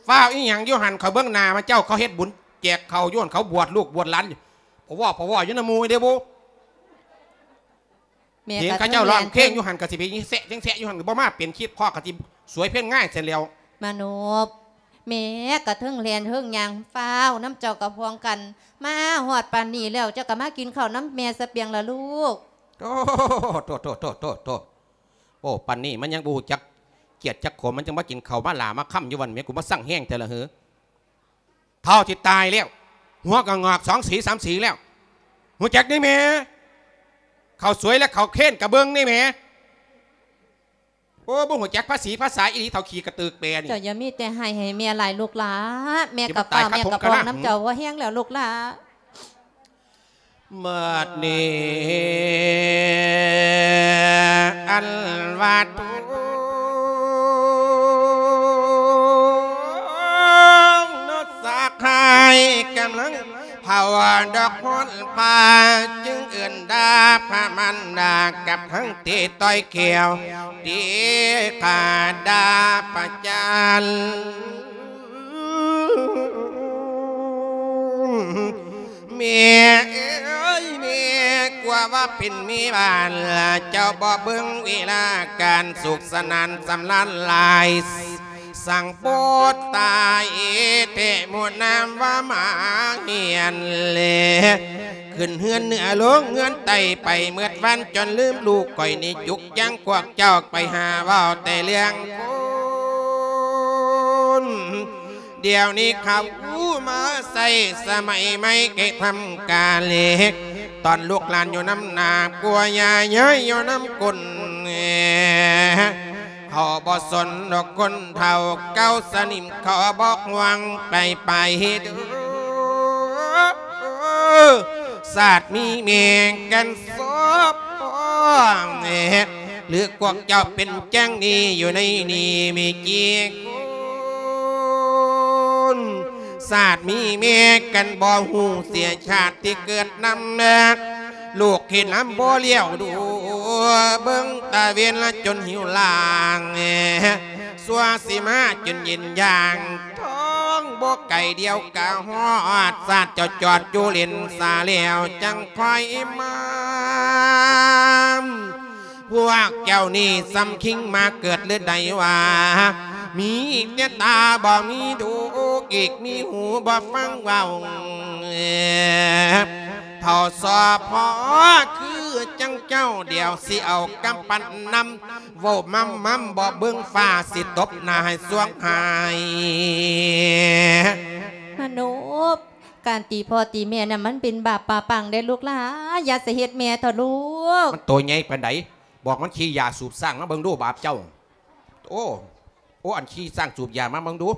ຟ້າວອີ່ຫຍັງຢູ່ຫັ້ນ ຂ້ອຍເບິ່ງໜ້າມາເຈົ້າ ເຂົາເຮັດບຸນແຈກເຂົ້າຢູ່ຫັ້ນ ເຂົາບວດລູກບວດຫຼານ ພະວໍ້ພະວໍ້ຢູ່ນຳໝູ່ເດ້ບຸ ແມ່ເຫັນເຂົາເຈົ້າຮ້ອງເພງຢູ່ຫັ້ນ ກໍຊິໄປແຊະແຊະຢູ່ຫັ້ນ ບໍ່ມາເປັນຄລິບພໍ້ ກໍຊິສວຍເພງງາຍຊັ້ນແລ້ວ ມານົບ ແມ່ກໍເທິງແລ່ນເທິງຍ່າງ ຟ້າວນຳເຈົ້າກັບພວງກັນ ມາຮອດປານນີ້ແລ້ວ ເຈົ້າກໍມາກິນເຂົ້ານຳແມ່ຊະປຽງລະລູກ ໂອ້ ໂອ້ ປານນີ້ມັນຍັງບໍ່ຮູ້ຈັກກຽດຈັກຂົມ ມັນຈັ່ງມາກິນເຂົ້າມາຫຼ້າມາຄຳຢູ່ວັນ ແມ່ ກູມາຊັງແຮງແທ້ລະເຫີ ເຖົ້າຊິຕາຍແລ້ວ ຫົວກໍງອກສອງສີສາມສີແລ້ວ ຮູ້ຈັກນີ້ແມ່ ເຂົ້າສວຍແລະເຂົ້າເຄນກະເບິ່ງນີ້ແມ່ ໂອ້ ບໍ່ຮູ້ຈັກພາສີພາສາອີ່ຫຼີ ເຖົ້າຂີ້ກະເຕີກແປນີ້ ເຈົ້າຢ່າມີແຕ່ຮ້າຍໃຫ້ແມ່ຫຼາຍລູກຫຼ້າ ແມ່ກໍຟ້າວ ແມ່ກໍພອງນຳເຈົ້າ ພໍແຮງແລ້ວລູກຫຼ້າ ບັດນີ້ອັນວ່າທຸກສະຫາຍກຳລັງ ພາວະດອກໂພນພາ ຈຶ່ງເອີ້ນດ່າພະມານດາ ກັບທັງຕີຕ່ອຍແຂ້ວ ຕີຂ້າດ່າປະຈານ ແມ່ເອີຍ ແມ່ ກວ່າວ່າເປັນແມ່ບ້ານ ເຈົ້າບໍ່ເບິ່ງເວລາການ ສຸກສະໜານສຳລານຫຼາຍ ສັງໂປດຕາເອ ແທ້ໝູ່ນາມວ່າມາຮຽນແລ ຂຶ້ນເຮືອນເໜືອລົງເຮືອນໃຕ້ ໄປເໝິດວັນຈົນລືມລູກຂ້ອຍນີ້ ຈຸກຈັງພວກເຈົ້າໄປຫາເວົ້າແຕ່ເລື່ອງຄົນ ດຽວນີ້ເຂົາມາໃຊ້ສະໄໝໃໝ່ ແກ່ທຳການເລັກ ຕອນລູກຫຼານຢູ່ນຳໜ້າ ຜົວຍ່າເຍີ້ຍຢູ່ນຳກົ້ນ ເຂົາບໍ່ສົນດອກຄົນເຖົ້າເກົ່າສະໜິມ ເຂົາບໍ່ຫວັງໄປໄປເດີ ຊາດມີແມ່ກັນສອບ ຫຼືພວກເຈົ້າເປັນຈັ່ງນີ້ຢູ່ໃນນີ້ມີກີ່ຄົນ ຊາດມີແມ່ກັນບໍ່ຮູ້ເສຍຊາດທີ່ເກີດນຳ ລູກເຫັນນຳບໍ່ລ້ຽວດູ ເບິ່ງຕາເວັນລະຈົນຫິວລາງ ຊົ່ວຊິມາຈົນເຢັນຢ່າງ ທ້ອງບໍ່ໄກດຽວກະຮອດ ຊາດເຈົ້າຈອດຢູ່ເຫຼັນສາແລ້ວຈັ່ງຄ່ອຍມາ ພວກເຈົ້ານີ້ສ່ຳຄິງມາເກີດຫຼືໃດວ່າ ມີແຕ່ຕາບໍ່ມີດູ ອີກມີຫູບໍ່ຟັງເວົ້າ ເຖົ້າສອພໍຄືຈັ່ງເຈົ້າ ດຽວຊິເອົາກຳປັ້ນນຳ ເວົ້າມຳໆ ບໍ່ເບິ່ງຟ້າ ຊິຕົບໜ້າໃຫ້ສວງຫາຍ ມະໂນບ ການຕີພໍ່ຕີແມ່ນະ ມັນເປັນບາບປາປັງເດ້ລູກຫຼາ ຢ່າສະເຮັດແມ່ເຖາະລູກ ມັນໂຕໃຫຍ່ປານໃດ ບອກມັນຂີ້ຢາສູບສ້າງມາເບິ່ງດູ ບາບເຈົ້າ ໂອ້ ໂອ້ ອັນຂີ້ສ້າງສູບຢາມາເບິ່ງດູ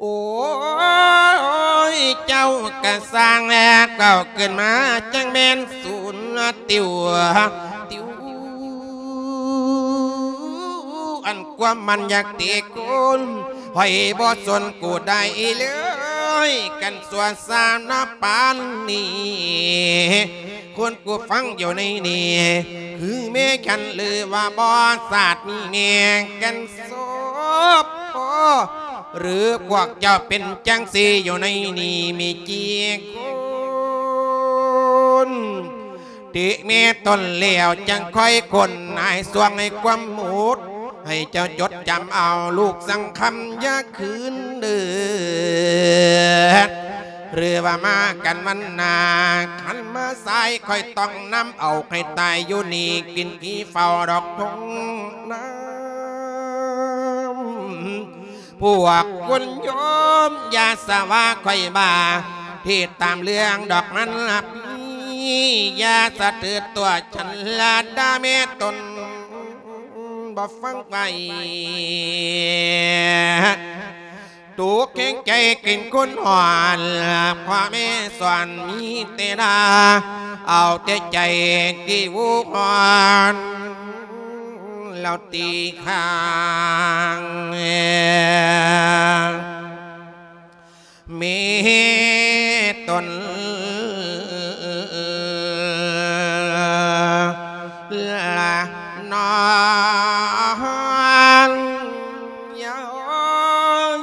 ໂອ້ຍ ເຈົ້າກະຊ່າງແລະ ເວົ້າຂຶ້ນມາຈັ່ງແມ່ນສູນຕິວ ຕິວ ອັນຄວາມມັນຢາກຕີຄົນ ຂ້ອຍບໍ່ສົນກູໄດ້ເລີຍ ກັນຊົ່ວຊານະປານນີ້ ຄົນກູຟັງຢູ່ໃນນີ້ ຄືແມ່ຄັນຫຼືວ່າບໍ່ ຊາດມີແມ່ກັນ ສອບພໍ ຫຼືພວກເຈົ້າເປັນຈັ່ງຊີ້ຢູ່ໃນນີ້ມີກີ່ຄົນ ຕິແມ່ຕົນແລ້ວຈັ່ງຄ່ອຍຄົນ ໃຫ້ຊ່ວງໃຫ້ຄວາມໝູດ ໃຫ້ເຈົ້າຈົດຈຳເອົາ ລູກສັງຄຳຢ່າຄືນເດີ ຫຼືວ່າມາກັນວັນໜ້າ ຄັນມາສາຍຂ້ອຍຕ້ອງນຳເອົາໃຫ້ຕາຍຢູ່ນີ້ ກິນຂີ້ເຝົ້າດອກທົ່ງນາ ພວກຄຸນໂຍມຢ່າສະວ່າຂ້ອຍບ້າ ທີ່ຕາມເລື່ອງດອກມັນລະພີ ຢ່າສະຖືຕົວະ ສັນລະດາແມ່ຕົນ ບໍ່ຟັງໄວ້ ໂຕແຂງໃຈເປັນຄົນອ່ອນ ພໍ່ແມ່ສອນມີແຕ່ດ່າ ເອົາແຕ່ໃຈທີ່ວູຮອນ ແລ້ວຕີຂ້າງ ເມຕົນລະນອນຍາວ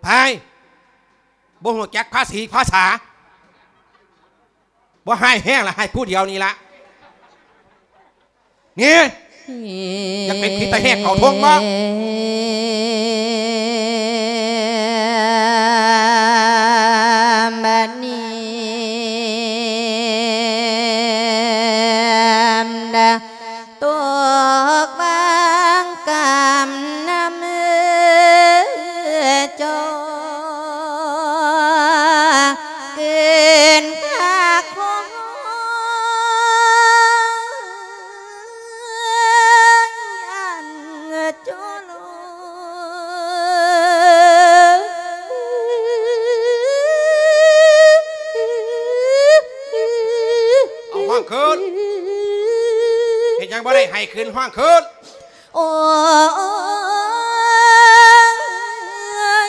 ໄປ ບໍ່ຮູ້ຈັກພາສີພາສາ ບໍ່ຮ້າຍແຮງລະ ຮ້າຍຜູ້ດຽວນີ້ລະ ນີ້ ຢາກເປັນຜີຕາແຫກເຂົ້າທົ່ງບໍ່? ບັດນີ້ດາ ຕົກວາງກຳນຳເຈົ້າ ເກີນຄ່າຂອງອັນຈຸລ ບໍ່ໄດ້ໃຫ້ຂຶ້ນ ຮ້ອງຂຶ້ນ. ໂອ້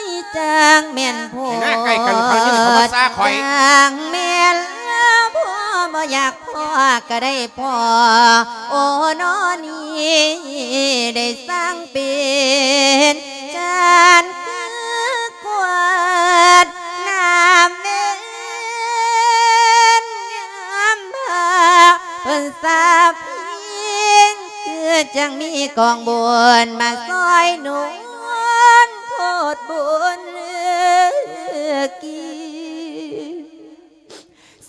ຍ ຈັ່ງແມ່ນໂພດ ໃຫ້ໜ້າໃກ້ກັນ ເຂົາຍິນເຂົາມາຊາຂ້ອຍ ຈັ່ງແມ່ນແລ້ວ ພໍບໍ່ຢາກພໍກໍໄດ້ພໍ ໂອ້ ນອນີ້ ໄດ້ສ້າງເປັນ ຈັນຄືກວດນ້ຳເວັນຍາມພາ ເພິ່ນສາບພິງ ຄືຈັ່ງມີກອງບຸນມາຊ່ອຍໜູນ ໂທດບຸນກີ້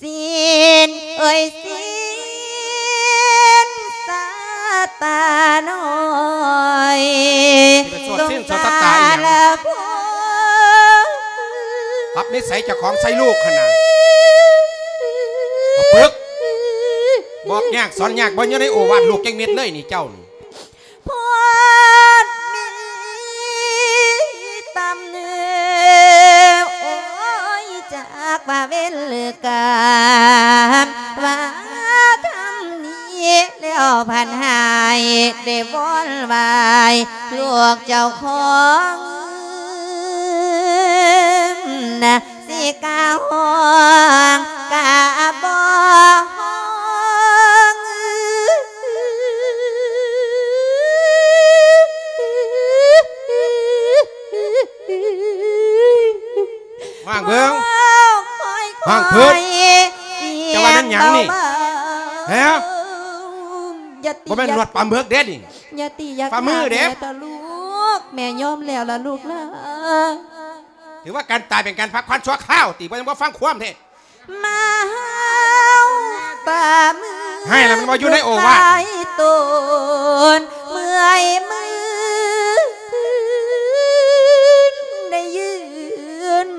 ສິນເອີຍສິນ ຊາຕານ້ອຍ ຊິໄປສວດສິນສວດຊາຕາອີ່ຫຍັງ? ປັບນິໄສເຈົ້າຂອງໃສ່ລູກຫັ້ນນະ ປຶກ ບອກຍາກສອນຍາກ ບໍ່ຢູ່ໃນໂອວາດລູກຈັກເມັດເລີຍນີ້ເຈົ້ານີ້. ໂພດມີຕຳເນີ ໂອ້ຍ ຈັກວ່າເວນຫຼືກຳ ວ່າທຳນີ້ແລ້ວພັນຫາຍ ໄດ້ວອນໄຫວ້ລູກເຈົ້າຂອງ ນະ ຊິກະຮ້ອງກະບໍ່ຮ້ອງ. ຮ້ອງເບິ່ງ ຮ້ອງຂຶ້ນ ເຈົ້າວ່າແມ່ນຫຍັງນີ້? ຮະ? ບໍ່ແມ່ນໜວດປາໝຶກເດ້ນີ້ ຢ່າຕີ ຢ່າ ປາມືເດ້ ຂ້າແມ່ເຖາະລູກ ແມ່ຍອມແລ້ວລະລູກຫຼານ. ຖືວ່າການຕາຍເປັນການພັກຜ່ອນຊົ່ວຄາວຕິ ບໍ່ ຍັງບໍ່ຟັງຄວາມແທ້ ມາເຮົາຕາມື ໃຫ້ລະມັນບໍ່ຢູ່ໃນໂອວາດ ສາຍຕົນ ເມື່ອຍມື ໄດ້ຢືນ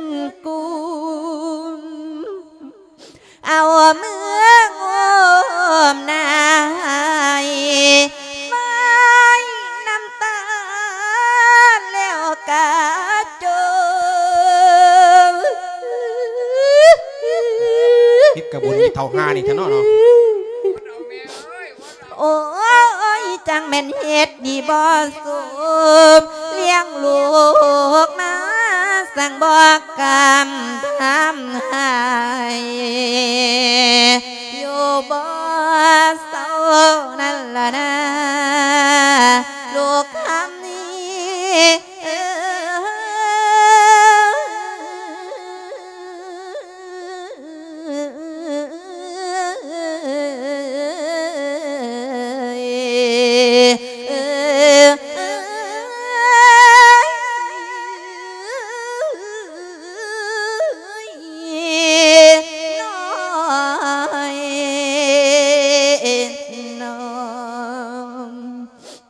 ກຸມ ເອົາມືໂອ້ມໜ້າໃຫ້ ໄວ້ນ້ຳຕາແລ້ວກະຈົບ ຜິດກະບຸນອີເຖົ້າຫ່ານີ້ແທ້ເນາະ ເນາະ. ໂອ້ຍ ຈັ່ງແມ່ນເຮັດດີບໍ່ສົມ ລ້ຽງລູກມາ ສັງບອກກຳທຳໃຫ້ ຢູ່ບໍ່ເຊົານັ້ນລະນາ ລູກຄຳນີ້ ເອີ.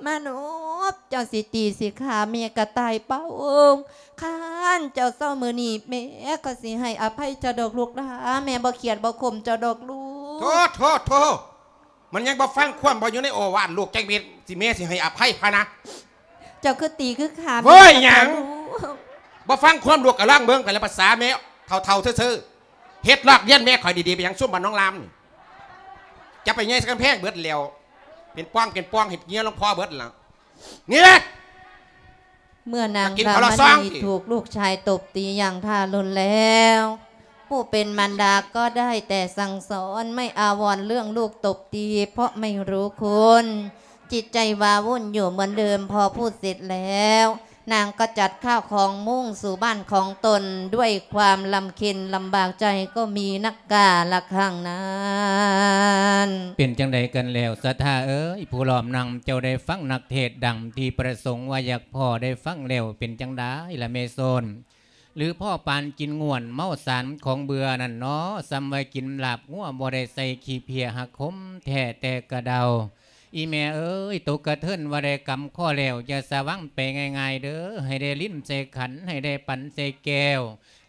ມະນົບ ເຈົ້າຊິຕີຊິຂ້າແມ່ກະຕ່າຍປ່າໂອງ ຄັນເຈົ້າເຊົາມື້ນີ້ ແມ່ກໍຊິໃຫ້ອະໄພເຈົ້າດອກລູກຫຼາ ແມ່ບໍ່ຄຽດບໍ່ຂົ່ມເຈົ້າດອກລູກ. ໂທ້ ໂທ້ ໂທ້ ມັນຍັງບໍ່ຟັງຄວາມ ບໍ່ຢູ່ໃນໂອວາດລູກຈັກເມັດ ຊິແມ່ຊິໃຫ້ອະໄພພະນະ. ເຈົ້າຄືຕີຄືຂ້າ ເວີຍ ແມ່ ຫຍັງ ບໍ່ຟັງຄວາມ ລູກກະລອງເບິ່ງໄປແລ້ວ ພາສາແມ່ເຖົ້າໆ ເຊີໆ ເຮັດລອກລຽນແມ່ຂ້ອຍດີໆ ໄປຫຍັງຊຸມບ້ານໜອງລາມນີ້ ຈັບໄປໃຫຍ່ໃສ່ກຳແພງເບິດແລ້ວ ເປັນປ່ອງເປັນປ່ອງ ເຮັດເຫຍື້ອຫຼວງພໍ່ເບິດລະ ນີ້ແຫຼະ. ເມື່ອນາງລາມະນີຖືກລູກຊາຍຕົບຕີຢ່າງທາລຸນແລ້ວ ຜູ້ເປັນມານດາກໍໄດ້ແຕ່ສັ່ງສອນ ໄມ່ອາວອນເລື່ອງລູກຕົບຕີ ເພາະໄມ່ຮູ້ຄຸນ ຈິດໃຈວາວຸ່ນຢູ່ເໝືອນເດີມ. ພໍພູດເສັດແລ້ວ ນາງກໍຈັດຂ້າວຂອງມຸ້ງສູ່ບ້ານຂອງຕົນ ດ້ວຍຄວາມລຳເຄັນລຳບາກໃຈກໍມີນັກກາລະຄັ້ງນັ້ນ. ເປັນຈັ່ງໃດກັນແລ້ວ ສັດທາເອີຍ ຜູ້ລ້ອມນັ່ງ ເຈົ້າໄດ້ຟັງນັກເທດດັ່ງທີ່ປະສົງວ່າຢາກພໍ້ໄດ້ຟັງແລ້ວ ເປັນຈັ່ງໃດລະແມ່ໂຊນ? ຫຼືພໍປານກິນງ່ວນເມົາສານຂອງເບື່ອນັ້ນເນາະ ສ່ຳວ່າກິນລາບງົວບໍ່ໄດ້ໃສ່ຂີ້ເພຍ ຫັກຂົມແທ້ແຕ່ກະເດົາ. ອີ່ແມ່ເອີຍ ຕົກກະເທີນວ່າໄດ້ກຳຄໍແລ້ວ ຢ່າສະຫວັງໄປງ່າຍໆເດີ ໃຫ້ໄດ້ລິນໃສ່ຂັນ ໃຫ້ໄດ້ປັນໃສ່ແກ້ວ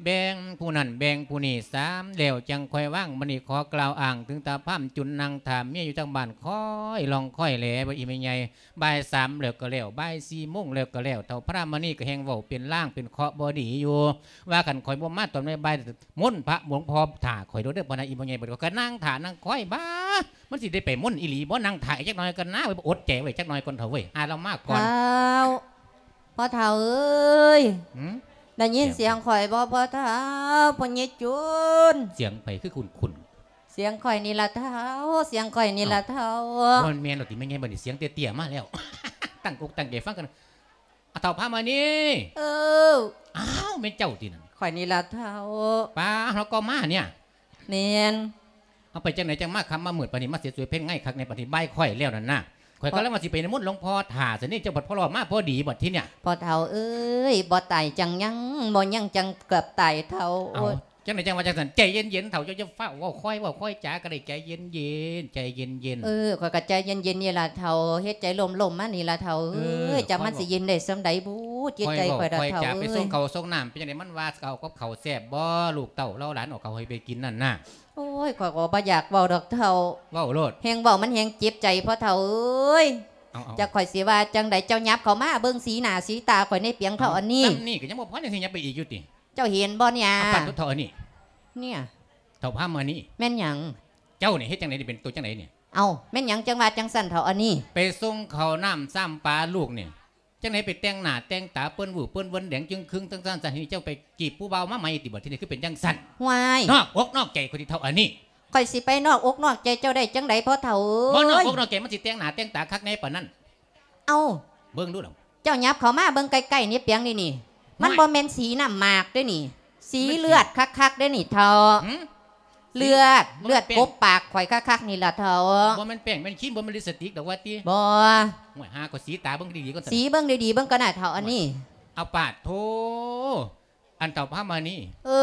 ແບ່ງຜູ້ນັ້ນແບ່ງຜູ້ນີ້ ສາມແລ້ວຈັ່ງຄ່ອຍວາງ. ບັດນີ້ຂໍກ່າວອ້າງເຖິງຕາພາມຈຸນນັ່ງຖ້າເມຍຢູ່ທາງບ້ານ ຄອຍລອງຄອຍແລ ວ່າອີ່ແມ່ໃຫຍ່ ບ່າຍສາມແລ້ວກໍແລ້ວ ບ່າຍສີ່ໂມງແລ້ວກໍແລ້ວ ເຖົ້າພະລາມະນີກໍແຮ່ງເວົ້າເປັນລາງເປັນເຄາະບໍ່ດີຢູ່ ວ່າຄັນຂ້ອຍບໍ່ມາຕອນບ່າຍໆ ມົນພະຫຼວງພໍ່ຖ້າຂ້ອຍໂລດເດີ ບໍ່ນະ ອີ່ແມ່ໃຫຍ່. ບັດນີ້ຂ້ອຍກໍນັ່ງຖ້ານັ່ງຄອຍ ບາ ມັນຊິໄດ້ໄປມົນອີ່ຫຼີບໍ່? ນັ່ງຖ້າອີກຈັກໜ່ອຍກ່ອນນາ ໄວ້ ອົດໃຈໄວ້ຈັກໜ່ອຍກ່ອນເຖາະເວີຍ ຫາລາວມາກ່ອນ. ທ້າວ ພໍ່ເຖົ້າເອີຍ ຫື? ໄດ້ຍິນສຽງຂ້ອຍບໍ່ ພໍ່ເຖົ້າ? ພໍ່ໃຫຍ່ຈູນ ສຽງໃຜຄືຄຸ້ນໆ? ສຽງຂ້ອຍນີ້ລະທ້າວ ສຽງຂ້ອຍນີ້ລະທ້າວ. ບໍ່ແມ່ນດອກຕິແມ່ໃຫຍ່ ບັດນີ້ສຽງເຕ້ຍໆມາແລ້ວ. ຕັ້ງອົກຕັ້ງໃຈຟັງກັນ. ອາ ທ້າວພາມານີ. ເອີ ອ້າວ ແມ່ນເຈົ້າຕິນັ້ນ? ຂ້ອຍນີ້ລະທ້າວ. ປາ ເຮົາກໍມາເນຍ. ແມ່ນ. ເຮົາໄປຈັ່ງໃດຈັ່ງມາຄ່ຳມາມືດປານນີ້ ມາເສຍສວຍເພັນໄງຄັກແນ່ປານນີ້ ບ່າຍຄ້ອຍແລ້ວນັ້ນນະ. ຂ້ອຍກຳລັງວ່າຊິໄປນິມົນຫຼວງພໍ່ຖ້າຊະນີ້ ເຈົ້າບັດພໍລອດມາພໍດີບັດທີເນຍ. ພໍ່ເຖົ້າເອີຍ ບໍ່ຕາຍຈັ່ງຍັງ ບໍ່ຍັງຈັ່ງເກືອບຕາຍເຖົ້າ. ເອົ້າ ໂອ້ຍ ຈັ່ງໃດຈັ່ງວ່າຈັ່ງຊັ້ນ ໃຈເຢັນໆ ເຖົ້າ ເຈົ້າຢ່າຟ້າວເວົ້າ ຄ່ອຍເວົ້າຄ່ອຍຈາກໍໄດ້ ໃຈເຢັນໆ ໃຈເຢັນໆ. ເອີ ຂ້ອຍກໍໃຈເຢັນໆນີ້ລະເຖົ້າ ເຮັດໃຈລົມໆມານີ້ລະເຖົ້າເອີຍ. ເອີ ຈັ່ງມັນຊິເຢັນໄດ້ສ່ຳໃດບຸ ຈິດໃຈຂ້ອຍລະເຖົ້າເອີຍ. ໄປສົ່ງເຂົ້າສົ່ງນ້ຳ ເປັນຈັ່ງໃດ ມັນວ່າເອົາກັບເຂົ້າແຊບບໍ່ ລູກເຕົ້າລາວ ຫຼານເອົາເຂົ້າໃຫ້ໄປກິນນັ້ນນະ? ໂອ້ຍ ຂ້ອຍກໍບໍ່ຢາກເວົ້າດອກເຖົ້າ. ເວົ້າໂລດ. ແຮງເວົ້າມັນແຮງເຈັບໃຈພໍ່ເຖົ້າເອີຍ. ເອົາໆ ຈັກຂ້ອຍຊິວ່າຈັ່ງໃດ ເຈົ້າຫຍັບເຂົ້າມາເບິ່ງສີໜ້າສີຕາຂ້ອຍແດ່ປຽງເຖົ້າອັນນີ້. ສ່ຳນີ້ກໍຍັງບໍ່ພໍ ຍັງຊິຫຍັບໄປອີກຢູ່ຕິ? ເຈົ້າເຫັນບໍ່ເນີ້ຍ? ເອົາປານໂທດເຖົ້າອັນນີ້ ເນຍ ເຖົ້າພາມານີ. ແມ່ນຫຍັງ? ເຈົ້ານີ້ເຮັດຈັ່ງໃດນີ້ ເປັນໂຕຈັ່ງໃດນີ້? ເອົ້າ ແມ່ນຫຍັງຈັ່ງວ່າຈັ່ງຊັ້ນເຖົ້າອັນນີ້? ໄປສົ່ງເຂົ້ານ້ຳຊ້ຳປາລູກນີ້ ຈັ່ງໃດໄປແຕ່ງໜ້າແຕ່ງຕາເປີ້ນວືເປີ້ນເວີນແດງຈຶ່ງຄຶງຈັ່ງຊັ້ນຊະ ນີ້ເຈົ້າໄປຈີບຜູ້ບ່າວມາໃໝ່ຕິ ບັດທີນີ້ຄືເປັນຈັ່ງຊັ້ນ? ຫວາຍ ນອກອົກນອກໃຈຂ້ອຍຕິເຖົ້າອັນນີ້. ຂ້ອຍຊິໄປນອກອົກນອກໃຈເຈົ້າໄດ້ຈັ່ງໃດພໍ່ເຖົ້າເອີຍ? ບໍ່ນອກອົກນອກໃຈ ມັນຊິແຕ່ງໜ້າແຕ່ງຕາຄັກແນ່ປານນັ້ນ? ເອົ້າ ເບິ່ງດູລະ ເຈົ້າຫຍັບເຂົ້າມາເບິ່ງໃກ້ໆນີ້ປຽງນີ້ນີ້ ມັນບໍ່ແມ່ນສີນ້ຳໝາກເດ້ນີ້ ສີເລືອດຄັກໆເດ້ນີ້ເຖົ້າ. ເລືອດ ເລືອດກົບປາກຂ້ອຍຄັກໆນີ້ລະເຖົ້າ. ບໍ່ແມ່ນແປ້ງແມ່ນຄຣີມ ບໍ່ແມ່ນລິບສະຕິກດອກວ່າຕິ? ບໍ່. ໂອ້ຍ ຫາກໍສີຕາເບິ່ງດີໆກ່ອນ ສີເບິ່ງດີໆເບິ່ງກ່ອນນະເຖົ້າອັນນີ້. ເອົາປາດໂທ ອັນເຖົ້າພາມານີ. ເອີ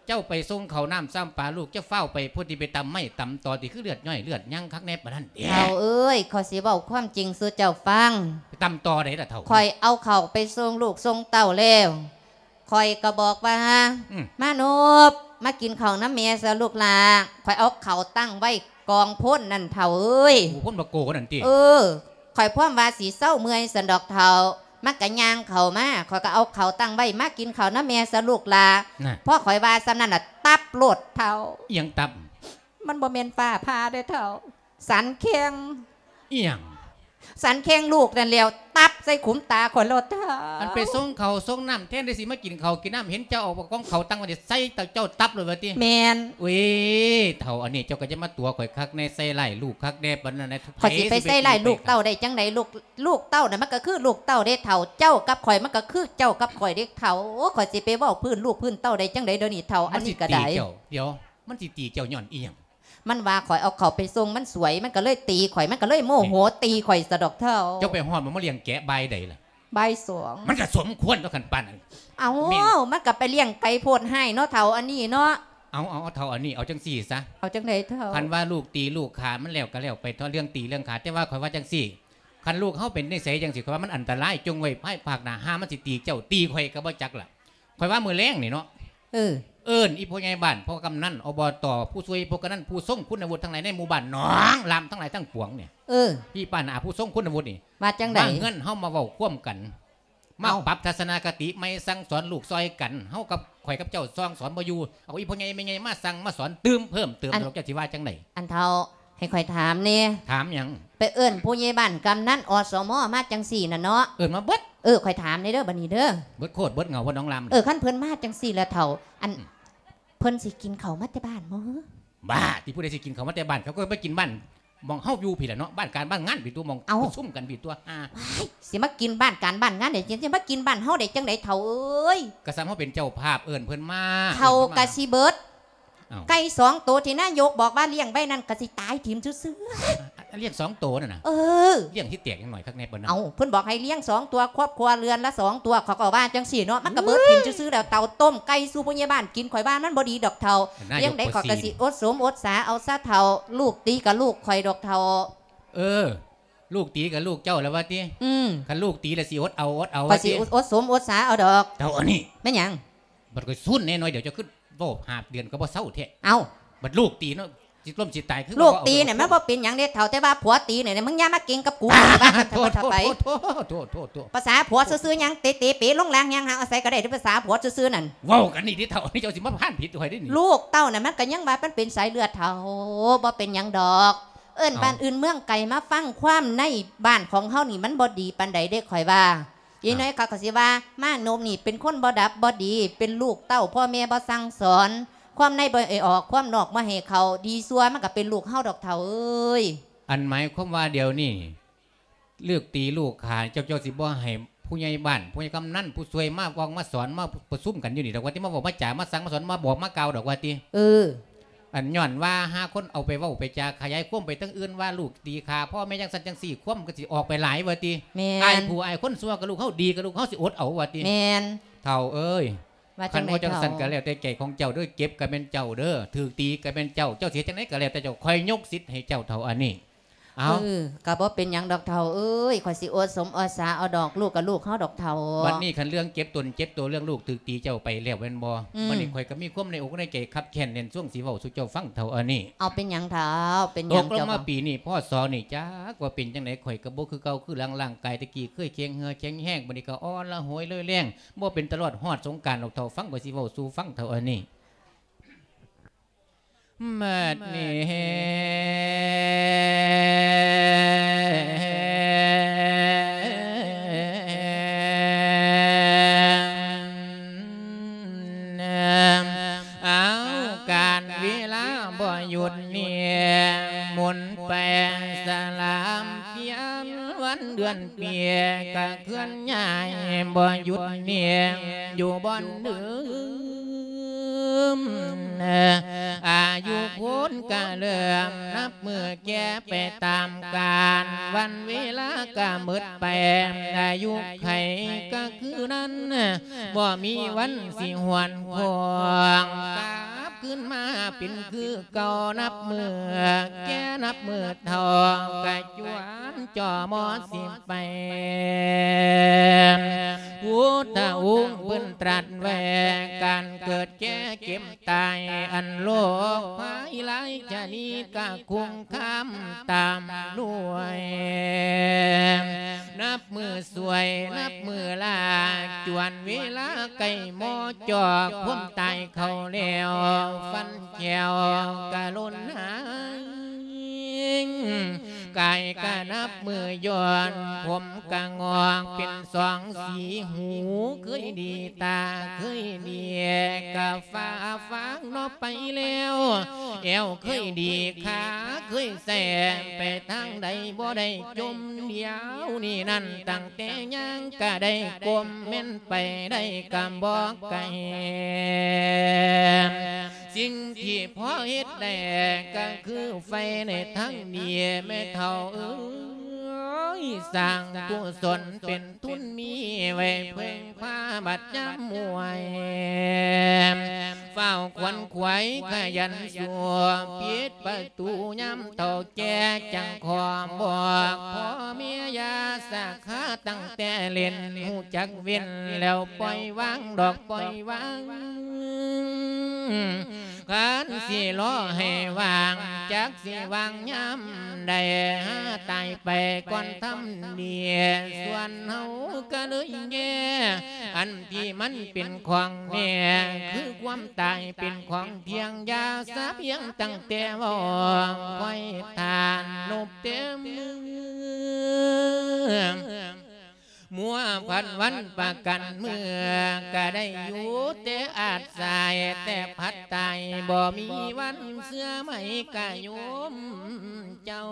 ເຈົ້າໄປສົ່ງເຂົ້ານ້ຳຊ້ຳປາລູກ ເຈົ້າຟ້າວໄປພຸ້ນຕິ ໄປຕຳໄມ້ຕຳຕໍຕິ ຄືເລືອດຍ່ອຍເລືອດຍັງຄັກແນ່ປານນັ້ນເດ? ເຖົ້າເອີຍ ຂ້ອຍຊິເວົ້າຄວາມຈິງສູ່ເຈົ້າຟັງ. ໄປຕຳຕໍໃດລະເຖົ້າ? ຂ້ອຍເອົາເຂົ້າໄປສົ່ງລູກສົ່ງເຕົ້າແລ້ວ ຂ້ອຍກໍບອກວ່າ ມານົບ ມາກິນເຂົ້ານຳແມ່ຊະລູກຫຼ້າ. ຂ້ອຍເອົາເຂົ້າຕັ້ງໄວ້ກອງໂພນນັ້ນເຖົ້າເອີຍ. ໂອ້ ໂພນບັກໂກນັ້ນຕິ? ເອີ ຂ້ອຍພວມວ່າຊິເຊົາເມື່ອຍຊັ້ນດອກເຖົ້າ. ມັນກໍຍ່າງເຂົ້າມາ ຂ້ອຍກໍເອົາເຂົ້າຕັ້ງໄວ້ ມາກິນເຂົ້ານຳແມ່ຊະລູກຫຼ້າ. ພໍຂ້ອຍວ່າສ່ຳນັ້ນລະ ຕັບໂລດເຖົ້າ. ອີ່ຫຍັງຕັບ? ມັນບໍ່ແມ່ນຟ້າຜ່າເດ້ເຖົ້າ ສັນແຂ້ງ. ອີ່ຫຍັງ? ສັນແຂ້ງລູກນັ້ນແຫຼ້ວ ຕັບໃສ່ຂຸມຕາຂ້ອຍໂລດເຖົ້າ. ອັນໄປສົ່ງເຂົ້າສົ່ງນ້ຳ ແທນທີ່ຊິມາກິນເຂົ້າກິນນ້ຳ ເຫັນເຈົ້າເອົາກອງເຂົ້າຕັ້ງໄວ້ໃສ່ເຈົ້າຕັບໂລດວ່າຕິ? ແມ່ນ. ເອີຍ ເຖົ້າອັນນີ້ ເຈົ້າກໍຢ່າມາຕົວະຂ້ອຍຄັກແນ່ ໃສ່ຮ້າຍລູກຄັກແນ່ປານນັ້ນ. ຂ້ອຍຊິໄປໃສ່ຮ້າຍລູກເຕົ້າໄດ້ຈັ່ງໃດ? ລູກ ລູກເຕົ້ານະ ມັນກໍຄືລູກເຕົ້າເດ້ເຖົ້າ ເຈົ້າກັບຂ້ອຍມັນກໍຄືເຈົ້າກັບຂ້ອຍເດ້ເຖົ້າ. ໂອ້ ຂ້ອຍຊິໄປເວົ້າພື້ນລູກພື້ນເຕົ້າໄດ້ຈັ່ງໃດດຽວນີ້ເຖົ້າ? ອັນນີ້ກໍໄດ້. ມັນຊິຕີເຈົ້າ ດຽວ ມັນຊິຕີເຈົ້າຍ້ອນອີ່ຫຍັງ? ມັນວ່າຂ້ອຍເອົາເຂົ້າໄປສົ່ງມັນສວຍ ມັນກໍເລີຍຕີຂ້ອຍ ມັນກໍເລີຍໂມໂຫຕີຂ້ອຍຊະດອກເຖົ້າ. ເຈົ້າໄປຮອດມັນມາລ້ຽງແກະບ່າຍໃດລະ? ບ່າຍສອງ. ມັນກໍສົມຄວນຕົວະຄັນປານນັ້ນ. ເອົ້າ ມັນກໍໄປລ້ຽງໄກ່ໂພດຮ້າຍເນາະເຖົ້າອັນນີ້ເນາະ. ເອົາ ເອົາ ເຖົ້າອັນນີ້ ເອົາຈັ່ງຊີ້ຊະ. ເອົາຈັ່ງໃດເຖົ້າ? ຄັນວ່າລູກຕີລູກຂ້າມັນແລ້ວກໍແລ້ວໄປເຖາະ ເລື່ອງຕີເລື່ອງຂ້າ. ແຕ່ວ່າຂ້ອຍວ່າຈັ່ງຊີ້ ຄັນລູກເຮົາເປັນນິໄສຈັ່ງຊີ້ ຂ້ອຍວ່າມັນອັນຕະລາຍ. ຈົ່ງໄວ້ພາຍພາກໜ້າ ຫາມັນຊິຕີເຈົ້າຕີຂ້ອຍກໍບໍ່ຈັກລະ. ຂ້ອຍວ່າມື້ແລງນີ້ເນາະ ເອີ ເອີ້ນອີ່ພໍ່ໃຫຍ່ບ້ານ ພໍ່ກຳນັນ ອບຕ ຜູ້ຊ່ວຍ ຜູ້ກຳນັນ ຜູ້ຊົງຄຸນນະວຸດທັງຫຼາຍໃນໝູ່ບ້ານໜອງລາມທັງຫຼາຍທັງປວງນີ້ ເອີ ພີ່ປ້ານ້າຜູ້ຊົງຄຸນນະວຸດນີ້ ວ່າຈັ່ງໃດ? ມາເຮືອນເຮົາມາເວົ້າຄວາມກັນ ມາ ເອົ້າ ປັບທັດສະນະຄະຕິໃໝ່ ສັ່ງສອນລູກຊ່ອຍກັນ. ເຮົາກັບ ຂ້ອຍກັບເຈົ້າສັ່ງສອນບໍ່ຢູ່ ເອົາອີ່ພໍ່ໃຫຍ່ແມ່ໃຫຍ່ມາສັ່ງມາສອນຕື່ມເພີ່ມເຕີມ. ອັນ ດອກ ເຈົ້າຊິວ່າຈັ່ງໃດ? ອັນເຖົ້າ ໃຫ້ຂ້ອຍຖາມແດ່. ຖາມຫຍັງ? ໄປເອີ້ນຜູ້ໃຫຍ່ບ້ານກຳນັນ ອສມ ມາຈັ່ງຊີ້ນະເນາະ. ເອີ້ນມາເບິດ. ເອີ ຂ້ອຍຖາມແດ່ເດີ ບັດນີ້ເດີ ເບິດໂຄດເບິດເຫງົາ ເບິດໜອງລາມ. ເອີ ຄັນເພິ່ນມາຈັ່ງຊີ້ລະເຖົ້າ ອັນ ອືມ ເພິ່ນຊິກິນເຂົ້າມາແຕ່ບ້ານບໍ່? ບ້າ ຕິ ຜູ້ໃດຊິກິນເຂົ້າມາແຕ່ບ້ານ? ເຂົາກໍໄປກິນບ້ານ ໝ່ອງເຮົາຢູ່ພີ້ລະເນາະ ບ້ານການບ້ານງານພີ້ຕົວະ ໝ່ອງ ເອົ້າ ປະຊຸມກັນພີ້ຕົວະ. ວ້າຍ ຊິມາກິນບ້ານການບ້ານງານໄດ້ຈັ່ງ ຊິມາກິນບ້ານເຮົາໄດ້ຈັ່ງໃດເຖົ້າເອີຍ? ກໍສ່ຳເຮົາເປັນເຈົ້າພາບເອີ້ນເພິ່ນມາ. ເຂົ້າກະຊິເບິດ. ເອົ້າ ໄກ່ສອງໂຕທີ່ນາຍົກບອກວ່າລ້ຽງໄວ້ນັ້ນກະຊິຕາຍຖິ້ມຊື່ໆ. ລ້ຽງສອງໂຕນັ້ນນະ? ເອີ ລ້ຽງຊິແຕກຫຍັງໜ້ອຍຄັກແນ່ປານນັ້ນ. ເອົ້າ ເພິ່ນບອກໃຫ້ລ້ຽງສອງຕົວ ຄອບຄົວເຮືອນລະສອງຕົວ ເຂົາກໍວ່າຈັ່ງຊີ້ເນາະ. ມັນກະເບິດຖິ້ມຊື່ໆແລ້ວ. ເຕົາຕົ້ມໄກ່ສູ່ຜູ້ໃຫຍ່ບ້ານກິນ ຂ້ອຍວ່າມັນບໍ່ດີດອກເຖົ້າ. ລ້ຽງໄດ້ຂ້ອຍກະຊິອົດສົມອົດສາເອົາຊະເຖົ້າ. ລູກຕີກະລູກຂ້ອຍດອກເຖົ້າ. ເອີ ລູກຕີກະລູກເຈົ້າລະວ່າຕິ? ອືມ ຄັນລູກຕີລະຊິອົດເອົາ ອົດເອົາ ຂ້ອຍຊິ ວ່າຕິ? ອົດສົມອົດສາເອົາດອກ. ເຖົ້າອັນນີ້ ແມ່ນຫຍັງ? ບັດຂ້ອຍຊຸນແນ່ໜ້ອຍດຽວ ເຈົ້າຄືເວົ້າຫ້າເດືອນກໍບໍ່ເຊົາແທ້. ເອົ້າ ບັດລູກຕີເນາະ ຊິລົ້ມຊິຕາຍຄື. ລູກຕີນີ້ມັນບໍ່ເປັນຫຍັງເດ້ເຖົ້າ ແຕ່ວ່າຜົວຕີນີ້ ມຶງຢ່າມາເກັ່ງກັບກູ. ໂທດ ໂທດ ໂທດ ໂທດ ພາສາຜົວຊື່ໆຫຍັງ ເຕະເຕະເປລົງລ່າງ ຍ່າງຫາເອົາໃສກໍໄດ້ ພາສາຜົວຊື່ໆນັ້ນ. ເວົ້າກັນນີ້ຕິເຖົ້າ ອັນນີ້ເຈົ້າຊິມາພານຜິດຂ້ອຍເດ້ນີ້. ລູກເຕົ້ານະ ມັນກໍຍັງວ່າມັນເປັນສາຍເລືອດເຖົ້າ ບໍ່ເປັນຫຍັງດອກ. ເອີ້ນ ເອົ້າ ບ້ານອື່ນເມືອງໄກມາຟັງຄວາມໃນບ້ານຂອງເຮົານີ້ ມັນບໍ່ດີປານໃດເດ້ ຂ້ອຍວ່າ. ອີ ເອົ້າ ນ້ອຍເຂົາກໍຊິວ່າ ມານົບນີ້ເປັນຄົນບໍ່ດັບບໍ່ດີ ເປັນລູກເຕົ້າພໍ່ແມ່ບໍ່ສັ່ງສອນ ຄວາມໃນບໍ່ໃຫ້ອອກ ຄວາມນອກບໍ່ໃຫ້ເຂົ້າ ດີຊົ່ວມັນກໍເປັນລູກເຮົາດອກເຖົ້າເອີຍ. ອັນໝາຍຄວາມວ່າດຽວນີ້ ເລີກຕີລູກຂ້າ ເຈົ້າ ເຈົ້າຊິບໍ່ໃຫ້ຜູ້ໃຫຍ່ບ້ານ ຜູ້ໃຫຍ່ກຳນັນ ຜູ້ຊ່ວຍມາເວົ້າມາສອນ ມາປະຊຸມກັນຢູ່ນີ້ດອກວ່າຕິ ມາເວົ້າມາຈາ ມາສັ່ງມາສອນ ມາບອກມາກ່າວດອກວ່າຕິ. ເອີ ອັນຍ້ອນວ່າຫາຄົນເອົາໄປເວົ້າໄປຈາຂະຫຍາຍຄວາມໄປທາງອື່ນວ່າລູກຕີຂ້າພໍ່ແມ່ຈັ່ງຊັ້ນຈັ່ງຊີ້ ຄວາມກໍຊິອອກໄປຫຼາຍວ່າຕິ. ແມ່ນ ອ້າຍຜູ້ອ້າຍຄົນຊົ່ວກັບລູກເຮົາ ດີກັບລູກເຮົາຊິອົດເອົາວ່າຕິ. ແມ່ນ ເຖົ້າເອີຍ. ວ່າ ຄັນບໍ່ຈັ່ງຊັ້ນ ຈັ່ງໃດເຖົ້າ? ກໍແລ້ວແຕ່ໃຈຂອງເຈົ້າເດີ ເຈັບກໍແມ່ນເຈົ້າເດີ ຖືກຕີກໍແມ່ນເຈົ້າ ເຈົ້າຊິເຮັດຈັ່ງໃດກໍແລ້ວແຕ່ເຈົ້າ ຂ້ອຍຍົກສິດໃຫ້ເຈົ້າເຖົ້າອັນນີ້. ເອົາ ເອີ ກໍບໍ່ເປັນຫຍັງດອກເຖົ້າເອີຍ ຂ້ອຍຊິອົດສົມອົດສາເອົາດອກ ລູກກໍລູກເຮົາດອກເຖົ້າ. ບັດນີ້ຄັນເລື່ອງເຈັບຕົນເຈັບໂຕ ເລື່ອງລູກຖືກຕີເຈົ້າໄປແລ້ວແມ່ນບໍ່? ອືມ ບັດນີ້ຂ້ອຍກໍມີຄວາມໃນອົກໃນໃຈຄັບແຄ້ນແໜ້ນຊ່ວງຊິເວົ້າສູ່ເຈົ້າຟັງເຖົ້າອັນນີ້. ເອົາ ເປັນຫຍັງເຖົ້າ? ເປັນຫຍັງ? ຕົກລົງມາ ເຈົ້າ ປີນີ້ ພ.ສ. ນີ້ ຈັກວ່າເປັນຈັ່ງໃດ ຂ້ອຍກໍບໍ່ຄືເກົ່າຄືຫຼັງ ຮ່າງກາຍແຕ່ກີ້ເຄີຍແຂງເຫື່ອແຂງແຮງ ບັດນີ້ກໍອ່ອນລະໂຫຍເລີຍແລງ ບໍ່ເປັນຕະຫຼອດຮອດສົງການດອກເຖົ້າ ຟັງ ຂ້ອຍຊິເວົ້າສູ່ຟັງເຖົ້າອັນນີ້. ບັດນີ້ ເອົາ ການເວລາບໍ່ຢຸດນີ້ ໝູນໄປສະຫຼາມປ່ຽນ ວັນເດືອນປີກະເຄື່ອນຍ້າຍບໍ່ຢຸດນີ້ ຢູ່ບ່ອນເດີ ອາຍຸຄົນກະເລີ່ມນັບມື້ແກ່ໄປຕາມການ ວັນເວລາກະໝົດໄປ ອາຍຸໄຂກະຄືນັ້ນ ບໍ່ມີວັນຊິຫວນຄວາງ ກັບຄືນມາເປັນຄືເກົ່າ ນັບມື້ແກ່ນັບມື້ເຖົ້າ ກະຈວນຈໍ່ມໍຊິ ໄປ ພຸດທະອົງເພິ່ນຕລັດໄວ້ ການເກີດແກ່ເຈັບຕາຍ ອັນໂລກພາຍຫຼາຍຊະນິດກະຄົງຄາມຕາມດ້ວຍ ນັບມື້ສວຍ ນັບມື້ລາ ຈວນເວລາໃກ້ມໍ່ຈອກ ຄວາມຕາຍເຂົ້າແລ້ວ ຟັນແຂ້ວກະຫຼົ່ນຫາຍ ກາຍກະນັບມື້ຍ່ອນ ຜົມກະງອກເປັນສອງສີ ຫູເຄີຍດີ ຕາເຄີຍດີ ກະຟ້າຟາງເນາະໄປແລ້ວ ແອວເຄີຍດີ ຂາເຄີຍແຊ ໄປທາງໃດບໍ່ໄດ້ຈົ່ມ ດຽວນີ້ນັ້ນ ຕັ້ງແຕ່ຍ່າງກະໄດ້ກົ້ມ ແມ່ນໄປໄດ້ກະບໍ່ໄກ ສິ່ງທີ່ພໍເຮັດໄດ້ກະຄືໄຟໃນທາງດີ ແມ່ເຖົ້າເອີຍ ສ້າງກຸສົນເປັນ ທຸນມີໄວ້ເພິ່ງພາບັດຍາມມວຍ ຟ້າວຂວັນຂວາຍຂະຫຍັນສູ້ ປິດປະຕູຍາມເຖົ້າແກ່ ຈັ່ງຂໍບອກພໍ່ແມ່ຢ່າສາຂາ ຕັ້ງແຕ່ເຫຼັ້ນຮູ້ຈັກເວັ້ນ ແລ້ວປ່ອຍວາງດອກປ່ອຍວາງ ຄັນຊິລໍໃຫ້ວ່າງ ຈັກຊິວ່າງຍາມໃດ ຫາຕາຍໄປກ່ອນທຳດີ ສ່ວນເຮົາກະເລີຍແຍ່ ອັນທີ່ມັນເປັນຂອງແນ່ ຄືຄວາມຕາຍເປັນຂອງທ່ຽງ ຢ່າສາພຽງຕັ້ງແຕ່ເວົ້າ ຄອຍທ່ານນົບແຕ່ເມືອ ມົວພັນວັນປະກັນເມືອ ກະໄດ້ຢູ່ແຕ່ອາດສາຍ ແຕ່ພັດຕາຍບໍ່ມີວັນເຊື່ອໄໝກະໂຍມເຈົ້າ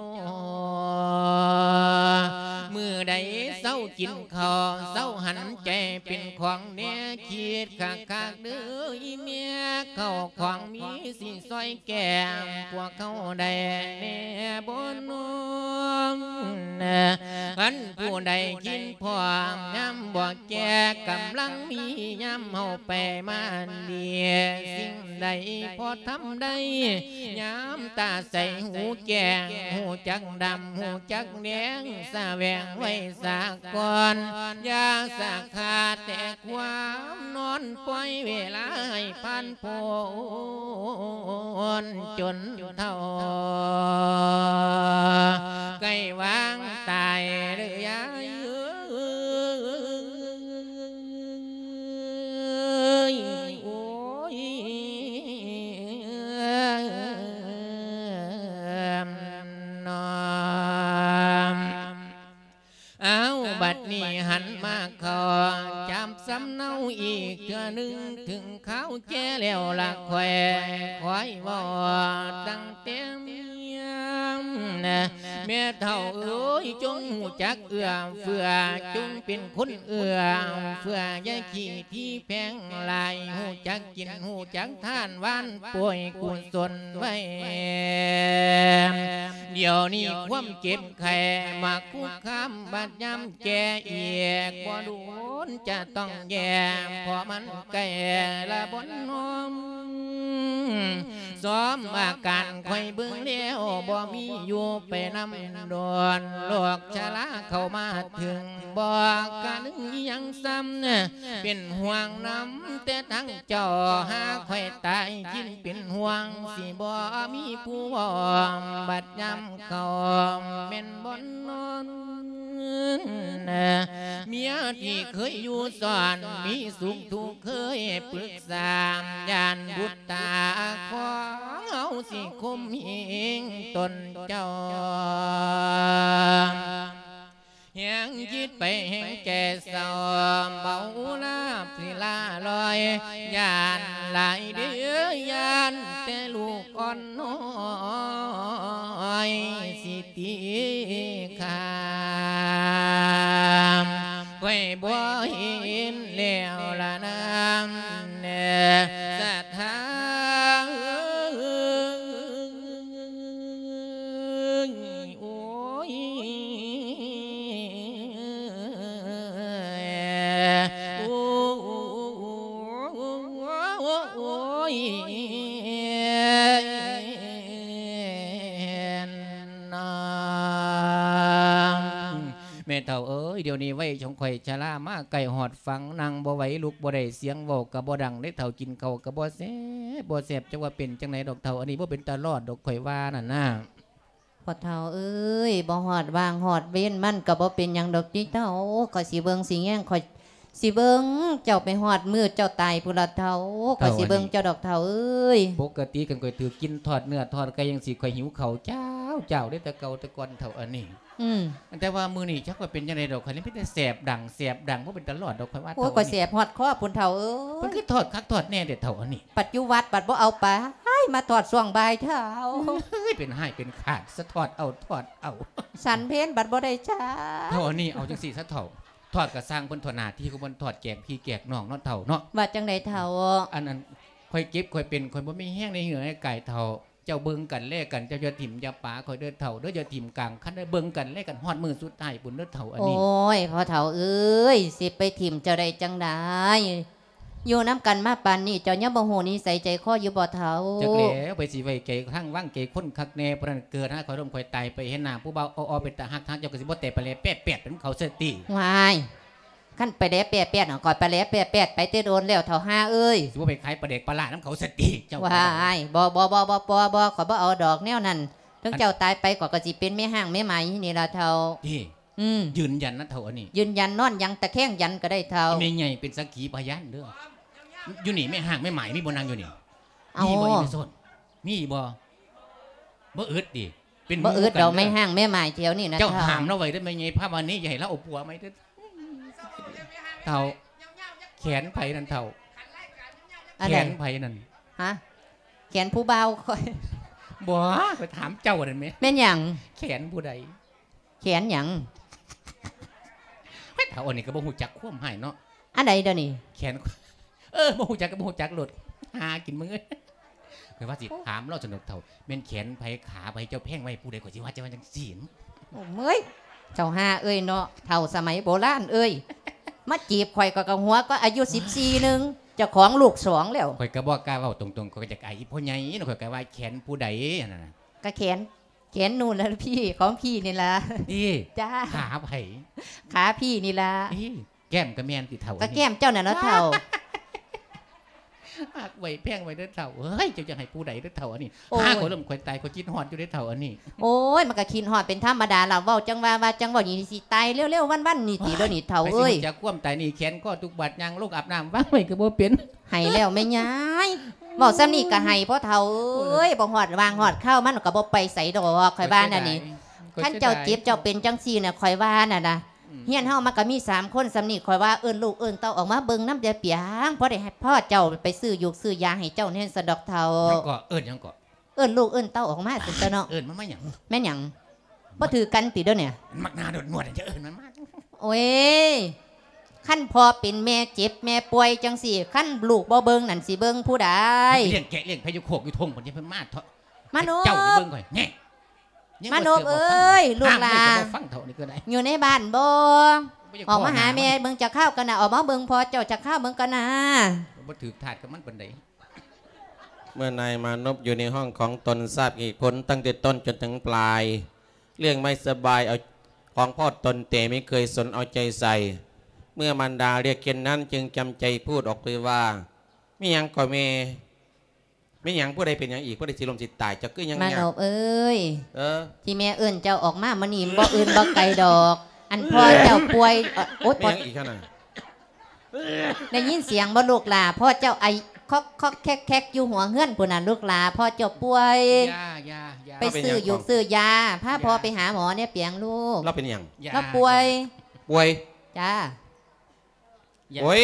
ມື້ໃດເຊົາກິນເຂົ້າ ເຊົາຫັນໃຈເປັນຂອງແນ່ ຄິດຄັກໆເດີອີແມ່ ເຂົ້າຂອງມີ ຊິຊ່ອຍແກ້ພວກເຮົາໄດ້ແນ່ບໍ່ນ້ອ? ຄັນຜູ້ໃດຄິດພ້ອມ ຍາມບໍ່ແກ່ກຳລັງມີ ຍາມເຮົາໄປມາດີ ສິ່ງໃດພໍທຳໄດ້ ຍາມຕາໃສຫູແຈ້ງ ຮູ້ຈັກດຳ ຮູ້ຈັກແດງ ສະແຫວງໄວ້ສາກ່ອນ ຢ່າສາຂາແຕ່ ຄວາມນອນ ປ່ອຍເວລາໃຫ້ຜ່ານພົ້ນ ຈົນເຖົ້າໃກ້ວາງຕາຍເດີຍາຍເອີຍ ໂອ້ຍ ເນາະ. ບັດນີ້ຫັນມາເຂົ້າຈາມສຳເນົາອີກເທື່ອໜຶ່ງ ເຖິງຄາວແກ່ແລ້ວລະຂ້ອຍ ຂ້ອຍເວົ້າຕັ້ງແຕ່ເມຍ ແມ່ເຖົ້າເອີຍ ຈົ່ງຮູ້ຈັກເອື້ອເຟື້ອ ຈົ່ງເປັນຄົນເອື້ອເຟື້ອ ຢ່າຂີ້ຖີ່ແຜງຫຼາຍ ຮູ້ຈັກກິນ ຮູ້ຈັກທານ ຫວ່ານປ່ວຍກຸສົນໄວ້ ດຽວນີ້ຄວາມເຈັບໄຂ້ມາຄຸກຄາມ ບັດຍາມແກ່ອີກ ບໍ່ດົນຈະຕ້ອງແຍ່ ເພາະມັນໃກ້ລະບ່ອນນອນ ຊອມອາການຂ້ອຍເບິ່ງແລ້ວ ບໍ່ມີຢູ່ໄປນຳດອນ ໂລກຊະລາເຂົ້າມາເຖິງ ບໍ່ກະນຶງອີ່ຫຍັງຊ້ຳ ເປັນຫ່ວງນຳແຕ່ທາງເຈົ້າ ຫາຂ້ອຍຕາຍຄິດເປັນຫ່ວງ ຊິບໍ່ມີຜູ້ອ້ອມ ບັດຍາມເຂົ້າແມ່ນບ່ອນນອນ ເມຍທີ່ເຄີຍຢູ່ຊ້ອນ ມີສຸກທຸກເຄີຍປຶກສາ ຢ້ານບຸດຕາຂອງເຮົາຊິຂົ່ມເຫງຕົນເຈົ້າ ແຮງຄິດໄປແຮງແກ່ເສົ້າ ເບົາລາບສິລາລອຍ ຢ້ານຫຼາຍເດີ້ ຢ້ານແຕ່ລູກອ່ອນນ້ອຍ ສິຕິຄາມ ຂ້ອຍບໍ່ເຫັນແລ້ວລະນາ ສະຖາ ໂອ້ຍ ໂອ້ຍ ໂອ້ຍ ນາງ ແມ່ເຖົ້າເອີຍ ດຽວນີ້ໄວຂອງຂ້ອຍຊະລາມາໃກ້ຮອດຝັ່ງ ນັ່ງບໍ່ໄຫວ ລຸກບໍ່ໄດ້ ສຽງເວົ້າກະບໍ່ດັງເດ້ເຖົ້າ ກິນເຂົ້າກະບໍ່ແຊບ ບໍ່ແຊບ ຈັກວ່າເປັນຈັ່ງໃດດອກເຖົ້າ ອັນນີ້ບໍ່ເປັນຕາລອດດອກ ຂ້ອຍວ່ານັ້ນນາ. ພໍ່ເຖົ້າເອີຍ ບໍ່ຮອດວາງຮອດເວນ ມັນກະບໍ່ເປັນຫຍັງດອກຕິເຖົ້າ ຂ້ອຍຊິເບິ່ງຊິແຍງ ຂ້ອຍຊິເບິ່ງເຈົ້າໄປຮອດມື້ເຈົ້າຕາຍພຸ້ນລະເຖົ້າ ຂ້ອຍຊິເບິ່ງເຈົ້າດອກເຖົ້າເອີຍ. ປົກກະຕິຄັນຂ້ອຍຖືກກິນທອດເນື້ອທອດໄກ່ຈັ່ງຊີ້ ຂ້ອຍຫິວເຂົ້າຈ້າວໆເດ້ ແຕ່ເກົ່າແຕ່ກ່ອນເຖົ້າອັນນີ້. ອືມ ແຕ່ວ່າມື້ນີ້ຈັກວ່າເປັນຈັ່ງໃດດອກ ຂ້ອຍນີ້ມີແຕ່ແສບດັງແສບດັງ ບໍ່ເປັນຕາລອດດອກ ຂ້ອຍວ່າ. ໂອ້ຍ ຂ້ອຍແສບຮອດຄໍພຸ້ນເຖົ້າເອີຍ. ເພິ່ນຄືທອດຄັກທອດແນ່ແທ້ເຖົ້າອັນນີ້. ບັດຢູ່ວັດບັດບໍ່ເອົາໄປ ມາທອດຊ່ວງບ່າຍເຖົ້າ. ເອີຍ ເປັນຮ້າຍເປັນຂາດ ສະທອດເອົາທອດເອົາ. ສັນເພັນບັດບໍ່ໄດ້ຈັກເຖົ້າອັນນີ້. ເອົາຈັ່ງຊີ້ຊະເຖົ້າ ທອດກະຊ່າງເພິ່ນ ທອດໜ້າທີ່ຂອງເພິ່ນ ທອດແຈກພີ່ແຈກນ້ອງເນາະເຖົ້າເນາະ. ວ່າຈັ່ງໃດເຖົ້າ? ອັນ ອັນ ຂ້ອຍເຈັບຂ້ອຍເປັນ ຂ້ອຍບໍ່ມີແຮງໃນເຫື່ອໃນກາຍເຖົ້າ. ເຈົ້າເບິ່ງກັນແລກັນ ເຈົ້າຢ່າຖິ້ມຢ່າປາຂ້ອຍເດີເຖົ້າເດີ ຢ່າຖິ້ມກາງຄັນເດີ ເບິ່ງກັນແລກັນຮອດມື້ສຸດທ້າຍພຸ້ນເດີເຖົ້າອັນນີ້. ໂອ້ຍ ພໍ່ເຖົ້າເອີຍ ຊິໄປຖິ້ມເຈົ້າໄດ້ຈັ່ງໃດ? ຢູ່ນຳກັນມາປານນີ້ ເຈົ້າຍັງບໍ່ຮູ້ນິໄສໃຈຄໍຢູ່ບໍ່ເຖົ້າ? ຈັກແລ້ວ ໃຜຊິໄວ້ໃຈທາງວາງໃຈຄົນຄັກແນ່. ຜູ້ນັ້ນເກີດຫາຂ້ອຍລົ້ມຂ້ອຍຕາຍໄປ ເຫັນໜ້າຜູ້ບ່າວເອົາໆເປັນຕາຮັກ ທາງເຈົ້າກໍຊິບໍ່ແຕ່ປະແລແປະແປດເປັນເຂົາເສຍຕິ. ວ້າຍ ຄັນປະແລແປະແປດ ຂ້ອຍປະແລແປະແປດໄປແຕ່ດົນແລ້ວເຖົ້າ ຫ້າເອີຍ. ຊິບໍ່ໄປຂາຍປາແດກປາຫຼ້ານຳເຂົາສະຕິເຈົ້າ. ວ້າຍ ບໍ່ ບໍ່ ຂ້ອຍບໍ່ເອົາດອກແນວນັ້ນ. ເຖິງເຈົ້າຕາຍໄປ ຂ້ອຍກໍຊິເປັນແມ່ຮ້າງແມ່ໝ້າຍນີ້ລະເຖົ້າ. ຕິ? ອືມ ຢືນຢັນນະເຖົ້າອັນນີ້. ຢືນຢັນ ນອນຢັນ ຕະແຄງຢັນກໍໄດ້ເຖົ້າ. ແມ່ໃຫຍ່ເປັນສັກຂີພະຍານເດີ. ຢູ່ນີ້ແມ່ຮ້າງແມ່ໝ້າຍມີບໍ່ ນັ່ງຢູ່ນີ້? ເອົ້າ ມີບໍ່ອີ່ແມ່ໂຊນ? ມີບໍ່? ບໍ່ອຶດຕິ? ເປັນ ບໍ່ອຶດດອກ ແມ່ຮ້າງແມ່ໝ້າຍແຖວນີ້ນະ. ເຈົ້າຫ້າມລາວໄວ້ເດີແມ່ໃຫຍ່ພາວານີ ຢ່າໃຫ້ລາວເອົາຜົວໃໝ່ເດີເຖົ້າ. ແຂນໃຜນັ້ນເຖົ້າ? ແຂນໃຜນັ້ນ? ຮະ? ແຂນຜູ້ບ່າວຂ້ອຍ. ບໍ່ ຂ້ອຍຖາມເຈົ້ານັ້ນແມ. ແມ່ນຫຍັງ? ແຂນຜູ້ໃດ? ແຂນຫຍັງ? ເຖົ້າອັນນີ້ກໍບໍ່ຮູ້ຈັກຄວາມໃຫ້ເນາະ. ອັນໃດດຽວນີ້? ແຂນ ເອີ ບໍ່ຮູ້ຈັກກໍບໍ່ຮູ້ຈັກໂລດ ຫາກິນມຶງເອີຍ. ຂ້ອຍວ່າຊິຖາມລາວຊັ້ນດອກເຖົ້າ ແມ່ນແຂນໃຜຂາໃຜ ເຈົ້າແພງໄວ້ຜູ້ໃດ ຂ້ອຍຊິວ່າເຈົ້າວ່າຈັ່ງຊີ້. ໂອ້ເອີຍ ເຈົ້າຫ້າເອີຍເນາະ ເຖົ້າສະໄໝໂບລານເອີຍ. ມາຈີບຂ້ອຍກໍ ກໍຫົວກໍອາຍຸສິບສີ່ໜຶ່ງ ເຈົ້າຂອງລູກສອງແລ້ວ. ຂ້ອຍກໍບໍ່ກ້າເວົ້າຕົງໆ ຂ້ອຍກໍຢາກອາຍອີ່ພໍ່ໃຫຍ່ເນາະ ຂ້ອຍກໍວ່າແຂນຜູ້ໃດຫັ້ນນະ. ກໍແຂນ ແຂນໜູນລະພີ່ ຂອງພີ່ນີ້ລະ. ຕິ? ຈ້າ. ຂາໃຜ? ຂາພີ່ນີ້ລະ. ຕິ? ແກ້ມກໍແມ່ນຕິເຖົ້າ? ກໍແກ້ມເຈົ້ານັ້ນລະເຖົ້າ. ຮັກໄວ້ແພງໄວ້ເດີເຖົ້າເອີຍ ເຈົ້າຢ່າໃຫ້ຜູ້ໃດເດີເຖົ້າອັນນີ້. ໂອ້ຍ ຫາຂ້ອຍລົ້ມຂ້ອຍຕາຍ ຂ້ອຍຄິດຮອດຢູ່ເດີເຖົ້າອັນນີ້. ໂອ້ຍ ມັນກໍຄິດຮອດເປັນທຳມະດາລະ ເວົ້າຈັ່ງວ່າ ວ່າຈັ່ງເວົ້ານີ້ ຊິຕາຍເລັວໆວັນໆນີ້ຕິ ເດີນີ້ເຖົ້າເອີຍ. ໃຜຊິຮູ້ຈັກຄວາມຕາຍນີ້ ແຂນກໍທຸກບາດ ຍ່າງລົງອາບນ້ຳວາງໄວ້ກໍບໍ່ເປັນ. ໃຫ້ແລ້ວແມ່ຍາຍ ເວົ້າສ່ຳນີ້ກໍໃຫ້ພໍ່ເຖົ້າເອີຍ. ບໍ່ຮອດວາງຮອດຄາວ ມັນກໍບໍ່ໄປໃສດອກ ຂ້ອຍວ່ານັ້ນນີ້. ຄັນເຈົ້າເຈັບເຈົ້າເປັນຈັ່ງຊີ້ນະ ຂ້ອຍວ່ານັ້ນນະ ຮຽນເຮົາມັນກໍມີສາມຄົນສ່ຳນີ້ ຂ້ອຍວ່າເອີ້ນລູກເອີ້ນເຕົ້າອອກມາເບິ່ງນຳແດ່ປຽງ ພໍໄດ້ໃຫ້ພໍ່ເຈົ້າໄປຊື້ຢູກຊື້ຢາໃຫ້ເຈົ້າແດ່ຊັ້ນດອກເຖົ້າ. ຫຍັງເກາະ? ເອີ້ນຫຍັງເກາະ? ເອີ້ນລູກເອີ້ນເຕົ້າອອກມາຊັ້ນຕົວະເນາະ. ເອີ້ນມັນມາຫຍັງ? ແມ່ນຫຍັງ? ບໍ່ຖືກກັນຕິດຽວນີ້? ມັນມັກໜ້າໂດດງວດ ຈະເອີ້ນມັນມາ. ໂອ້ຍ ຄັນພໍ່ເປັນແມ່ເຈັບແມ່ປ່ວຍຈັ່ງຊີ້ ຄັນລູກບໍ່ເບິ່ງນັ້ນຊິເບິ່ງຜູ້ໃດ? ລ້ຽງແກະລ້ຽງແພະຢູ່ໂຄກຢູ່ທົ່ງພຸ້ນ ຢ່າເພິ່ນມາເຖາະ. ມາໂນບ ເຈົ້າໄປເບິ່ງຂ້ອຍແນ່. ມາໂນບເອີຍ ລູກຫຼານ ຢູ່ໃນບ້ານບໍ່? ອອກມາຫາແມ່ເບິ່ງຈັກຄາວກ່ອນນະ ອອກມາເບິ່ງພໍ່ເຈົ້າຈັກຄາວເບິ່ງກ່ອນນະ. ບໍ່ຖືກທາດກັບມັນປານໃດ. ເມື່ອນາຍມານົບຢູ່ໃນຫ້ອງຂອງຕົນ ຊາບເຫດຜົນຕັ້ງແຕ່ຕົ້ນຈົນເຖິງປາຍ ເລື່ອງໄມ່ສະບາຍເອົາຂອງພໍ່ຕົນ ແຕ່ໄມ່ເຄີຍສົນເອົາໃຈໃສ່. ເມື່ອມານດາຮຽກເຊັ່ນນັ້ນ ຈຶ່ງຈຳໃຈພູດອອກໄປວ່າ ແມ່ນຫຍັງກໍແມ່? ແມ່ນຫຍັງ? ຜູ້ໃດເປັນຫຍັງອີກ? ຜູ້ໃດຊິລົ້ມຊິຕາຍ? ເຈົ້າຄືຍັງຍາກ? ມານົບເອີຍ ເອີ ທີ່ແມ່ເອີ້ນເຈົ້າອອກມາມື້ນີ້ ບໍ່ອື່ນບໍ່ໄກດອກ ອັນພໍ່ເຈົ້າປ່ວຍ. ໂອຍ ແມ່ນຫຍັງອີກຫັ້ນນະ? ໄດ້ຍິນສຽງບໍ່ລູກຫຼ້າ? ພໍ່ເຈົ້າໄອຄອກໆແຄກໆຢູ່ຫົວເຮືອນພຸ້ນນະລູກຫຼ້າ ພໍ່ເຈົ້າປ່ວຍ. ຢ່າ ຢ່າ ຢ່າ ໄປຊື້ຢູກຊື້ຢາ ພາພໍ່ໄປຫາໝໍແດ່ປຽງລູກ. ລາວເປັນຫຍັງ? ລາວປ່ວຍ. ປ່ວຍ? ຈ້າ. ໂອ້ຍ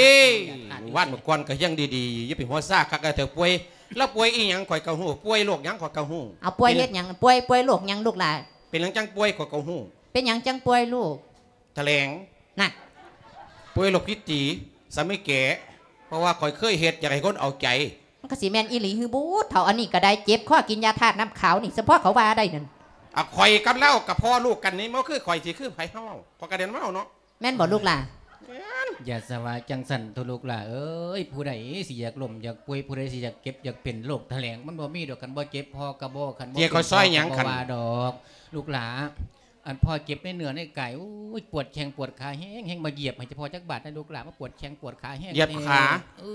ວັນກ່ອນກໍຍັງດີໆ ຢ່າໄປຫົວຊາຄັກເທື່ອ ປ່ວຍ. ລາວປ່ວຍອີ່ຫຍັງຂ້ອຍກໍຮູ້ ປ່ວຍໂລກຫຍັງຂ້ອຍກໍຮູ້. ເອົາ ປ່ວຍເຮັດຫຍັງ? ປ່ວຍ ປ່ວຍໂລກຫຍັງລູກຫຼ້າ? ເປັນຫຍັງຈັ່ງປ່ວຍຂ້ອຍກໍຮູ້. ເປັນຫຍັງຈັ່ງປ່ວຍລູກ? ຖະແຫຼງ ນະ ປ່ວຍໂລກພິດຕີ ສາມີແກ ເພາະວ່າຂ້ອຍເຄີຍເຮັດ ຢາກໃຫ້ຄົນເອົາໃຈ. ມັນກໍຊິແມ່ນອີ່ຫຼີຫືບຸດເຖົ້າ? ອັນນີ້ກໍໄດ້ເຈັບຄໍກິນຢາທາດນ້ຳຂາວນີ້ ສະເພາະເຂົາວ່າໄດ້ນັ້ນ. ອາ ຂ້ອຍກັບລາວກໍພໍ່ລູກກັນນີ້ ບໍ່ຄືຂ້ອຍຊິຄືໃຜ ເຮົາເວົ້າ ຂ້ອຍກໍໄດ້ນຳລາວເນາະ. ແມ່ນບໍ່ລູກຫຼ້າ? ແມ່ນ. ຢ່າສະວ່າຈັ່ງຊັ້ນໂທ້ລູກຫຼ້າເອີຍ ຜູ້ໃດຊິຢາກລົ້ມຢາກປ່ວຍ ຜູ້ໃດຊິຢາກເຈັບຢາກເປັນໂລກຖະແຫຼງ ມັນບໍ່ມີດອກ ຄັນບໍ່ເຈັບພໍ່ກໍບໍ່ ຄັນບໍ່ເປັນພໍ່ກໍບໍ່ວ່າດອກ. ລູກຫຼ້າ ອັນພໍ່ເຈັບໃນເນື້ອໃນກາຍ ໂອ້ຍ ປວດແຂ້ງປວດຂາແຮງໆ ມາຢຽບໃຫ້ເຈົ້າພໍ່ຈັກບາດນະລູກຫຼ້າ ມາປວດແຂ້ງປວດຂາແຮງ. ຢຽບຂາ? ເອີ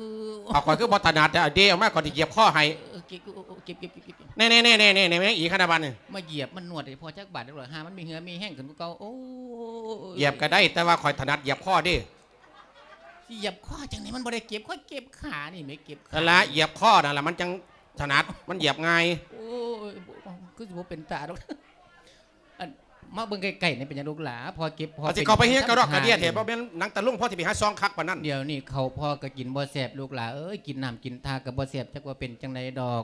ເອົາ ຂ້ອຍຄືບໍ່ຖະໜັດແທ້ ເອົາເດອອກມາ ຂ້ອຍຊິຢຽບຄໍໃຫ້. ເອີ ເຈັບ ເອີ ເຈັບ ເຈັບ ເຈັບ ເຈັບ. ແນ່ໆໆໆ ແມ່ນຫຍັງອີກຂະໜາດບາດນີ້? ມາຢຽບມານວດໃຫ້ພໍ່ຈັກບາດ ຫາມັນມີເຫື່ອມີແຮງຂຶ້ນກວ່າເກົ່າ. ໂອ້ຍ ຢຽບກໍໄດ້ ແຕ່ວ່າຂ້ອຍຖະໜັດຢຽບຄໍເດ້. ຢຽບຄໍຈັ່ງໃດ? ມັນບໍ່ໄດ້ເຈັບ ຂ້ອຍເຈັບຂານີ້ແໝ່ ເຈັບຂາ. ນັ້ນລະ ຢຽບຄໍນັ້ນລະ ມັນຈັ່ງຖະໜັດ ມັນຢຽບງ່າຍ. ໂອ້ຍ ຄືຊິບໍ່ເປັນຕາດອກ. ອັນ ມາເບິ່ງໃກ້ໆນີ້ ເປັນຫຍັງລູກຫຼ້າ? ພໍ່ເຈັບ ພໍ່ ເອົາ ຊິເຂົ້າໄປເຮັດກະດອກກະເດຍແທ້ ບໍ່ແມ່ນໜັງຕະລຸງ ພໍ່ຊິໄປຫາຊອງຄັກປານນັ້ນ. ດຽວນີ້ເຂົ້າພໍ່ກໍກິນບໍ່ແຊບ ລູກຫຼ້າເອີຍ ກິນນ້ຳກິນທ່າກໍບໍ່ແຊບ ຈັກວ່າເປັນຈັ່ງໃດດອກ.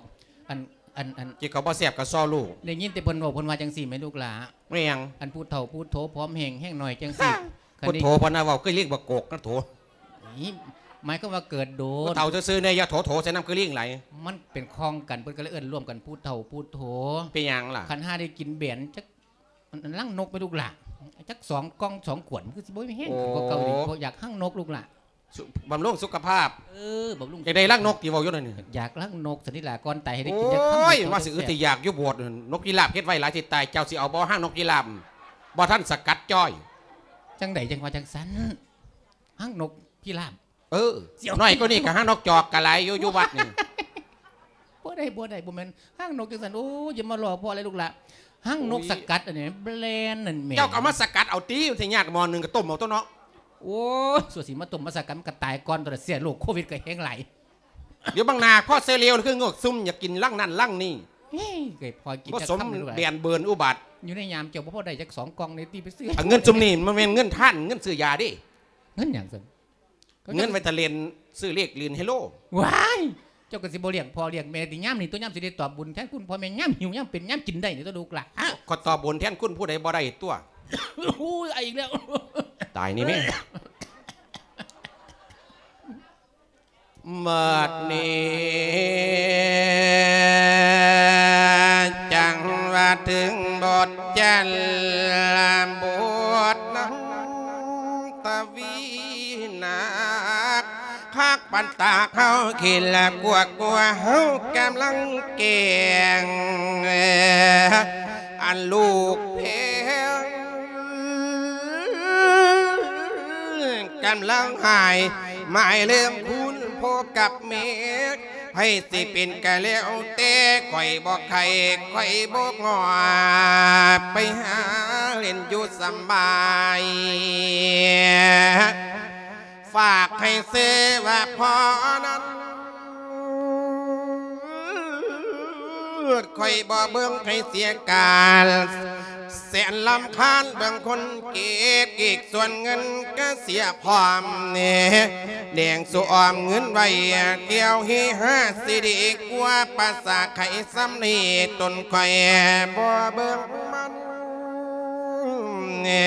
ອັນ ອັນ ອັນ ກິນເຂົ້າບໍ່ແຊບກໍຊໍ້ລູກ. ໄດ້ຍິນແຕ່ເພິ່ນເວົ້າ ເພິ່ນວ່າຈັ່ງຊີ້ແໝ່ລູກຫຼ້າ. ແມ່ນຫຍັງ? ອັນຜູ້ເຖົ້າຜູ້ໂທ ຜອມແຫ້ງ ແຮງໜ້ອຍຈັ່ງຊີ້. ຜູ້ໂທ ເພິ່ນວ່າເວົ້າຄືລິງບັກໂກກນະໂຖ. ນີ້ໝາຍຄວາມວ່າເກີດໂດນ. ຜູ້ເຖົ້າຊື່ໆແດ່ ຢ່າໂຖໆໃສ່ນຳຄືລິງຫຼາຍ. ມັນເປັນຂອງກັນ ເພິ່ນກໍເລີຍເອີ້ນລວມກັນຜູ້ເຖົ້າຜູ້ໂທ. ເປັນຫຍັງລະ? ຄັນຫາໄດ້ກິນແບນຈັກ ອັນ ລັງນົກແມ່ລູກຫຼ້າ ຈັກສອງກ່ອງສອງຂວດ ມັນຄືຊິບໍ່ມີແຮງຂຶ້ນກວ່າເກົ່າອີກ. ໂອ້ ບໍ່ຢາກລັງນົກລູກຫຼ້າ. ບຳລຸງສຸຂະພາບ. ເອີ ບຳລຸງ. ຢາກໄດ້ລັງນົກຕິເວົ້າຢູ່ນັ້ນ? ຢາກລັງນົກຊັ້ນນີ້ລະ ກ່ອນຕາຍໃຫ້ໄດ້ກິນຈັກຄຳ. ໂອ້ຍ ມາຊິອຶດຊິຢາກຢູ່ໂບດ. ນົກພິລາບເຮັດໄວ້ຫຼາຍຊິຕາຍ ເຈົ້າຊິເອົາບໍ່? ຮັງນົກພິລາບ ບໍ່ທັນສະກັດຈ້ອຍ. ຈັ່ງໃດຈັ່ງວ່າຈັ່ງຊັ້ນ? ຮັງນົກພິລາບ. ເອີ ນ້ອຍກວ່ານີ້ກໍຮັງນົກຈອກກໍຫຼາຍຢູ່ ຢູ່ວັດນີ້. ບໍ່ໄດ້ ບໍ່ໄດ້ ບໍ່ແມ່ນຮັງນົກຈັ່ງຊັ້ນ. ໂອ້ຍ ຢ່າມາລໍ້ພໍ່ເລີຍລູກຫຼ້າ. ຮັງນົກສະກັດອັນນີ້ ແບຣນນັ້ນແໝ່. ເຈົ້າກໍເອົາມາສະກັດເອົາຕິ ມັນຊິຍາກ ໝໍ້ໜຶ່ງກໍຕົ້ມເອົາຕົວະເນາະ. ໂອ້ຍ ສ່ວນຊິມາຕົ້ມມາສະກັດ ມັນກໍຕາຍກ່ອນຕົວະ ເຊື້ອໂລກໂຄວິດກໍແຮງຫຼາຍ. ດຽວບັງໜ້າພໍເສຍເລວ ຄືງອກຊຸມ ຢາກກິນລັງນັ້ນລັງນີ້. ເຮີ້ຍ ກໍພໍກິນຈັກຄຳ. ແບນເບີນອຸບາດ. ຢູ່ໃນຍາມເຈົ້າບໍ່ພໍໄດ້ຈັກສອງກ່ອງນີ້ຕິ ໄປຊື້. ເງິນຊຸມນີ້ມັນແມ່ນເງິນທານ ເງິນຊື້ຢາເດ້. ເງິນຫຍັງຊັ້ນ? ເງິນໄວ້ຖ້າຫຼິ້ນ ຊື້ເລກຫຼິ້ນເຮໂລ. ວ້າຍ ເຈົ້າກໍຊິບໍ່ລ້ຽງພໍ່ລ້ຽງແມ່ຕິ ຍາມນີ້ຕົວະ ຍາມຊິໄດ້ຕອບບຸນແທນຄຸນພໍ່ແມ່ ຍາມຫິວ ຍາມເປັນ ຍາມກິນໄດ້ນີ້ຕົວະລູກຫຼ້າ. ເອົ້າ ຂ້ອຍຕອບບຸນແທນຄຸນຜູ້ໃດບໍ່ໄດ້ຕົວະ. ໂອ້ຍ ອາອີກແລ້ວ. ຕາຍນີ້ແມ່. ບັດນີ້ຈັ່ງວ່າເຖິງບົດຈັນລະບົດນາງຕະ ວິນາກ ຄັກປັນຕາເຮົາຄິດລະກວກກົວ ເຮົາກຳລັງແກງ ອັນລູກແພງ ກຳລັງຫາຍໝາຍເລື່ອງຄູນພໍ່ກັບແມ່ ໃຜຊິເປັນກະແລ້ວແຕ່ ຂ້ອຍບໍ່ໄຄ ຂ້ອຍບໍ່ງອ ໄປຫາຫຼິ້ນຢູ່ສະບາຍ ຝາກໃຫ້ເສວະພໍ່ນັ້ນ ຂ້ອຍບໍ່ເບິ່ງໃຫ້ເສຍການ ແສນລຳຄານເບິ່ງຄົນເກັບ ອີກສ່ວນເງິນກະເສຍພ້ອມແດ່ ແດງສູ່ອ້ອມເງິນໄວ້ ແກ້ວເຮຮາຊິດີກວ່າ ປາສາໄຂ່ຊ່ຳນີ້ ຕົນຂ້ອຍບໍ່ເບິ່ງມັນແດ່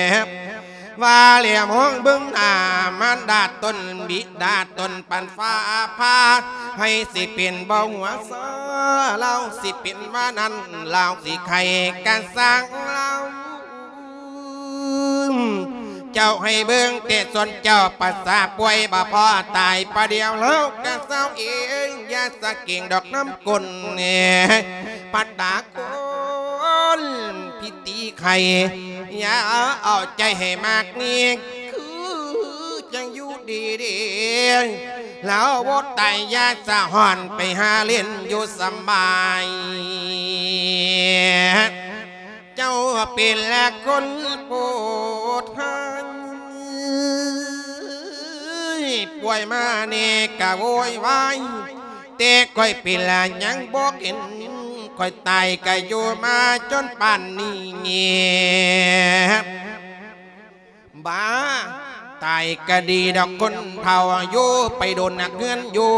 ວ່າແລ້ວມອງເບິ່ງໜ້າມານດາຕົນ ບິດາຕົນ ປານຟ້າຜ່າ ໃຜຊິເປັນບໍ່ຫົວຊາ ລາວຊິເປັນວ່ານັ້ນ ລາວຊິໄຂ່ກະຊ່າງລາວ ເຈົ້າໃຫ້ເບິ່ງແຕ່ສ່ວນເຈົ້າ ປາສາປ່ວຍບໍ່ພໍຕາຍ ປະດຽວລາວກະເຊົາເອງ ຢ່າສະເກັງດອກນ້ຳກົ້ນ ປາດຕາ ຄົນພິຕີໄຂ່ ຢ່າເອົາໃຈໃຫ້ມາກນີ້ ຄືຈັ່ງຢູ່ດີໆ ລາວບໍ່ຕາຍ ຢ່າສະຮ້ອນ ໄປຫາຫຼິ້ນຢູ່ສະບາຍ ເຈົ້າເປັນລະຄົນໂພດຮ້າຍ ປ່ວຍມານີ້ກະໂວຍວາຍ ແຕ່ຂ້ອຍເປັນລະຍັງບໍ່ເຫັນ ຂ້ອຍຕາຍກະຢູ່ມາຈົນປານນີ້ ບາ ຕາຍກະດີດອກຄົນເຖົ້າ ຢູ່ໄປດົນນັກເຮືອນຢູ່.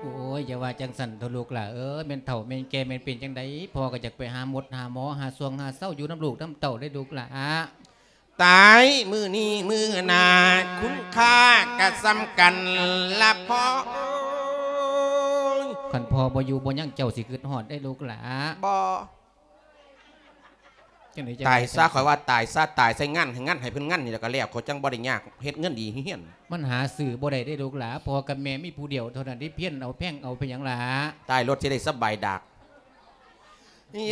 ໂອ້ຍ ຢ່າວ່າຈັ່ງຊັ້ນເຖາະລູກຫຼ້າເອີຍ ແມ່ນເຖົ້າແມ່ນແກ່ແມ່ນເປັນຈັ່ງໃດ ພໍ່ກະຢາກໄປຫາໝົດຫາໝໍ ຫາຊ່ວງຫາເຊົາຢູ່ນຳລູກນຳເຕົ້າເດ້ລູກຫຼ້າ. ຕາຍມື້ນີ້ມື້ໜ້າ ຄຸນຄ່າກະສ່ຳກັນລະພໍ່ເອີຍ. ຄັນພໍ່ບໍ່ຢູ່ບໍ່ຍັງ ເຈົ້າຊິຄຶດຮອດເດ້ລູກຫຼ້າ. ບໍ່ ຈັ່ງໃດ ຕາຍຊະ ຂ້ອຍວ່າຕາຍຊະ ຕາຍໃສ່ງານ ໃຫ້ງານ ໃຫ້ເພິ່ນງານນີ້ລະກະແລ້ວ ຂ້ອຍຈັ່ງບໍ່ໄດ້ຍາກ ເຮັດເງິນດີຮຽນ. ມັນຫາຊື້ບໍ່ໄດ້ເດ້ລູກຫຼ້າ ພໍ່ກັບແມ່ມີຜູ້ດຽວເທົ່ານັ້ນເດ້ ພຽນເອົາແພງເອົາ ເປັນຫຍັງຫຼ້າ. ຕາຍໂລດ ຊິໄດ້ສະບາຍດາກ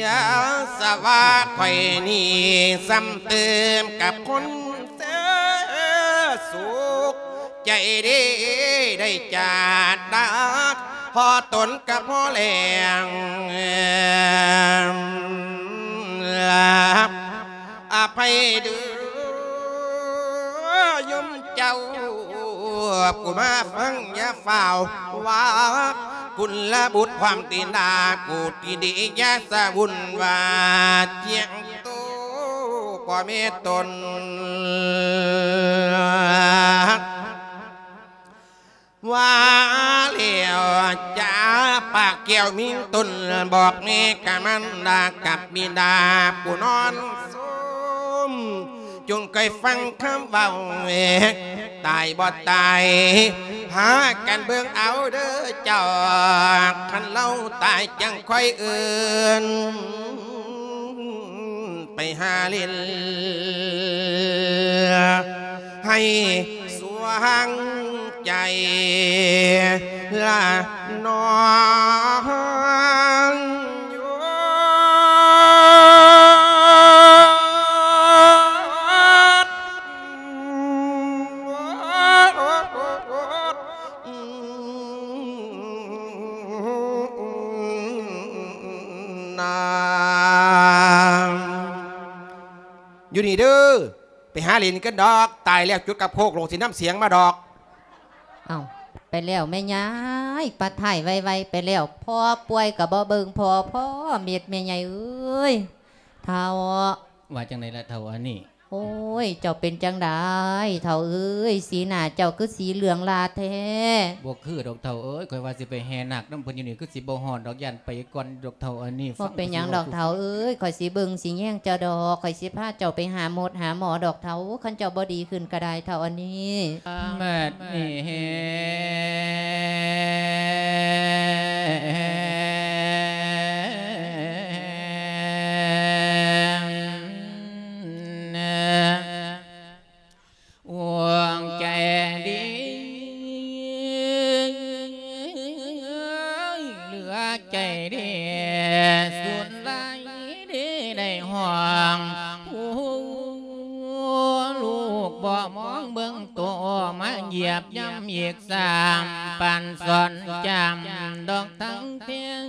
ຢ່າສະວ່າຂ້ອຍນີ້ ຊ້ຳເຕີມກັບຄົນເສຍສຸກ ໃຈເດ້ໄດ້ຈາດດາກ ພໍຕົນກະພໍແລ້ວ ອະໄພເດີໂຍມເຈົ້າ ຜູ້ມາຟັງຢ່າຟ້າວວ່າ ກຸນລະບຸດຄວາມຕີນດາ ກູຕີດີຢ່າສະວຸ່ນວ່າ ທຽງໂຕພໍ່ແມ່ຕົນ ວ່າແລ້ວຈາປາກແກ້ວມີຕົນ ບອກແມ່ກະມານດາກັບບິດາຜູ້ນອນສົມ ຈົ່ງໄກຟັງຄຳເວົ້າ ຕາຍບໍ່ຕາຍ ພາກັນເບິ່ງເອົາເດີເຈົ້າ ຄັນລາວຕາຍຈັ່ງຄ່ອຍເອີ້ນ ໄປຫາຫຼິ້ນ ໃຫ້ສວ່າງໃຈລະນ້ອງ. ຢູ່ນີ້ເດີ ໄປຫາຫຼິ້ນກັນດອກ ຕາຍແລ້ວຈຸດກັບໂຄກໂລກຊິນຳສຽງມາດອກ. ເອົ້າ ໄປແລ້ວແມ່ຍາຍ ປະໄຖ່ໄວໆ ໄປແລ້ວ ພໍ່ປ່ວຍກະບໍ່ເບິ່ງພໍ່ ພໍ່ເມັດແມ່ຍາຍເອີຍ ເຖົ້າ. ວ່າຈັ່ງໃດລະເຖົ້າອັນນີ້? ໂອ້ຍ ເຈົ້າເປັນຈັ່ງໃດເຖົ້າເອີຍ ສີໜ້າເຈົ້າຄືສີເຫຼືອງລາແທ້? ບໍ່ຄືດອກເຖົ້າເອີຍ ຂ້ອຍວ່າຊິໄປແຫ່ນາກນຳເພິ່ນຢູ່ນີ້ ຄືຊິບໍ່ຮອດດອກ ຢ້ານໄປກ່ອນດອກເຖົ້າອັນນີ້. ບໍ່ເປັນຫຍັງດອກເຖົ້າເອີຍ ຂ້ອຍຊິເບິ່ງຊິແຍງເຈົ້າດອກ ຂ້ອຍຊິພາເຈົ້າໄປຫາໝົດຫາໝໍດອກເຖົ້າ ຄັນເຈົ້າບໍ່ດີຂຶ້ນກະໄດ້ເຖົ້າອັນນີ້. ບັດນີ້ ດວງໃຈດີ ເຫຼືອໃຈດີສຸດຫຼາຍເດ ໄດ້ຮ້ອງຜູ້ລູກບໍ່ມອງເບິ່ງໂຕ ມາຢຽບຢຳອີກຊ້ຳ ປານສອນຈຳດອກທັງເພງ.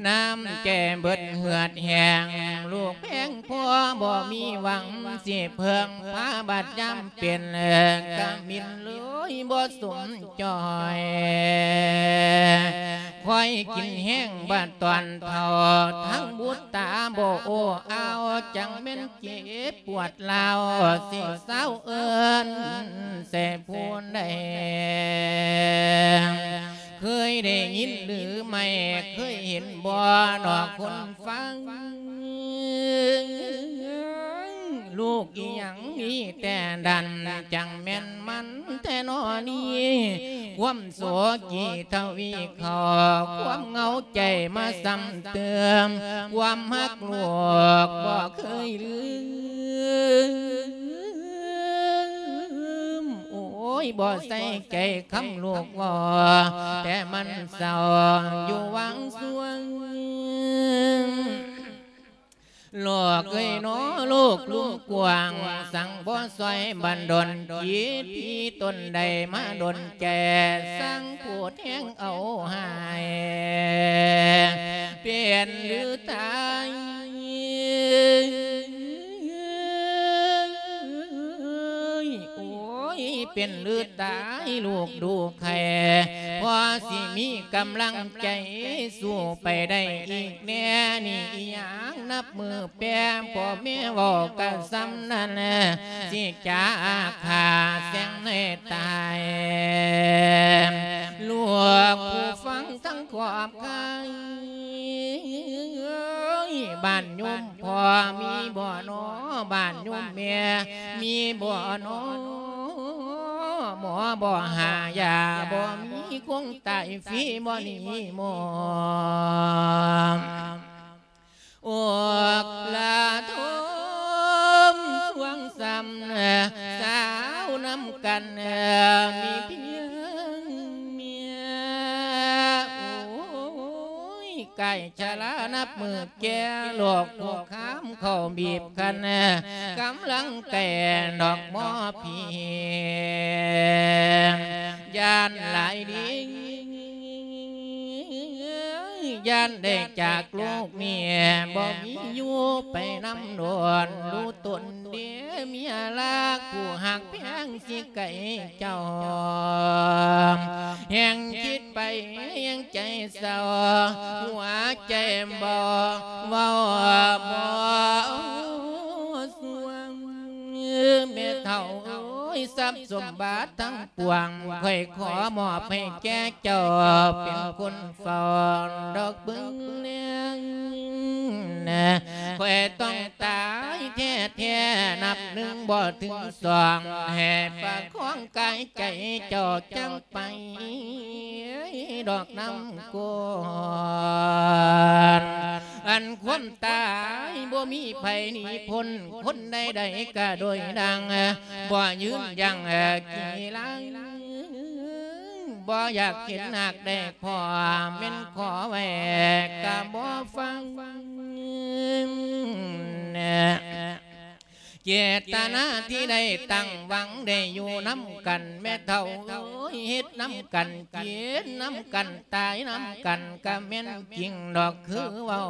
ນ້ຳໃຈເບິດເຫືອດແຫ້ງ ລູກແພງພໍ່ບໍ່ມີຫວັງຊິເພິ່ງພາ ບາດຍາມເປັນກະມິນເລີຍບໍ່ສົມຈ່ອຍ ຄອຍກິນແຮງບາດຕອນເຖົ້າ ທັງບຸດຕາບໍ່ໂອ້ອາວ ຈັ່ງແມ່ນເຈັບປວດລາວ ຊິເຊົາເອີ້ນແຕ່ຜູ້ໃດ ເຄີຍໄດ້ຍິນຫຼືໄມ່ ເຄີຍເຫັນບໍ່ນອກຄົນຟັງ ລູກອີ່ຫຍັງມີແຕ່ດັນ ຈັ່ງແມ່ນມັນແທ້ນໍນີ້ ຄວາມໂສກີທະວີເຂົ້າ ຄວາມເຫງົາໃຈມາຊ້ຳເຕີມ ຄວາມຮັກລູກບໍ່ເຄີຍລືມ ໂອ້ຍ ບໍ່ໃສ່ໃຈຄຳລູກເວົ້າ ແຕ່ມັນເສົ້າຢູ່ຫວ່າງຊ່ວງ ໂລກເອີຍໜໍ ໂລກກວ້າງ ສັງບໍ່ຊ່ອຍບັນດົນ ຈິດທີ່ຕົນໄດ້ມາດົນແກ່ ສັງຜູ້ແທງເອົາຫາຍ ເປັນຫຼືຕາຍ ໂອ້ຍ ເປັນຫຼືຕາຍ ລູກດູໄຂ້ ພໍຊິມີກຳລັງໃຈ ສູ້ໄປໄດ້ອີກແນ່ນີ້ ອີ່ຫຍັງນັບມື້ແປ ພໍ່ແມ່ເວົ້າກະສ່ຳນັ້ນ ຊິຈາຂ້າແສງໃຫ້ຕາຍ ລູກຜູ້ຟັງທັງຂອບຂ້າຍ ບ້ານໂຍມພໍ່ມີບໍ່ນໍ ບ້ານໂຍມແມ່ມີບໍ່ນໍ ໝໍບໍ່ຫາຢາບໍ່ມີ ຄົງຕາຍຟຣີບໍ່ໜີໝໍ ອອກລາທົມຊ່ວງຊ້ຳ ສາວນຳກັນມີພຽງເມຍ ໂອ້ຍ ກາຍຊະລານັບມື້ແກ່ ໂລກຄຸກຄາມເຂົ້າບີບຄັນ ກຳລັງແຕ່ດອກໝໍພຽງ ຢ້ານຫຼາຍດີ ຢ້ານໄດ້ຈາກໂລກນີ້ ບໍ່ມີຢູ່ໄປນຳດົນ ຮູ້ຕົນເດເມຍລັກ ຜູ້ຮັກແພງຊິໄກເຈົ້າ ແຮງຄິດໄປແຮງໃຈເສົ້າ ຫົວໃຈບໍ່ເວົ້າບໍ່ຊ່ວງ ແມ່ເຖົ້າເອີຍ ຊັບສົມບັດທັງ ປວງ ຂ້ອຍຂໍມອບໃຫ້ແກ່ເຈົ້າ ເປັນຄົນເຝົ້າດອກເບິ່ງແລງ ຂ້ອຍຕ້ອງຕາຍແທ້ໆ ນັບໜຶ່ງບໍ່ເຖິງສອງ ໃຫ້ປະຄອງກາຍໃຈເຈົ້າຈັ່ງໄປ ດອກນຳກ່ອນ ອັນຄວາມຕາຍບໍ່ມີໃຜໜີພົ້ນ ຄົນໃດໆກະໂດຍດັ່ງ ບໍ່ຢືນຢັ້ງກີລັງ ບໍ່ຢາກເຫັນຫາກໄດ້ພໍ ແມ່ນຂໍໄວ້ກະບໍ່ຟັງ ເຈດຕະນາທີ່ໄດ້ຕັ້ງຫວັງ ໄດ້ຢູ່ນຳກັນແມ່ເຖົ້າເອີຍ ເຮັດນຳກັນ ກິນນຳກັນ ຕາຍນຳກັນ ກະແມ່ນຈິງດອກຄືເວົ້າ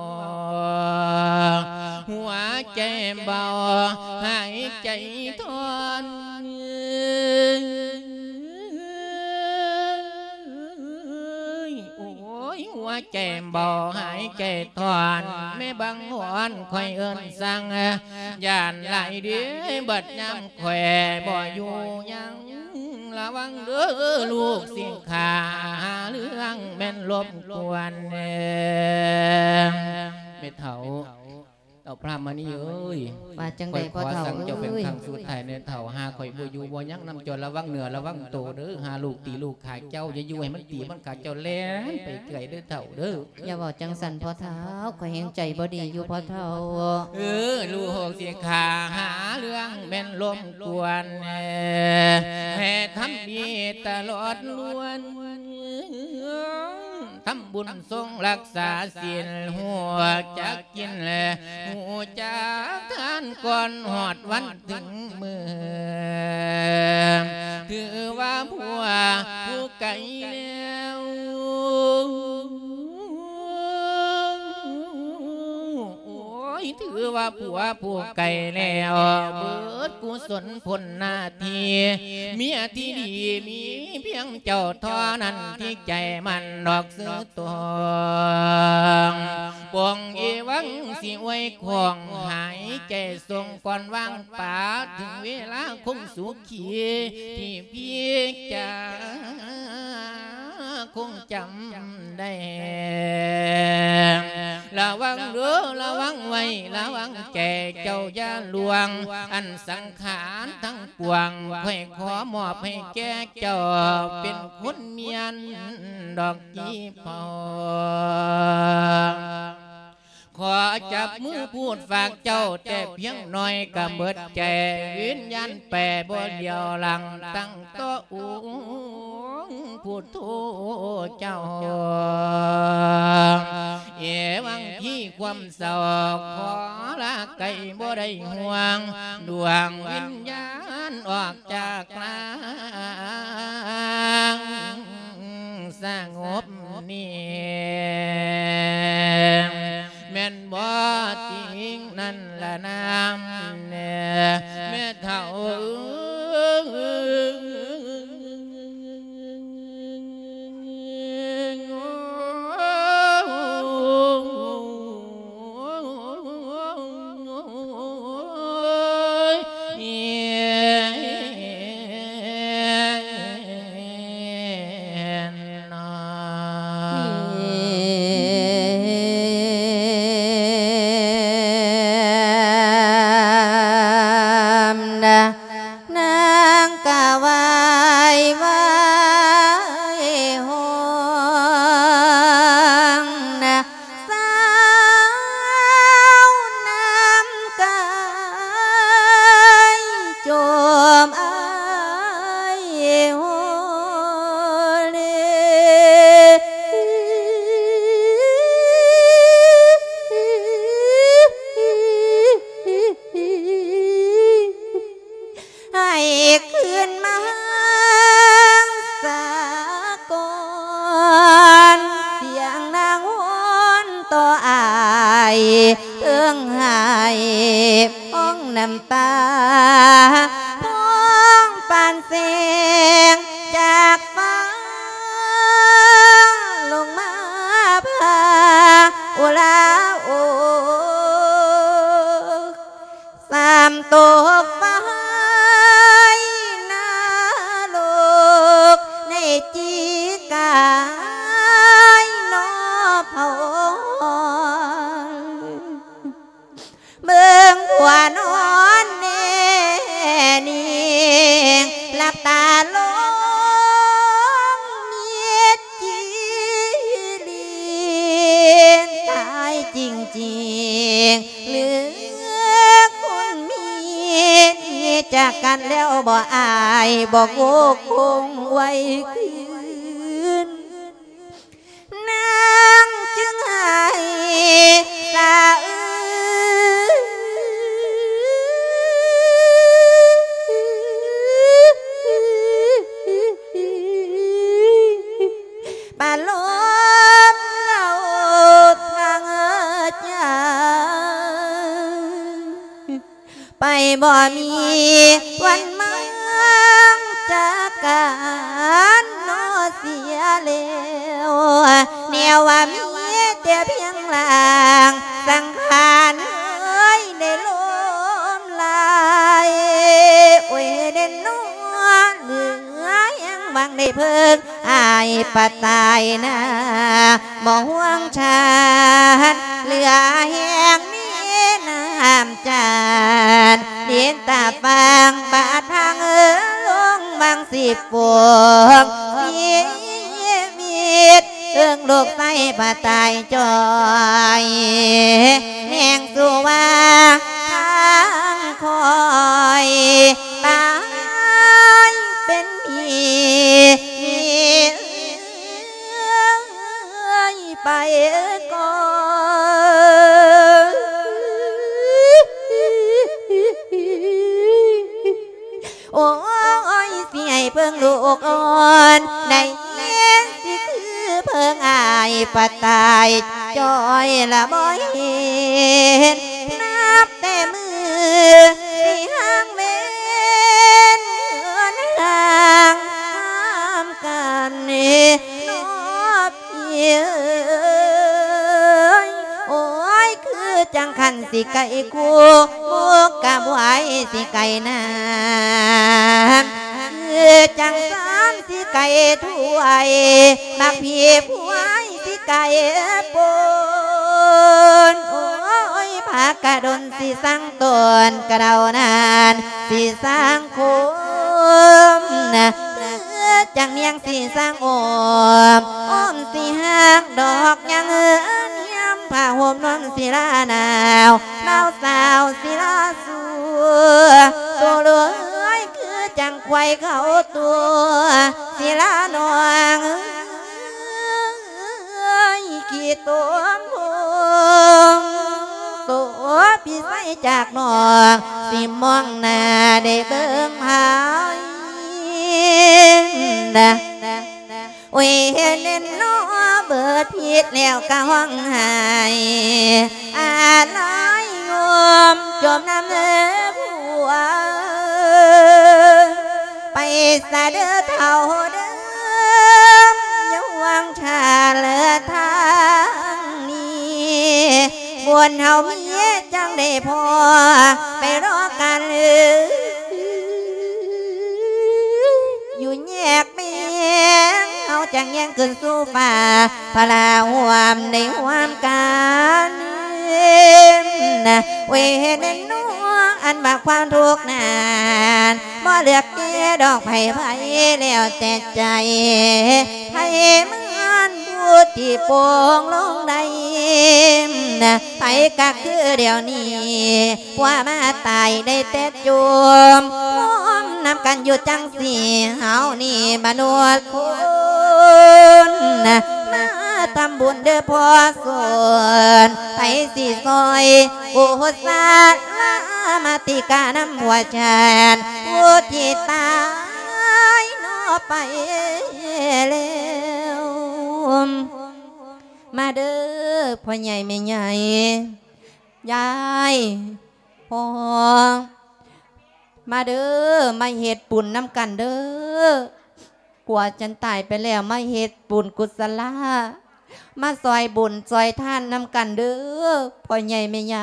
ຫົວໃຈເບົາ ຫາຍໃຈທອນ ໂອ້ຍ ຫົວໃຈເບົາ ຫາຍໃຈທອນ ແມ່ບັງຫວນ ຂ້ອຍເອີ້ນສັ່ງ ຢ້ານຫຼາຍເດ ບັດຍາມຂ້ອຍບໍ່ຢູ່ຍັງ ລະວັງເດີລູກສິຂາ ຫາເລື່ອງແມ່ນລົບກວນ ແມ່ເຖົ້າ ເຖົ້າພະມະນີເອີຍ ວ່າຈັ່ງໃດພໍ່ເຖົ້າເອີຍ ຂ້ອຍຂໍສັ່ງເຈົ້າເປັນຄັ້ງສຸດທ້າຍແນ່ເຖົ້າ ຫາຂ້ອຍບໍ່ຢູ່ບໍ່ຍັງນຳເຈົ້າ ລະວັງເນື້ອລະວັງໂຕເດີ ຫາລູກຕີລູກຂາເຈົ້າ ຢ່າຢູ່ໃຫ້ມັນຕີມັນຂາເຈົ້າ ແລ່ນໄປເກືອຍເດີເຖົ້າເດີ. ຢ່າເວົ້າຈັ່ງຊັ້ນພໍ່ເຖົ້າ ຂ້ອຍແຮງໃຈບໍ່ດີຢູ່ພໍ່ເຖົ້າ. ເອີ ລູກສິຂາຫາເລື່ອງແມ່ນລົບກວນ ໃຫ້ທຳດີຕະຫຼອດລ້ວນ ທຳບຸນຊົງລັກສາສິນ ຮູ້ຈັກກິນແລ ຮູ້ຈັກທານກ່ອນຮອດວັນເຖິງມື້ ຖືວ່າຜົວຜູ້ໄກແລ້ວ. ຖືວ່າຜົວຜູ້ໄກແລ້ວ ເບິດກຸສົນພົ້ນໜ້າທີ່ ເມຍທີ່ດີມີພຽງເຈົ້າເທົ່ານັ້ນ ທີ່ໃຈມັນດອກຊື່ຕົງ ປ່ອງເອວັງຊິອວຍຂອງ ຫາຍໃຈສົ່ງກ່ອນວາງປາ ເຖິງເວລາຄົງສຸຂີ ທີ່ພີ່ຈາຄົງຈຳໄດ້ ລະວັງເດີ ລະວັງໄວ້ ລະວັງໃຈເຈົ້າຢ່າລ່ວງ ອັນສັງຂານທັງປວງ ຂ້ອຍຂໍມອບໃຫ້ແກ່ເຈົ້າ ເປັນຄຸນມຽນດອກກີເພົາ ຂໍຈັບມືພູດຝາກເຈົ້າແຕ່ພຽງໜ້ອຍກະເບິດໃຈ ວິນຍານໄປບໍ່ຫຼຽວຫຼັງ ຕັ້ງຕໍ່ອົງພຸດໂທເຈົ້າ ເອວັງທີ່ຄວາມເສົ້າ ຂໍລາໄກບໍ່ໄດ້ຫ່ວງ ດວງວິນຍານອອກຈາກຮ່າງ ສະຫງົບນີ້ ແມ່ນບໍ່ຕິງນັ້ນລະນາມແນ່ ແມ່ເຖົ້າເອີຍ. ນາງກະໄຫວ້ ໄຫວ້ຮ້ອງນະ ສາວນ້ຳກາຍ ຈົ່ມອາຍໂຮເລ ໃຫ້ຄືນມາສາກ່ອນ ສຽງນາງໂຫນຕໍ່ອາຍ ເທິງໄຫ້ ພອງນ້ຳຕາ ພອງປານແສງຈາກຟ້າ ລົງມາພາອຸລາໂອ ສາມຕົກໄຟນະລົກ ໃນຈີກາຍນອພອນ ເບິ່ງຜົວນອນແນ່ນິ່ງ ຫຼັບຕາລົງມິດຈີລີນ ຕາຍຈິງໆ ຫຼືຄົນມີຈາກກັນແລ້ວບໍ່ ອາຍບໍ່ຄົງໄວ້ຄືນ ນາງຈຶ່ງໄຫ້ສະອື້ນ ປະລົມເລົ່າທາງໃຈ ໄປບໍ່ມີວັນມາຈາກກັນນໍເສຍແລ້ວ ແນວວ່າມີແຕ່ພຽງຮ່າງສັງຂານເອີຍ ໄດ້ລົ້ມລາຍ ໂອ້ຍ ເດັ່ນໜໍ ເຫຼືອຫຍັງຫວັງໄດ້ເພິ່ງ ອ້າຍປະຕາຍນາ ບໍ່ຫ່ວງຊາດ ເຫຼືອແຮງມີນ້ຳຈານ ດິນຕາຟາງບາດທາງເອີ ລົງວັງສິບປົວງຊີວິດ ເອີງລູກໄສ້ປະຕາຍຈ່ອຍ ແນງສູ່ວ່າທາງຂ້ອຍ ຕາຍເປັນຜີ ໄປກ່ອນ ໂອ້ຍ ຊິໃຫ້ເພິ່ງລູກອ່ອນ ໄດ້ຍິນຊິຄືເພິ່ງອ້າຍປະຕາຍ ຈ່ອຍລະບໍ່ເຫັນ ຊິຫາງເວັນເຮືອນຮ່າງນຳກັນເນາະ ພີ່ເອີຍ ໂອ້ຍ ຄືຈັ່ງຄັນຊິໄກຄູ່ ໝູ່ກະບວຍຊິໄກນຳ ຄືຈັ່ງຊັ້ນຊິໄກຖ້ວຍ ໝາກພີພວຍຊິໄກປົນ ໂອ້ຍ ພາກະດົນຊິສັງຕົ້ນ ກະເດົານານຊິສັງ ຄົມນະ ຄືຈັ່ງນຽງຊິສັງໂອມ ໂອມຊິຫັກດອກຍາງເອີນຍາມ ຜ້າຫົ່ມນົນສິລາໜາວ ໜາວສາວສິລາຊູ ໂຕເລີຍຄືຈັ່ງຄວາຍເຂົ້າຕົວ ສິລານ້ອງເອີຍ ຂີ້ຕົມໂພງ ໂຕພິໄສຈາກນ້ອງ ຊິມອງໜ້າໄດ້ເບິ່ງໃຜນະ ໂອ້ຍ ເຫັນເນາະ ເບີດຜິດແລ້ວກະຮ້ອງໄຫ້ ອາໄລຍົມຈົມນຳເດີຜົວ ໄປສະເດີເຖົ້າເດີ ຢ່າຫວງຖ້າເລີທາງນີ້ ບຸນເຮົາມີຈັ່ງໄດ້ພໍ ໄປລໍກັນເອີຍ ຢູ່ແຍກແມງ ເຮົາຈັ່ງແຍງຂຶ້ນສູ່ຟ້າ ພະລາຮ່ວມໄດ້ຮ່ວມກັນ ໂອ້ຍ ເຫັນເນາະ ອັນວ່າຄວາມທຸກນັ້ນ ບໍ່ເລືອກແຕ່ດອກໃຜໃຜ ແລ້ວແຕ່ໃຈໃຜມັນ ຜູ້ທີ່ປົງລົງໄດ້ ໃຜກະຄືດຽວນີ້ ຜົວມາຕາຍໄດ້ແຕ່ຈົ່ມ ໂຮມນຳກັນຢູ່ຈັ່ງຊີ້ ເຮົານີ້ມະນຸດຄົນ ມາທຳບຸນເດີພໍ່ສົນ ໃຜຊິຊ່ອຍ ອຸສາລາມາຕິການຳຜົວຊາດ ຜູ້ທີ່ຕາຍເນາະໄປແລ້ວ ມາເດີພໍ່ໃຫຍ່ແມ່ໃຫຍ່ ຍາຍ ພໍ່ ມາເດີ ມາເຮັດບຸນນຳກັນເດີ ຜົວສັນຕາຍໄປແລ້ວ ມາເຮັດບຸນກຸສະລາ ມາຊ່ອຍບຸນຊ່ອຍທານນຳກັນເດີ ພໍ່ໃຫຍ່ແມ່ໃຫຍ່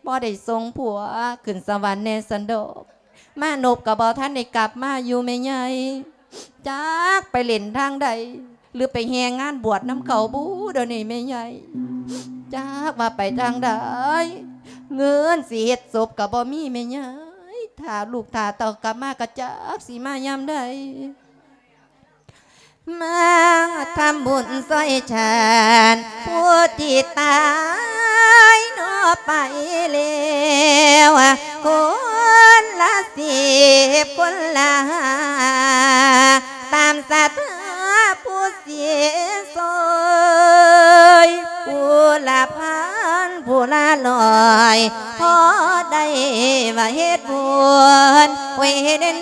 ພໍໄດ້ສົ່ງຜົວຂຶ້ນສະຫວັນແດ່ຊັ້ນດອກ. ມານົບກໍບໍ່ທັນໄດ້ກັບມາຢູ່ແມ່ໃຫຍ່ ຈັກໄປຫຼິ້ນທາງໃດ ຫຼືໄປແຫ່ງານບວດນຳເຂົາບູ ດຽວນີ້ແມ່ໃຫຍ່ ຈັກວ່າໄປທາງໃດ ເງິນຊິເຮັດສົບກໍບໍ່ມີແມ່ໃຫຍ່ ຖ້າລູກຖ້າເຕົ້າກັບມາກໍຈັກຊິມາຍາມໃດ. ມາທຳບຸນຊ່ອຍຊາດ ຜູ້ທີ່ຕາຍເນາະໄປແລ້ວ ຄົນລະສິບຄົນລະຫ້າ ຕາມສັດທາຜູ້ເສຍຊ່ອຍ ຜູ້ລະພັນຜູ້ລະຮ້ອຍ ພໍໄດ້ວ່າເຮັດບຸນ ໂອ້ຍເນາະ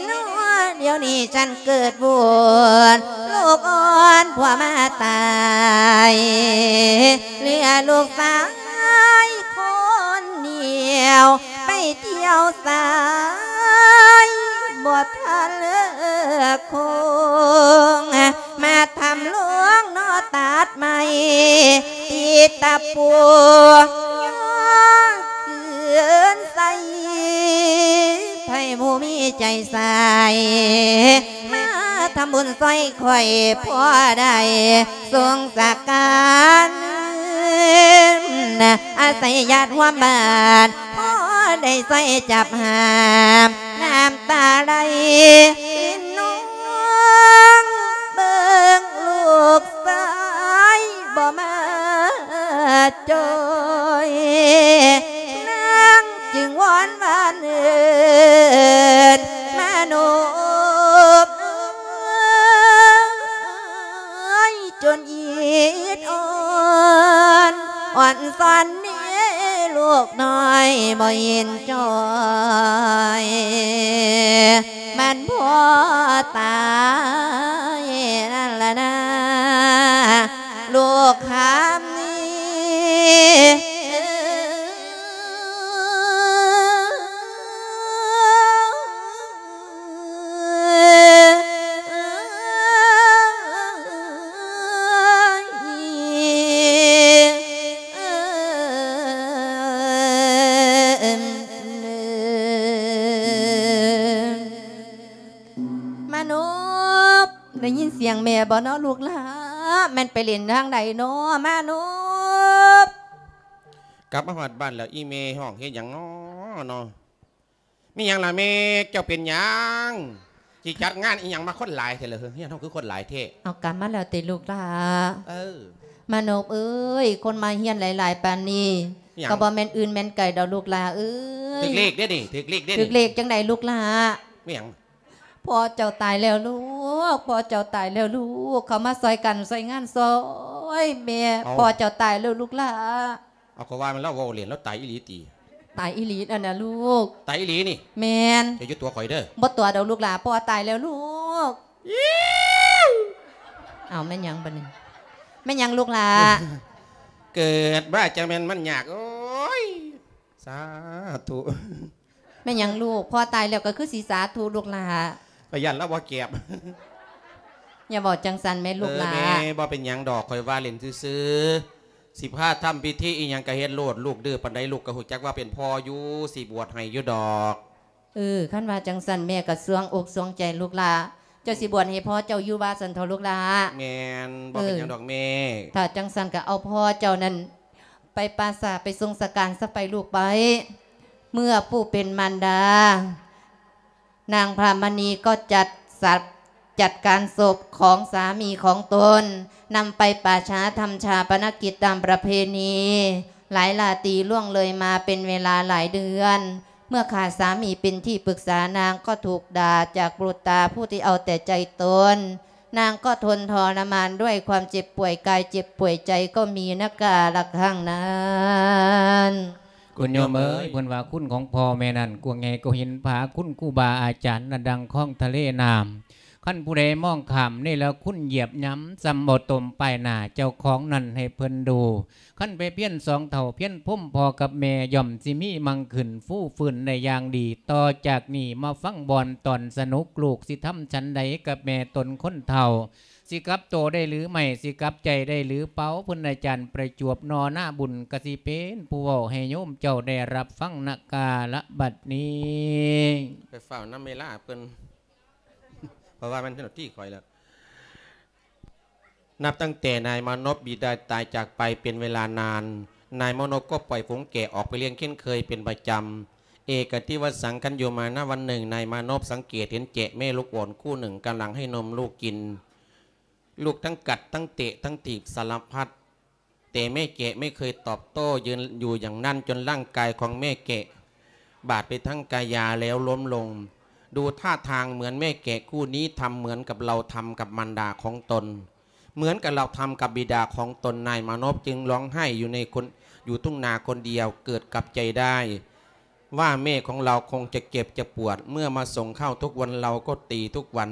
ດຽວນີ້ສັນເກີດບຸນ ລູກອ່ອນຜົວມາຕາຍ ເຫຼືອລູກຊາຍຄົນດຽວ ໄປທ່ຽວສາຍບໍ່ທັນເລີກຄົງ ມາທຳໂລງເນາະຕັດໄມ້ ຕິດຕະປູ ຍ້ອນຄືນໃສ ໃຜຜູ້ມີໃຈໃສ ມາທຳບຸນຊ່ອຍຂ້ອຍ ພໍໄດ້ສົງສະການ ອາໄສຍາດຮ່ວມບ້ານ ພໍໄດ້ຊ່ອຍຈັບຫາມ ນ້ຳຕາໄຫຼ ເປັນຫ່ວງເບິ່ງລູກຊາຍບໍ່ມາຈ່ອຍ ນາງຈຶ່ງວອນວານເອີ້ນມາໂນບເອີຍ ຈົນອິດອ່ອນ ອ່ອນຊອນເນ ລູກນ້ອຍບໍ່ເຫັນຈ້ອຍ ມັນບໍ່ຕາຍນັ້ນລະນາ ລູກຄຳນີ້ ໄດ້ຍິນສຽງແມ່ບໍ່ເນາະລູກຫຼ້າ? ແມ່ນໄປຫຼິ້ນທາງໃດເນາະມານົບ? ກັບມາຮອດບ້ານແລ້ວ ອີ່ແມ່ຮ້ອງເຮັດຫຍັງນໍເນາະ? ມີຫຍັງລະແມ່? ເຈົ້າເປັນຫຍັງ? ຊິຈັດງານອີ່ຫຍັງມາຄົນຫຼາຍແທ້ລະເຮີ? ເຮືອນເຮົາຄືຄົນຫຼາຍແທ້? ເອົາ ກັບມາແລ້ວຕິລູກຫຼ້າ? ເອີ ມານົບເອີຍ ຄົນມາຮຽນຫຼາຍໆປານນີ້ ຫຍັງ? ກໍບໍ່ແມ່ນອື່ນແມ່ນໄກດອກລູກຫຼ້າເອີຍ. ຖືກເລກເດ້ນີ້ ຖືກເລກເດ້ນີ້. ຖືກເລກຈັ່ງໃດລູກຫຼ້າ? ແມ່ນຫຍັງ? ພໍ່ເຈົ້າຕາຍແລ້ວລູກ ພໍ່ເຈົ້າຕາຍແລ້ວລູກ ເຂົ້າມາຊ່ອຍກັນຊ່ອຍງານຊ່ອຍແມ່. ເອົ້າ ພໍ່ເຈົ້າຕາຍແລ້ວລູກຫຼ້າ. ເອົາ ກໍວ່າແມ່ນລາວເວົ້າຫຼິ້ນ ລາວຕາຍອີ່ຫຼີຕິ? ຕາຍອີ່ຫຼີນັ້ນນະລູກ. ຕາຍອີ່ຫຼີນີ້? ແມ່ນ. ເຈົ້າຢ່າຕົວະຂ້ອຍເດີ. ບໍ່ຕົວະດອກລູກຫຼ້າ ພໍ່ຕາຍແລ້ວລູກ. ເອົ້າ ແມ່ນຫຍັງບັດນີ້? ແມ່ນຫຍັງລູກຫຼ້າ? ເກີດມາຈັ່ງແມ່ນມັນຍາກ ໂອ້ຍ ສາທຸ. ແມ່ນຫຍັງລູກ? ພໍ່ຕາຍແລ້ວກໍຄືຊິສາທຸລູກຫຼ້າ. ຂ້ອຍຢ້ານລາວບໍ່ແກບ. ຢ່າເວົ້າຈັ່ງຊັ້ນແມ່ລູກຫຼ້າ. ເອີ ແມ່ ບໍ່ເປັນຫຍັງດອກ ຂ້ອຍວ່າຫຼິ້ນຊື່ໆ. ຊິພາທຳພິທີອີ່ຫຍັງກໍເຮັດໂລດ ລູກດື້ປານໃດ ລູກກໍຮູ້ຈັກວ່າເປັນພໍ່ຢູ່ ຊິບວດໃຫ້ຢູ່ດອກ. ເອີ ຄັນວ່າຈັ່ງຊັ້ນແມ່ກໍສວງອົກສວງໃຈລູກຫຼ້າ. ເຈົ້າຊິບວດໃຫ້ພໍ່ເຈົ້າຢູ່ວ່າຊັ້ນເຖາະລູກຫຼ້າ. ແມ່ນ ບໍ່ເປັນຫຍັງດອກແມ່. ເອີ ຖ້າຈັ່ງຊັ້ນກໍເອົາພໍ່ເຈົ້ານັ້ນ ໄປປ່າຊ້າໄປສົ່ງສະການຊະໄປລູກໄປ. ເມື່ອຜູ້ເປັນມານດາ ນາງພາມະນີກໍຈັດສັບ ຈັດການສົບຂອງສາມີຂອງຕົນ ນຳໄປປ່າຊ້າທຳຊາປະນະກິດຕາມປະເພນີ. ຫຼາຍລາຕີລ່ວງເລີຍມາເປັນເວລາຫຼາຍເດືອນ. ເມື່ອຂາດສາມີເປັນທີ່ປຶກສາ ນາງກໍຖືກດ່າຈາກບຸດຕາຜູ້ທີ່ເອົາແຕ່ໃຈຕົນ. ນາງກໍທົນທໍລະມານດ້ວຍຄວາມເຈັບປ່ວຍກາຍເຈັບປ່ວຍໃຈກໍມີນະກາລະຄັ້ງນັ້ນ. ຄຸນໂຍມເອີຍ ເພິ່ນວ່າຄຸນຂອງພໍ່ແມ່ນັ້ນກວ້າງໃຫຍ່ກວ່າຫີນຜາ ຄຸນຄູບາອາຈານນັ້ນດັ່ງຄອງທະເລນ້ຳ. ຄັນຜູ້ໃດມອງຂ້າມເນລະຄຸນຢຽບຫຍ້ຳ ສ່ຳເອົາຕົມປ້າຍໜ້າເຈົ້າຂອງນັ້ນໃຫ້ເພິ່ນດູ. ຄັນໄປພຽນສອງເຖົ້າພຽນພົມພໍ່ກັບແມ່ ຍ່ອມຊິມີມັ່ງຂຶ້ນຟູຟື້ນໄດ້ຢ່າງດີ. ຕໍ່ຈາກນີ້ມາຟັງບ່ອນຕອນສະໜຸກ ລູກຊິທຳສັນໃດກັບແມ່ຕົນຄົນເຖົ້າ ຊິກັບໂຕໄດ້ຫຼືໄມ່ ຊິກັບໃຈໄດ້ຫຼືເປົ່າ ເພິ່ນອາຈານປະຈວບນໍ ນາບຸນກະຊິເປັນຜູ້ເວົ້າໃຫ້ໂຍມເຈົ້າໄດ້ຮັບຟັງນະກາລະບັດນີ້. ໄປຟ້າວນຳເວລາເພິ່ນ ເພາະວ່າມັນເປັນໜ້າທີ່ຂ້ອຍແລ້ວ. ນັບຕັ້ງແຕ່ນາຍມານົບບິດາຕາຍຈາກໄປເປັນເວລານານ, ນາຍມານົບກໍປ່ອຍຝູງແກະອອກໄປລ້ຽງເຊັ່ນເຄີຍເປັນປະຈຳ. ເອກະຕິວະສັງ ຄັນຢູ່ມານະວັນໜຶ່ງ ນາຍມານົບສັງເກດເຫັນແຈະແມ່ລູກອ່ອນຄູ່ໜຶ່ງກຳລັງໃຫ້ນົມລູກກິນ. ລູກທັງກັດ ທັງເຕະ ທັງຖີບສາລະພັດ. ແຕ່ແມ່ແກະໄມ່ເຄີຍຕອບໂຕ້ ຢືນຢູ່ຢ່າງນັ້ນຈົນຮ່າງກາຍຂອງແມ່ແກະບາດໄປທັງກາຍາແລ້ວລົ້ມລົງ. ດູທ່າທາງເໝືອນແມ່ແກະຄູ່ນີ້ທຳເໝືອນກັບເຮົາທຳກັບມານດາຂອງຕົນ, ເໝືອນກັບເຮົາທຳກັບບິດາຂອງຕົນ. ນາຍມານົບຈຶ່ງຮ້ອງໄຫ້ຢູ່ໃນຄົນ ຢູ່ທົ່ງນາຄົນດຽວ, ເກີດກັບໃຈໄດ້ວ່າແມ່ຂອງເຮົາຄົງຈະເຈັບຈະປວດ, ເມື່ອມາສົ່ງເຂົ້າທຸກວັນ ເຮົາກໍຕີທຸກວັນ.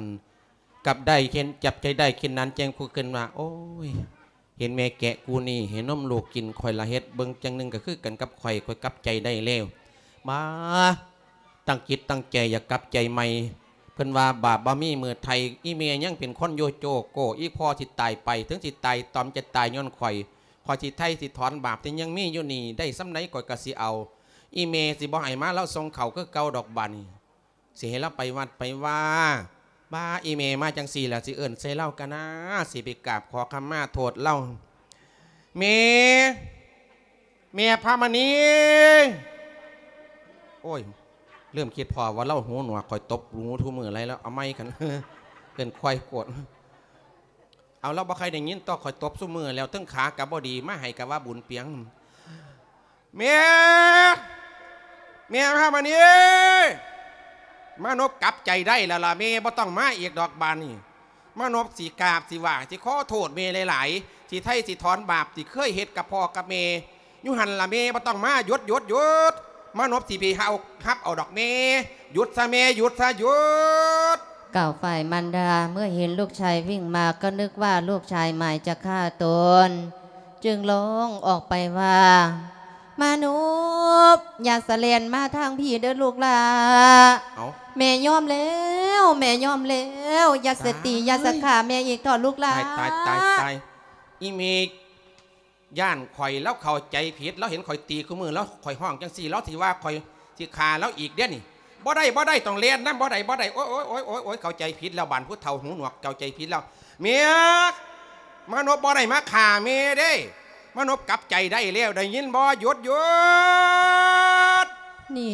ກັບໄດ້ເຫັນ ຈັບໃຈໄດ້ເຊັ່ນນັ້ນ ຈຶ່ງຄິດຂຶ້ນວ່າ ໂອ້ຍ ເຫັນແມ່ແກະຄູ່ນີ້ໃຫ້ນົມລູກກິນ ຂ້ອຍລະເຮັດເບິ່ງຈັ່ງໜຶ່ງກໍຄືກັນກັບຂ້ອຍ, ຂ້ອຍກັບໃຈໄດ້ແລ້ວ. ບາ ຕັ້ງຈິດຕັ້ງໃຈຢາກກັບໃຈໃໝ່. ເພິ່ນວ່າບາບບໍ່ມີມື້ໄຖ່, ອີ່ແມ່ຍັງເປັນຄົນຢູ່ໂຈໂກ, ອີ່ພໍ່ຊິຕາຍໄປ ເຖິງຊິຕາຍຕອມຈະຕາຍຍ້ອນຂ້ອຍ, ຂ້ອຍຊິໄຖ່ຊິຖອນບາບທີ່ຍັງມີຢູ່ນີ້ ໄດ້ສ່ຳໃດຂ້ອຍກໍຊິເອົາ. ອີ່ແມ່ຊິບໍ່ໃຫ້ມາ ລາວສົ່ງເຂົ້າຄືເກົ່າດອກບາດນີ້. ຊິໃຫ້ລາວໄປວັດໄປວາ. ບາ ອີ່ແມ່ມາຈັ່ງຊີ້ລະ ຊິເອີ້ນໃສ່ລາວກະນາ, ຊິໄປກາບຂໍຂະມາໂທດລາວ. ແມ່ ແມ່ພາມະນີ. ໂອ້ຍ ລືມຄິດພໍ້ວ່າລາວຫູໜວກ, ຂ້ອຍຕົບຫູທຸມື້ໄລແລ້ວ. ເອົາໃໝ່ກັນ ເອີ້ນຄວາຍໂກດ. ເອົາ ລາວບໍ່ຄ່ອຍໄດ້ຍິນ ຕໍ່ຂ້ອຍຕົບຊຸມື້ແລ້ວ, ເທິງຂາກະບໍ່ດີ, ມາໃຫ້ກະວ່າບຸນປຽງ. ແມ່ ແມ່ພາມະນີ ມານົບກັບໃຈໄດ້ແລ້ວລະແມ່, ບໍ່ຕ້ອງມາອີກດອກບາດນີ້. ມານົບຊິກາບ ຊິຫວ້າ ຊິຂໍໂທດແມ່ຫຼາຍໆ, ຊິໄຖ່ຊິຖອນບາບທີ່ເຄີຍເຮັດກັບພໍ່ກັບແມ່ຢູ່ຫັ້ນລະແມ່, ບໍ່ຕ້ອງມາ. ຢຸດ ຢຸດ ຢຸດ. ມານົບຊິໄປເອົາ ຮັບເອົາດອກແມ່. ຢຸດຊະແມ່ ຢຸດຊະ ຢຸດ. ກ່າວຝ່າຍມານດາ ເມື່ອເຫັນລູກຊາຍວິ່ງມາ ກໍນຶກວ່າລູກຊາຍໝາຍຈະຂ້າຕົນ, ຈຶ່ງຮ້ອງອອກໄປວ່າ ມານົບ ຢ່າສະແລ່ນມາທາງພີ້ເດີລູກຫຼ້າ. ເອົ້າ ແມ່ຍອມແລ້ວ ແມ່ຍອມແລ້ວ. ຢ່າສະຕີ ຕາຍ ຢ່າສະຂ້າແມ່ອີກເຖາະລູກຫຼ້າ. ຕາຍ ຕາຍ ຕາຍ ຕາຍ. ອີ່ແມ່ ຢ້ານຂ້ອຍ ລາວເຂົ້າໃຈຜິດ, ລາວເຫັນຂ້ອຍຕີຄູ່ມື້ ລາວ ຂ້ອຍຮ້ອງຈັ່ງຊີ້ ລາວຊິວ່າຂ້ອຍຊິຂ້າລາວອີກເດ້ນີ້. ບໍ່ໄດ້ ບໍ່ໄດ້ ຕ້ອງແລ່ນນຳ ບໍ່ໄດ້ ບໍ່ໄດ້ ໂອ້ຍ ໂອ້ຍ ໂອ້ຍ ໂອ້ຍ ໂອ້ຍ ເຂົ້າໃຈຜິດແລ້ວ ບ້ານຜູ້ເຖົ້າຫູໜວກ ເຂົ້າໃຈຜິດແລ້ວ ເມຍ ມານົບບໍ່ໄດ້ມາຂ້າເມຍເດ້ ມານົບກັບໃຈໄດ້ແລ້ວ ໄດ້ຍິນບໍ່? ຢຸດ ຢຸດ ນີ້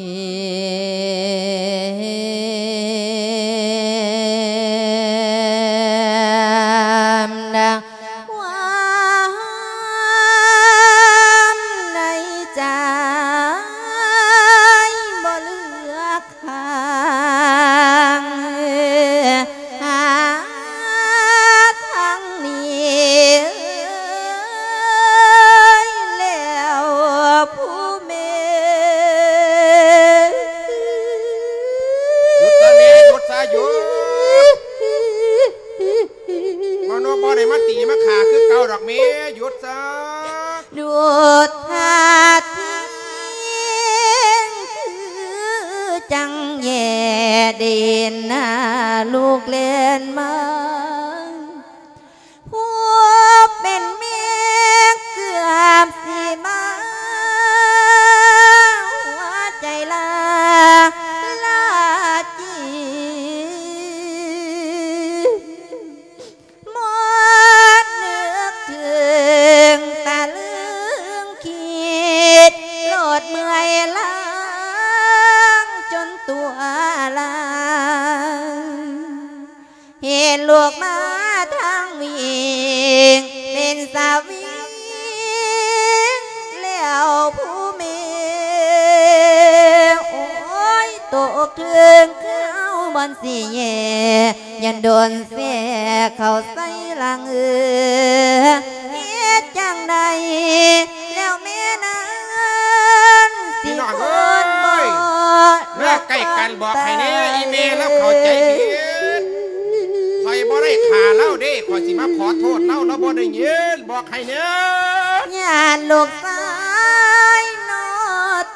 ຄວາມໃນໃຈບໍ່ເລືອກຂ້າງ ຫາທາງໜີແລ້ວຜູ້ແມ່. ຢຸດຊະແມ່ ຢຸດຊະ ຢຸດ. ມາໂນບໍ່ໄດ້ມາຕີມາຂ້າຄືເກົ່າດອກແມ່ ຢຸດຊະ. ດູດທາດເພງຄືຈັ່ງແຍ່ໄດ້ເຫັນໜ້າລູກແລ່ນມາ ຜູ້ເປັນແມ່ເກືອບຊິບາ ຫົວໃຈລາ ລາຈີ ໝົດນຶກເຖິງຕະລຶງຄິດ ໂລດເມື່ອຍລ້າງຈົນຕົວລາຍ ເຫັນລູກມາທາງວິ່ງ ເປັນສະວິງແລ້ວຜູ້ແມ່ ໂອ້ຍ ຕົກເຖິງຄາວບ່ອນຊິແຍ່ ຢ້ານໂດນແຊກເຂົ້າໃສ່ຫຼັງເອີ ເຮັດຈັ່ງໃດແລ້ວແມ່ນັ້ນ ພີ່ນ້ອງເອີຍ ເມື່ອໃກ້ກັນບອກໃຫ້ແດ່ ອີແມ່ລາວເຂົ້າໃຈຜິດ ຂ້ອຍບໍ່ໄດ້ຂ້າລາວເດ້ ຂ້ອຍຊິມາຂໍໂທດລາວ ລາວບໍ່ໄດ້ຍິນ ບອກໃຫ້ແດ່ ຢ້ານລູກຊາຍນໍ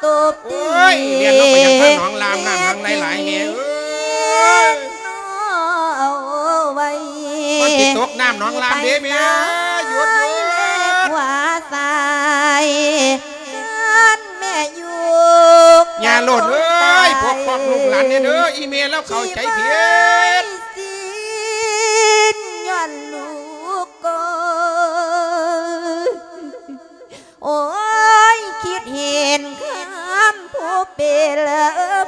ຕົບຕີ ໂອ້ຍ ແລ່ນລົງໄປຫຍັງທາງໜອງລາມ ນ້ຳຫຍັງຫຼາຍໆແມ່ເອີຍ ເນາະ ເອົາໄວ້ ມັນຊິຕົກນ້ຳໜອງລາມເດ້ແມ່ ຢຸດໆ ຂວາຊ້າຍ ຄັນແມ່ຢູ່ ຢ່າໂລດເອີຍ ປົກປ້ອງລູກຫຼານແດ່ເດີ ອີແມ່ລາວເຂົ້າໃຈຜິດ ຊິສິ້ນຍ້ອນລູກກໍ ໂອ້ຍ ຄິດເຫັນຄຳຜູ້ເປັນ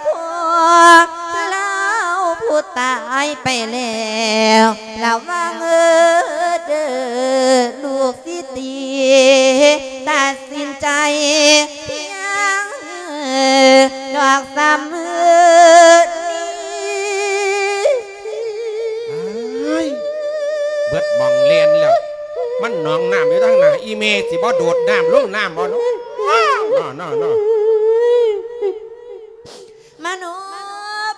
ພໍ່ ລາວຜູ້ຕາຍໄປແລ້ວ ລະວັງເອີເດີ ລູກຊິຕີ ຕັດສິນໃຈພຽງດອກສຳເນີ. ອ້າຍ ເບິດໝ່ອງແລ່ນແລ້ວ ມັນໜອງນ້ຳຢູ່ທາງໜ້າ ອີແມ່ຊິບໍ່ໂດດນ້ຳລົງນ້ຳບໍ່ເນາະ ເນາະ ເນາະ ເນາະ. ມານົບ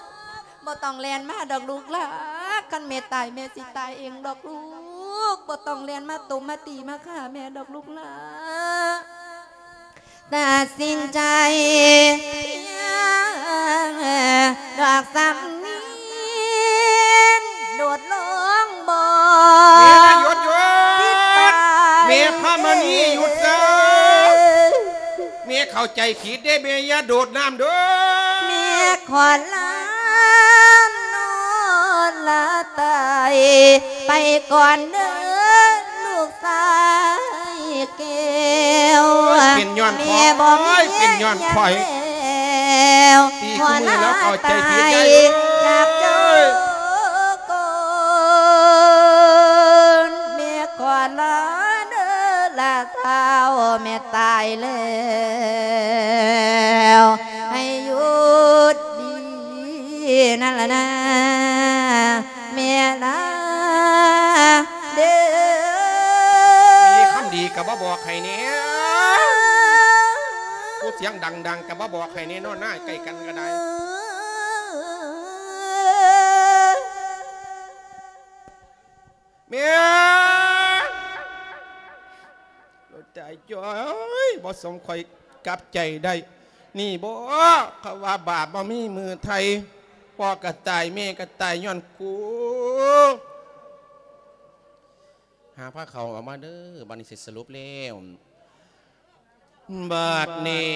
ບໍ່ຕ້ອງແລ່ນມາດອກລູກຫຼ້າ ຄັນແມ່ຕາຍແມ່ຊິຕາຍເອງດອກລູກ ບໍ່ຕ້ອງແລ່ນມາຕົບມາຕີມາຂ້າແມ່ດອກລູກຫຼ້າ. ຕັດສິນໃຈພຽງດອກສຳນີນ ໂດດລົງບໍ່ ແມ່ ຢຸດ ຢຸດ ແມ່ພາມະນີ ຢຸດຊະ ແມ່ເຂົ້າໃຈຜິດເດ້ ແມ່ຢ່າໂດດນ້ຳເດີ ແມ່ຂໍລານອນລາຕາຍ ໄປກ່ອນເດີລູກຊາຍແກ້ວ ໂອ້ຍ ເປັນຍ້ອນຂ້ອຍ ແມ່ບໍ່ມີ ເປັນຍ້ອນຂ້ອຍ ແລ້ວ ຕີຄູ່ມື້ແລ້ວເຂົ້າໃຈຜິດໃຫຍ່ເອີຍ ຈາກເຈົ້າກ່ອນ ແມ່ຂໍລາເດີຫຼ້າທ້າວ ແມ່ຕາຍແລ້ວ ໃຫ້ຢຸດດີນັ້ນລະນາ ແມ່ລາເດີ ມີຄຳດີກໍບໍ່ບອກໃຫ້ແດ່ ຜູ້ສຽງດັງໆກໍບໍ່ບອກໃຫ້ແດ່ເນາະ ນາໃກ້ກັນກໍໄດ້ ແມ່ ຕາຍຈ້ອຍ ບໍ່ສົມຂ້ອຍກັບໃຈໄດ້ ນີ້ບໍ ເຂົາວ່າບາບບໍ່ມີມື້ໄຖ່ ພໍ່ກໍຕາຍ ແມ່ກໍຕາຍຍ້ອນກູ ຫາພາເຂົ້າອອກມາເດີ ບັດນີ້ຊິສະຫຼຸບແລ້ວ ບັດນີ້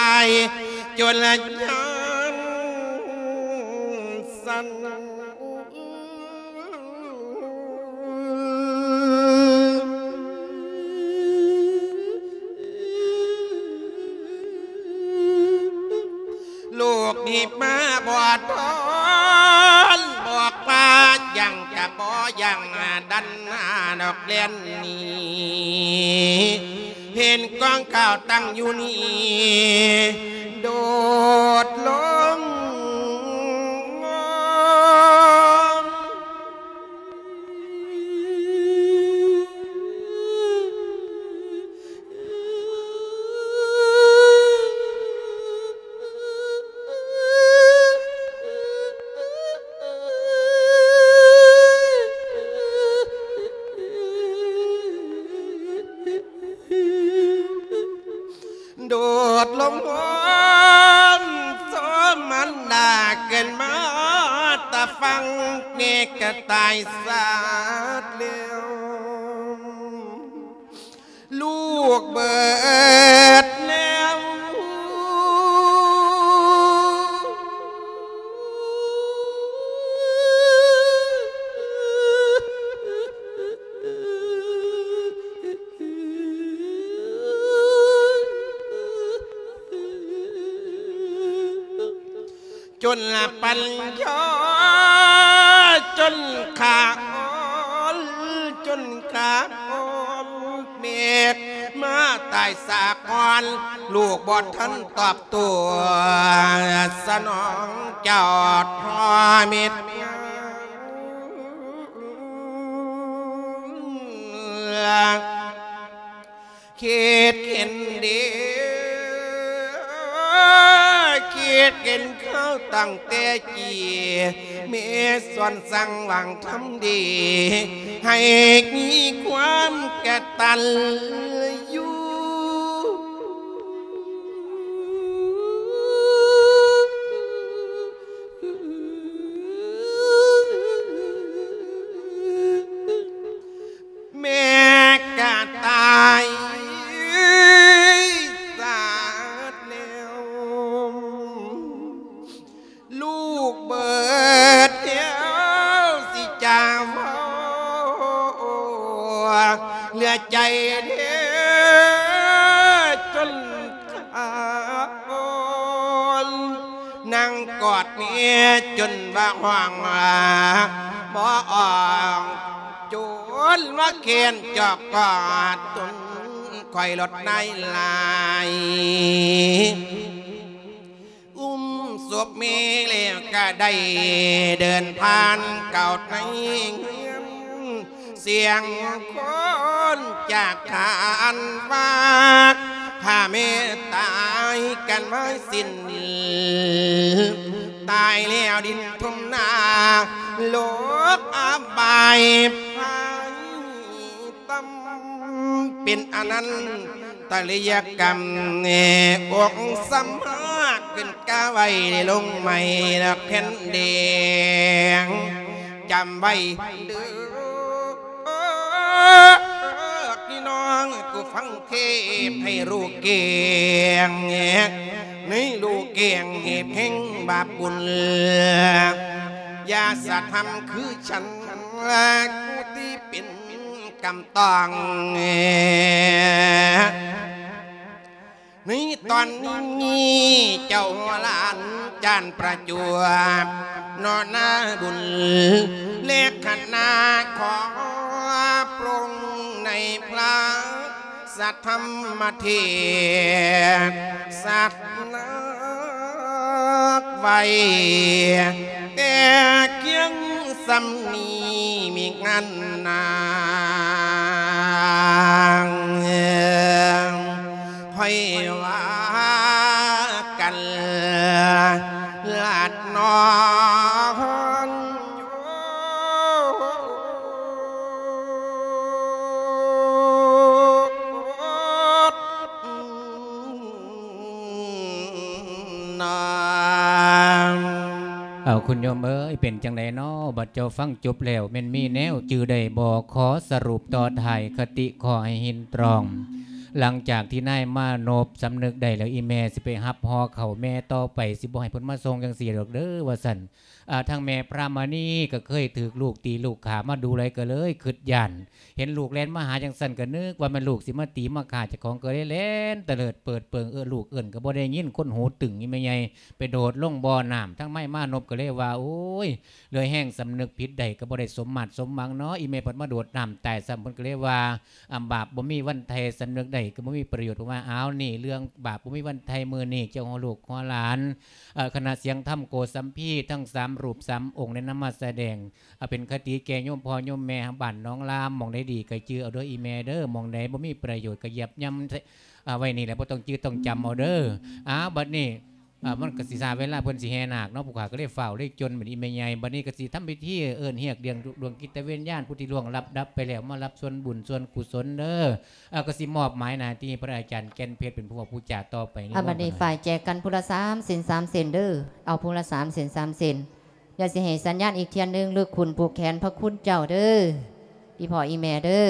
າຍ ຈົນລະຍານສັ່ນ. ລູກຮີບມາບໍ່ທອນ ບອກວ່າຍັງຈະບໍ່ຍັງດັນນອກແລ່ນໜີ ເຫັນກອງເຂົ້າຕັ້ງຢູ່ນີ້ ໂດດລົງ ໂດດລົງພ້ອມສອງມັນດາ ຂຶ້ນມາແຕ່ຝັ່ງ ແມ່ກະຕາຍສາດແລ້ວ ລູກເບີດແລ້ວ. ຈົນລະປັນຍາ ຈົນຂາອ່ອນ ຈົນຂາອ່ອນ ເມດມາຕາຍສາກ່ອນ ລູກບໍ່ທັນຕອບໂຕ້ ສະໜອງເຈົ້າພໍ່ເມັດງາມ. ຄິດເຫັນເດ້ ຄິດເຫັນເຂົາຕັ້ງແຕ່ກີ້ ແມ່ສອນສັ່ງຫວັງທຳດີ ໃຫ້ມີຄວາມກະຕັນຢູ່. ແມ່ກະຕາຍສາດແລ້ວ ລູກເບີດແລ້ວ ຊິຈາເວົ້າເຫຼືອໃຈເດ້ ຈົນຂາອ່ອນ ນັ່ງກອດແມ່ຈົນວ່າຮ້ອງບໍ່ອອກ ຈົນວ່າແຂນຈອກກອດຕົນ ຂ້ອຍລົດນາຍຫຼາຍ ອຸ້ມສົບແມ່ແລ້ວກະໄດ້ເດີນຜ່ານເຂົ້າໃນເຮືອນ ສຽງຄົນຈາກຄານວ່າ ຖ້າແມ່ຕາຍກັນໄວ້ສິ້ນ ຕາຍແລ້ວດິນຖົມໜ້າ ໂລກອະບາຍໄພ ຕ່ຳເປັນອະນັນຕະລິຍະກຳ ອົງສຳມາຂຶ້ນກາໄວ້ ໄດ້ລົງໄມ້ລະແຜ່ນແດງ ຈຳໄວ້ເດີ້ ພີ່ນ້ອງຜູ້ຟັງເທດໃຫ້ຮູ້ແຈ້ງ ໃຫ້ຮູ້ແຈ້ງເຫດແຫ່ງບາບບຸນ ຢ່າສະທຳຄື ສັນລະກູຕິເປັນກຳຕ້ອງ ໃນຕອນນີ້ເຈົ້າຫຼານຈານປະຈວບ ເນາະນາບຸນ ແລະຄະນະຂໍປະສົງໃນພະ ສະທຳມະເທດສະໜັກໄວ້ ແຕ່ພຽງສ່ຳນີ້ມີງານນາງ ຄ່ອຍວ່າກັນ ລາດນອນ ເອົາ ຄຸນໂຍມເອີຍ ເປັນຈັ່ງໃດນໍ ບັດເຈົ້າຟັງຈົບແລ້ວ ແມ່ນມີແນວຈື່ໄດ້ບໍ່? ຂໍສະຫຼຸບຕໍ່ທ້າຍຄະຕິ ຂໍໃຫ້ຮິດຕຣອງ ຫຼັງຈາກທີ່ນາຍມານົບສຳນຶກໄດ້ແລ້ວ ອີ່ແມ່ຊິໄປຮັບຫໍ່ເຂົ້າແມ່ຕໍ່ໄປ ຊິບໍ່ໃຫ້ເພິ່ນມາສົ່ງຈັ່ງຊີ້ດອກເດີ ວ່າຊັ້ນ. ອາ ທາງແມ່ພະມະນີກໍເຄີຍຖືກລູກຕີລູກຂ້າມາດູຫຼາຍ ກໍເລີຍຄິດຢ້ານ ເຫັນລູກແລ່ນມາຫາຈັ່ງຊັ້ນ ກໍນຶກວ່າແມ່ນລູກຊິມາຕີມາຂ້າເຈົ້າຂອງ ກໍເລີຍແລ່ນຕະເລີດເປີດເປີງ ເອີ້ນລູກເອີ້ນກໍບໍ່ໄດ້ຍິນ ຄົນຫູຕຶງ ອີ່ແມ່ໃຫຍ່ໄປໂດດລົງບໍ່ນ້ຳ. ທາງນາຍມານົບກໍເລີຍວ່າ ໂອ້ຍ ເລື່ອຍແຮງສຳນຶກຜິດໄດ້ ກໍບໍ່ໄດ້ສົມມາດສົມຫວັງເນາະ ອີ່ແມ່ພັດມາໂດດນ້ຳຕາຍຊ້ຳ. ເພິ່ນກໍເລີຍວ່າ ອາ ບາບບໍ່ມີວັນໄຖ່ ສຳນຶກໄດ້ກໍບໍ່ມີປະໂຫຍດ. ເພິ່ນວ່າ ອ້າວ ນີ້ເລື່ອງບາບບໍ່ມີວັນໄຖ່ ມື້ນີ້ເຈົ້າຫົວລູກຫົວຫຼານ ເອີ ຄະນະສຽງທຳໂກສັມພີ ທັງສາມຮູບສາມອົງໄດ້ນຳມາສະແດງ ເອົາເປັນຄະຕິແກ່ໂຍມພໍ່ໂຍມແມ່ບ້ານໜອງລາມ. ໝ່ອງໃດດີກໍຈື່ເອົາເດີອີ່ແມ່ເດີ ໝ່ອງໃດບໍ່ມີປະໂຫຍດກໍຢຽບຫຍ້ຳ ເອົາໄວ້ນີ້ແຫຼະ ບໍ່ຕ້ອງຈື່ຕ້ອງຈຳເອົາເດີ. ອ້າວ ບັດນີ້ ເອີ ມັນກໍຊິຊ້າເວລາເພິ່ນຊິແຫ່ນາກເນາະ ຜູ້ຂ້າກໍເລີຍຟ້າວເລີຍຈົນ ບັດນີ້ແມ່ໃຫຍ່ ບັດນີ້ກໍຊິທຳພິທີເອີ້ນຮຽກດຽງດວງຈິດຕະວິນຍານຜູ້ທີ່ລ່ວງລັບດັບໄປແລ້ວ ມາຮັບສ່ວນບຸນສ່ວນກຸສົນເດີ. ເອີ ກໍຊິມອບໝາຍໜ້າທີ່ໃຫ້ພະອາຈານແກ່ນເພັດເປັນຜູ້ເວົ້າຜູ້ຈາຕໍ່ໄປ. ອາ ບັດນີ້ຝ່າຍແຈກັນຜູ້ລະສາມເສັ້ນສາມເສັ້ນເດີ ເອົາຜູ້ລະສາມເສັ້ນສາມເສັ້ນ. ດຽວຊິໃຫ້ສັນຍານອີກເທື່ອໜຶ່ງ ລຶກຂຸນຜູກແຂນພະຄຸນເຈົ້າເດີ ອີ່ພໍ່ອີ່ແມ່ເດີ.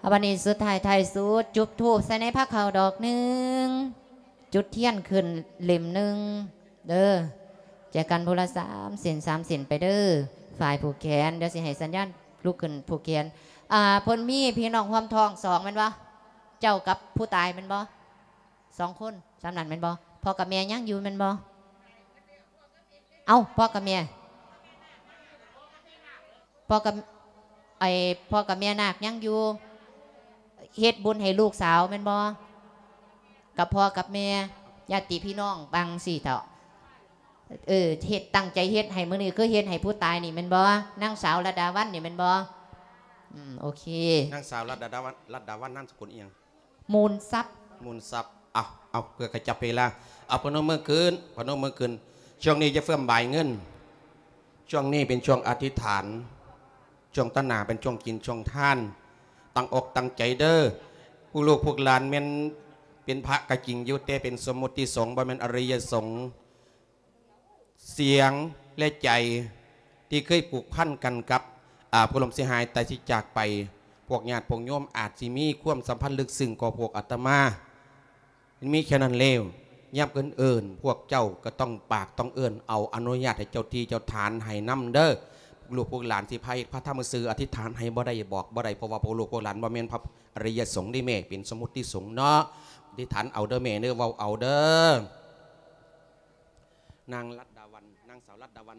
ອາ ບັດນີ້ສຸດທ້າຍທ້າຍສຸດ ຈຸດທູບໃສ່ໃນພາເຂົ້າດອກໜຶ່ງ ຈຸດທຽນຂຶ້ນເຫຼັ້ມໜຶ່ງເດີ. ແຈກັນຜູ້ລະສາມເສັ້ນສາມເສັ້ນໄປເດີ ຝ່າຍຜູກແຂນ. ດຽວຊິໃຫ້ສັນຍານລຸກຂຶ້ນຜູກແຂນ. ອາ ເພິ່ນມີພີ່ນ້ອງຮ່ວມທ້ອງສອງແມ່ນບໍ່? ເຈົ້າກັບຜູ້ຕາຍແມ່ນບໍ່? ສອງຄົນ ສ່ຳນັ້ນແມ່ນບໍ່? ພໍ່ກັບແມ່ຍັງຢູ່ແມ່ນບໍ່? ເອົ້າ ພໍ່ກັບແມ່ ພໍ່ກັບ ໄອ້ ພໍ່ກັບແມ່ນາກຍັງຢູ່ ເຮັດບຸນໃຫ້ລູກສາວແມ່ນບໍ່? ກັບພໍ່ກັບແມ່ ຍາດຕິພີ່ນ້ອງ ບາງຊີ້ເຖາະ. ເອີ ເຮັດ ຕັ້ງໃຈເຮັດໃຫ້ ມື້ນີ້ຄືເຮັດໃຫ້ຜູ້ຕາຍນີ້ແມ່ນບໍ່? ນາງສາວລັດດາວັນນີ້ແມ່ນບໍ່? ອືມ ໂອເຄ ນາງສາວລັດດາວັນ ລັດດາວັນ ນາມສະກຸນອີ່ຫຍັງ? ມູນຊັບ ມູນຊັບ. ເອົາ ເອົາ ເພື່ອຂະຈັບເວລາ ເອົາ ພະນົມມືຂຶ້ນ ພະນົມມືຂຶ້ນ. ຊ່ວງນີ້ຢ່າເຟື່ອງບາຍເງິນ ຊ່ວງນີ້ເປັນຊ່ວງອະທິຖານ ຊ່ວງຕາໜ້າເປັນຊ່ວງກິນຊ່ວງທານ. ຕັ້ງອົກຕັ້ງໃຈເດີ ພວກລູກພວກຫຼານແມ່ນເປັນພະກໍຈິງຢູ່ ແຕ່ເປັນສົມມຸດຕິສົງ ບໍ່ແມ່ນອະລິຍະສົງ. ສຽງ ແລະ ໃຈ ທີ່ເຄີຍຜູກພັນກັນກັບ ອາ ຜູ້ລ່ວງເສຍຫາຍຕາຍເສຍຈາກໄປ ພວກຍາດພວກໂຍມອາດຊິມີຄວາມສຳພັນເລິກຊຶ້ງກວ່າພວກອາດຕະມາ. ມັນມີແຄ່ນັ້ນແລ້ວ ຍາມເພິ່ນເອີ້ນ ພວກເຈົ້າກໍຕ້ອງປາກຕ້ອງເອີ້ນ ເອົາອະນຸຍາດໃຫ້ເຈົ້າທີ່ເຈົ້າຖານໃຫ້ນຳເດີ. ພວກລູກພວກຫຼານຊິພາເຮັດພາທຳຊື່ ອະທິຖານໃຫ້ບໍ່ໄດ້ ບອກບໍ່ໄດ້ ເພາະວ່າພວກລູກພວກຫຼານບໍ່ແມ່ນພະອະລິຍະສົງເດ້ແມ່ ເປັນສົມມຸດຕິສົງເນາະ. ອະທິຖານເອົາເດີແມ່ເດີ ເວົ້າເອົາເດີ. ນາງລັດດາວັນ ນາງສາວລັດດາວັນ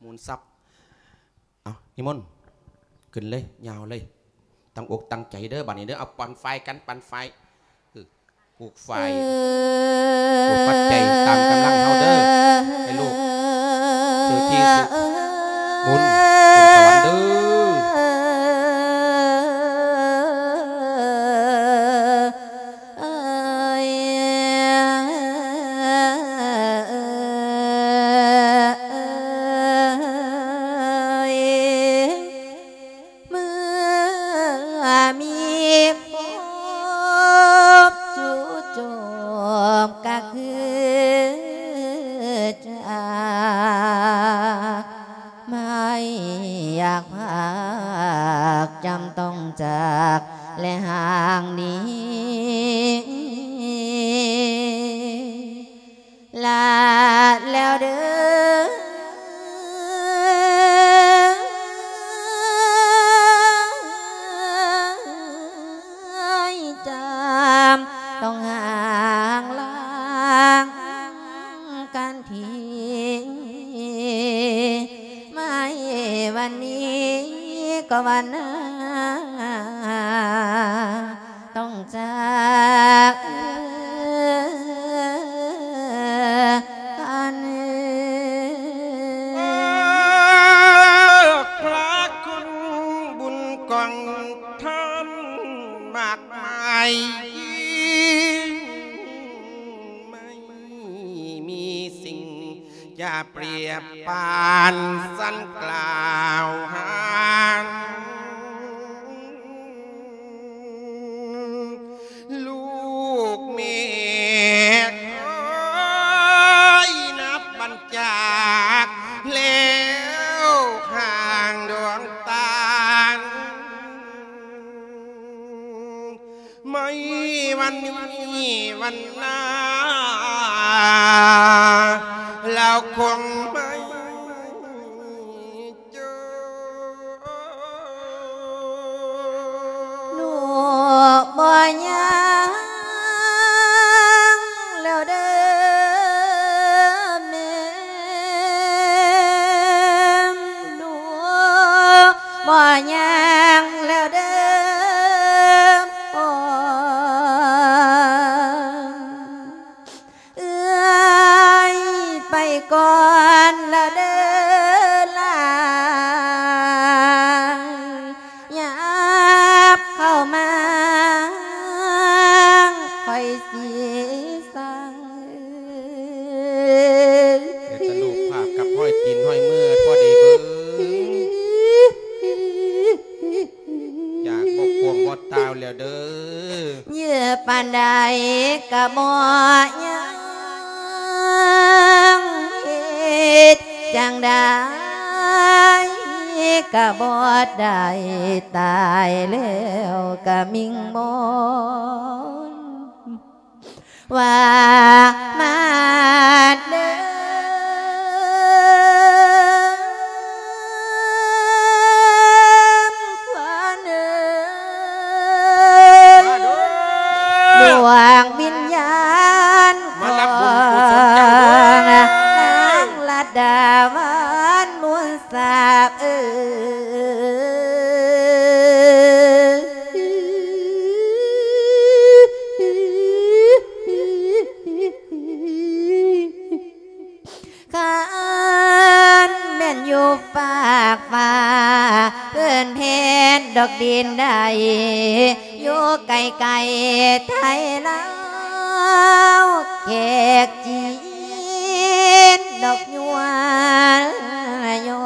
ມູນຊັບ. ເອົາ ນິມົນ ຂຶ້ນເລີຍ ຍາວເລີຍ ຕັ້ງອົກຕັ້ງໃຈເດີ ບາດນີ້ເດີ. ເອົາ ປັນຝ້າຍກັນ ປັນຝ້າຍ ເອີ ຜູກຝ້າຍ ຜູກປັດໄຈຕາມກຳລັງເຮົາເດີ ໃຫ້ລູກຖືທີ່ຖືບຸນຂຶ້ນສະຫວັນເດີ. ເອີຍ ເມື່ອມີພົບຈູ່ໂຈມກະຄືຈາກ ໄມ່ຢາກພາກ ຈຳຕ້ອງຈາກ ແລະ ຫ່າງໜີ ລາແລ້ວເດີ ຈຳຕ້ອງຫ່າງລາງກັນທີ ໄມ້ວັນນີ້ກໍວັນໜ້າ ຕ້ອງຈາກກັນ. ພະຄຸນບຸນກອງທອນມາກມາຍ ໄມ່ມີສິ່ງຈະປຽບປານສັນກລ່າວຫານ ລູກແມ່ເອີຍ ນັບບັນຈາກແລ້ວຂ້າງດວງຕານ ໄມ້ ຄົງໄມ່ເຈົ້າ ໜູບໍ່ຍ່າງແລ້ວເດີແມ່ ໜູບໍ່ຍ່າງແລ້ວເດີ ໂອ້ ເອື້ອຍໄປກ່ອນລະເດີຫຼ້າ ຫຍັບເຂົ້າມາ ຂ້ອຍຊິສັ່ງ ເຮັດຕະລູກພາບກັບຮອຍຕີນຮອຍມືພໍດີເບິ່ງ ຢາກບໍ່ກວມບໍ່ຕາວແລ້ວເດີ ເຍອປານໃດກະບໍ່ຍັງ ເຮັດຈັ່ງໃດກະບໍ່ໄດ້ ຕາຍແລ້ວກະມິງມອນ ວ່າມາເດີ ມາເດີ ດວງວິນຍານ ມາຮັບບຸນກຸສົນເຈົ້າເດີ ຂອງນາງລັດດາວັນມູນ ສາບເອີຍ ຄັນແມ່ນຢູ່ຟາກຟ້າ ເພິ່ນແຜ່ນດອກດິນໄດ້ ຢູ່ໄກໆໄທລາວ ແຂກຈີນ ດອກຍວນຍອ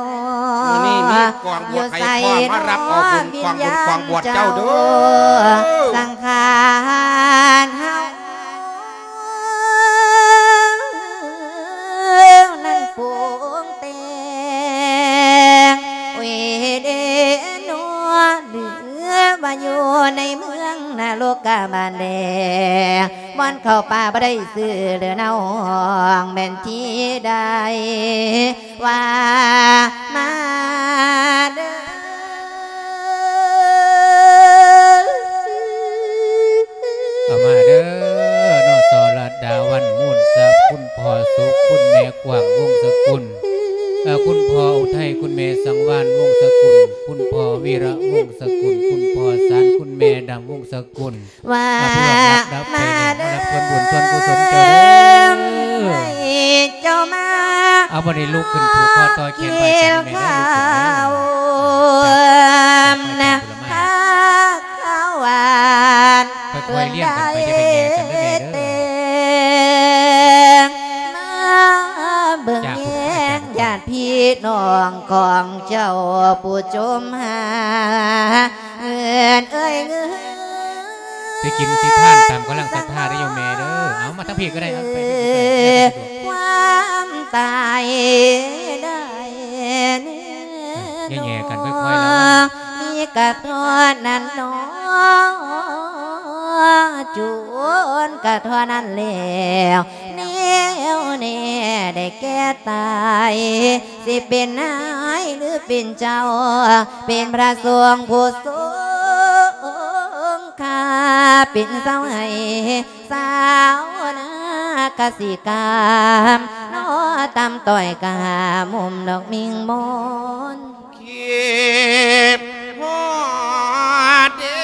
ມື້ນີ້ມີກອງບວດໃຫ້ພອມມາຮັບເອົາບຸນກອງບຸນກອງບວດເຈົ້າເດີ ສັງຂານເຮົານັ້ນປຸງແຕ່ງ ໂອ້ຍເດເນາະ ຫຼືວ່າຢູ່ໃນເມືອງນະລົກກະບານແດງ ບ່ອນເຂົ້າປ່າບໍ່ໄດ້ຊື້ເດີນ້ອງ ແມ່ນທີ່ໃດ ວ່າມາເດີ ເຂົ້າມາເດີເນາະ ສອລະດາວັນ ມູນຊັບ ຄຸນພໍ່ສຸກ ຄຸນແມ່ກວ້າງ ວົງສະກຸນ ເອີ ຄຸນພໍ່ອຸໄທ ຄຸນແມ່ສັງວານ ວົງສະກຸນ ຄຸນພໍ່ວີລະ ວົງສະກຸນ ຄຸນພໍ່ສານ ຄຸນແມ່ດຳ ວົງສະກຸນ ວ່າມາເດີ ມາຮັບສ່ວນບຸນສ່ວນກຸສົນເຈົ້າເດີ ໃຫ້ເຈົ້າມາ ເອົາ ບັດນີ້ລຸກຂຶ້ນຜູກຄໍຕໍ່ແຂນໄວ້ກັນແມ່ເດີ ລຸກຂຶ້ນເດີ ນະ ພາເຂົ້າຫວານ ຄ່ອຍໆລຽນກັນໄປ ຢ່າໄປແຍ່ກັນເດີແມ່ເດີ ມາເບິ່ງແຍງຍາດພີ່ນ້ອງຂອງເຈົ້າ ຜູ້ຈົ່ມຫາ ເງິນເອີຍເງິນ ຊິກິນຊິທານຕາມກຳລັງສັດທາເດີໂຍມແມ່ເດີ ເອົາມາທາງພີ້ກໍໄດ້ ເອົາໄປ ຄວາມຕາຍໄດ້ແນ່ ແຍ່ໆກັນຄ່ອຍໆລະວັນ ມີກະເທົ່ານັ້ນໜໍ ຈູນກະເທົ່ານັ້ນແລ້ວ ແນວແນ່ໄດ້ແກ່ຕາຍ ຊິເປັນນາຍຫຼືເປັນເຈົ້າ ເປັນພະສົງຜູ້ຊົງຄ່າ ເປັນຊາວໄຮ່ຊາວນາກະສິກຳ ນອຕຳຕ້ອຍກະຫາມຸມດອກມິ່ງມອນ ຄິດຮອດເດີ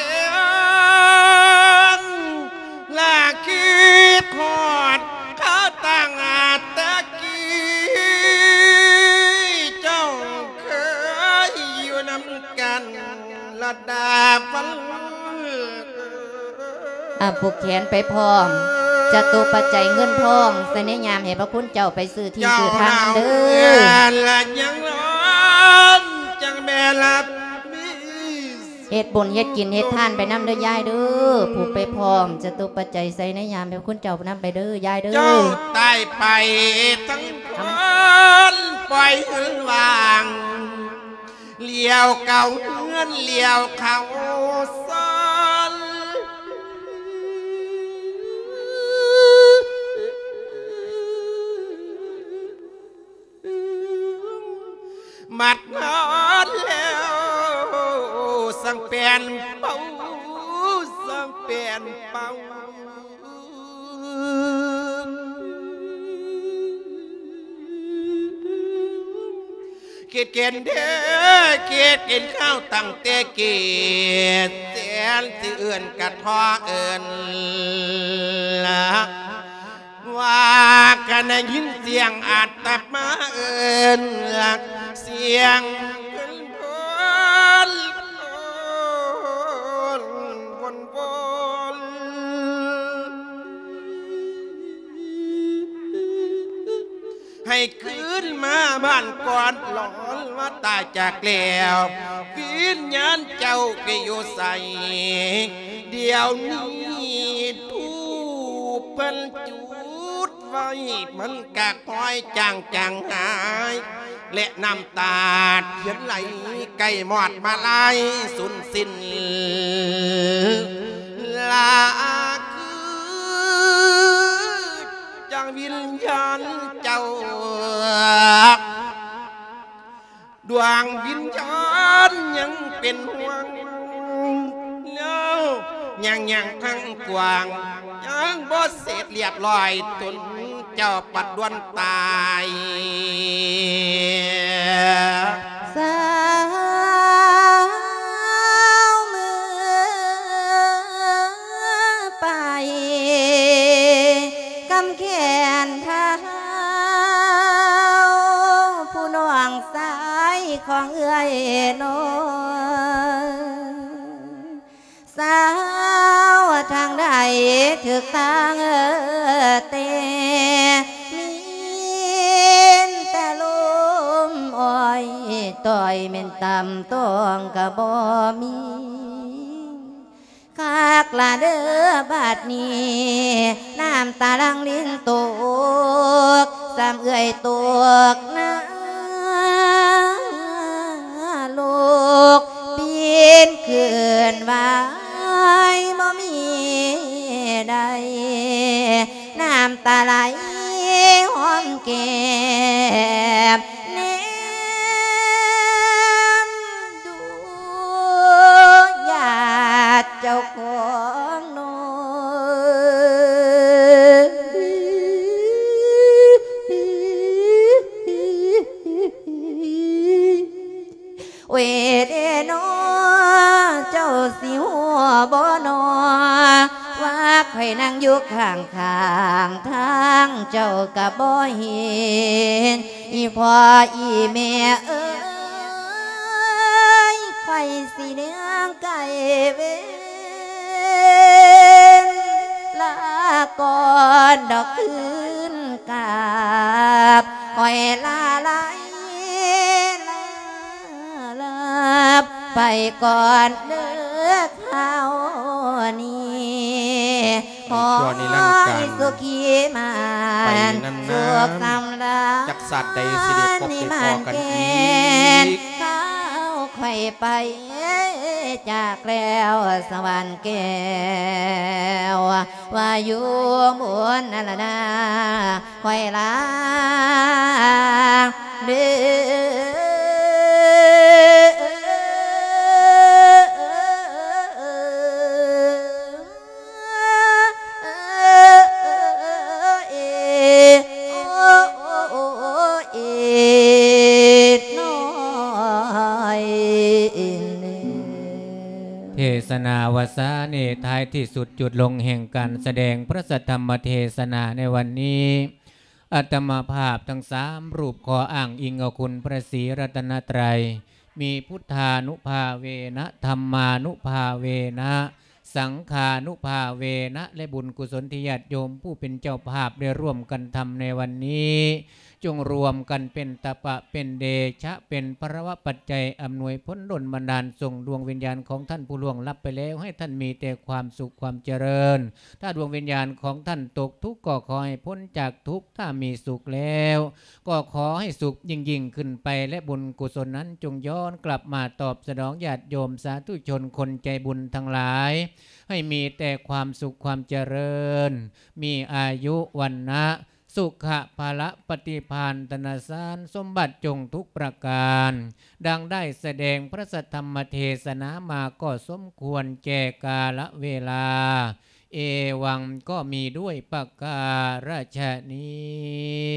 ລະຄິດຮອດຄາວຕັ້ງແຕ່ກີ້ ເຈົ້າເຄີຍຢູ່ນຳກັນລະດາວັນ ອາ ຜູກແຂນໄປພ້ອມ ຈະຕຸປັດໄຈເງິນທອງ ໃສ່ໃນຍາມໃຫ້ພະຄຸນເຈົ້າໄປຊື້ທີ່ຊື້ທາງນຳເດີ ເຈົ້າເຮົາເຮືອນລະຍັງຮ້ອນ ຈັ່ງແມ່ນລະມີ ເຮັດບຸນເຮັດກິນເຮັດທານໄປນຳເດີຍາຍເດີ ຜູກໄປພ້ອມ ຈະຕຸປັດໄຈໃສ່ໃນຍາມໃຫ້ພະຄຸນເຈົ້ານຳໄປເດີຍາຍເດີ ເຈົ້າຕາຍໄປທັງຄົນ ປ່ອຍເຮືອນວ່າງ ຫຼຽວເກົ່າເຮືອນຫຼຽວເຂົ້າຊອນ. ມັດນອນແລ້ວ ສັງແປນເປົ່າ ສັງແປນເປົ່າ ຄິດເຫັນເດີ ຄິດເຫັນເຮົາຕັ້ງແຕ່ກີ້ ແສນຊິເອີ້ນກະທໍ່ເອີ້ນລະ ວ່າກະໄດ້ຍິນສຽງອາດຕະມາເອີ້ນ ສຽງເອີ້ນວົນ ວົນ ວົນ ວົນ ໃຫ້ຄືນມາບ້ານກ່ອນ ລອນວ່າຕາຍຈາກແລ້ວ ວິນຍານເຈົ້າໄປຢູ່ໃສ? ດຽວນີ້ທູບເພິ່ນຈຸດໄວ້ ມັນກະຄ່ອຍຈາງຈາງຫາຍ ແລະນ້ຳຕາທຽນໄຫຼໃກ້ມອດມາລາຍສູນສິ້ນ ລະຄືຈັ່ງວິນຍານເຈົ້າ ດວງວິນຍານຍັງເປັນຫ່ວງ ແລ້ວຍັງ ຍັງທັງກວ້າງ ຍັງບໍ່ເສັດລຽບຮ້ອຍ ຕົນເຈົ້າປັດດ່ວນຕາຍ. ສາວເມືອໄປ ກຳແຂນເທົາ ຜູ້ນ້ອງຊາຍຂອງເອື້ອຍນ້ອຍ ສາວທາງໃດຖືກທາງເອີແຕ່ ມີແຕ່ລົມອ້ອຍຕ່ອຍ ແມ່ນຕຳຕ້ອງກະບໍ່ມີ ຄັກລະເດີບາດນີ້ ນ້ຳຕາຫຼັ່ງລິນຕົກ ສ່ຳເອື້ອຍຕົກນະລົກ ປິ່ນຄືນຫວາຍບໍ່ມີໃດ ນ້ຳຕາໄຫຼຫອມແກ້ມ ແນມດູຍາດເຈົ້າຂອງນ້ອຍ. ໂອຍເດນໍ ເຈົ້າຊິຮູ້ບໍ່ນໍ ວ່າຂ້ອຍນັ່ງຢູ່ຂ້າງໆ ທາງເຈົ້າກະບໍ່ເຫັນ ອີ່ພໍ່ອີ່ແມ່ເອີຍ ຂ້ອຍຊິຍ່າງໄກເວນ ລາກ່ອນດອກຄືນກັບ ຂ້ອຍລາໄລ ລາ ລາໄປກ່ອນເດີຄາວນີ້ ໃຫ້ຊົ່ວນິລັນການ ຂໍໃຫ້ສຸຂີໝານ ໄປນານໆ ສຸກສຳລານ ຈັກຊາດໃດຊິໄດ້ພົບໄດ້ພໍ້ກັນອີກ ຄາວຂ້ອຍໄປຈາກແລ້ວ ສະຫວັນແກ້ວ ວ່າຢູ່ບຸນນະລະນາ ຂ້ອຍລາເດີ. ເທສະນາວາສານີ້ ທ້າຍທີ່ສຸດ ຈຸດລົງແຫ່ງການສະແດງພະສັດທຳມະເທສະນາໃນວັນນີ້ ອາດຕະມາພາບທັງສາມຮູບ ຂໍອ້າງອີງເອົາຄຸນພະສີລັດຕະນະໄຕ ມີພຸດທານຸພາເວນະ ທຳມານຸພາເວນະ ສັງຄານຸພາເວນະ ແລະ ບຸນກຸສົນທີ່ຍາດໂຍມຜູ້ເປັນເຈົ້າພາບໄດ້ຮ່ວມກັນທຳໃນວັນນີ້ ຈົ່ງລວມກັນເປັນຕະປະ ເປັນເດຊະ ເປັນພະລະວະປັດໄຈ ອຳນວຍຜົນດົນບັນດານ ສົ່ງດວງວິນຍານຂອງທ່ານຜູ້ລ່ວງລັບໄປແລ້ວ ໃຫ້ທ່ານມີແຕ່ຄວາມສຸກຄວາມຈະເລີນ. ຖ້າດວງວິນຍານຂອງທ່ານຕົກທຸກ ກໍຂໍໃຫ້ພົ້ນຈາກທຸກ, ຖ້າມີສຸກແລ້ວ ກໍຂໍໃຫ້ສຸກຍິ່ງໆຂຶ້ນໄປ ແລະ ບຸນກຸສົນນັ້ນຈົ່ງຍ້ອນກັບມາຕອບສະໜອງຍາດໂຍມສາທຸຊົນຄົນໃຈບຸນທັງຫຼາຍ ໃຫ້ມີແຕ່ຄວາມສຸກຄວາມຈະເລີນ, ມີອາຍຸວັນນະ ສຸຂະພະລະປະຕິພານຕະນະສານສົມບັດຈົ່ງທຸກປະການ ດັ່ງໄດ້ສະແດງພະສັດທຳມະເທສະນາມາກໍສົມຄວນແກ່ກາລະເວລາ ເອວັງ ກໍມີດ້ວຍປະກາລະຊະນີ້.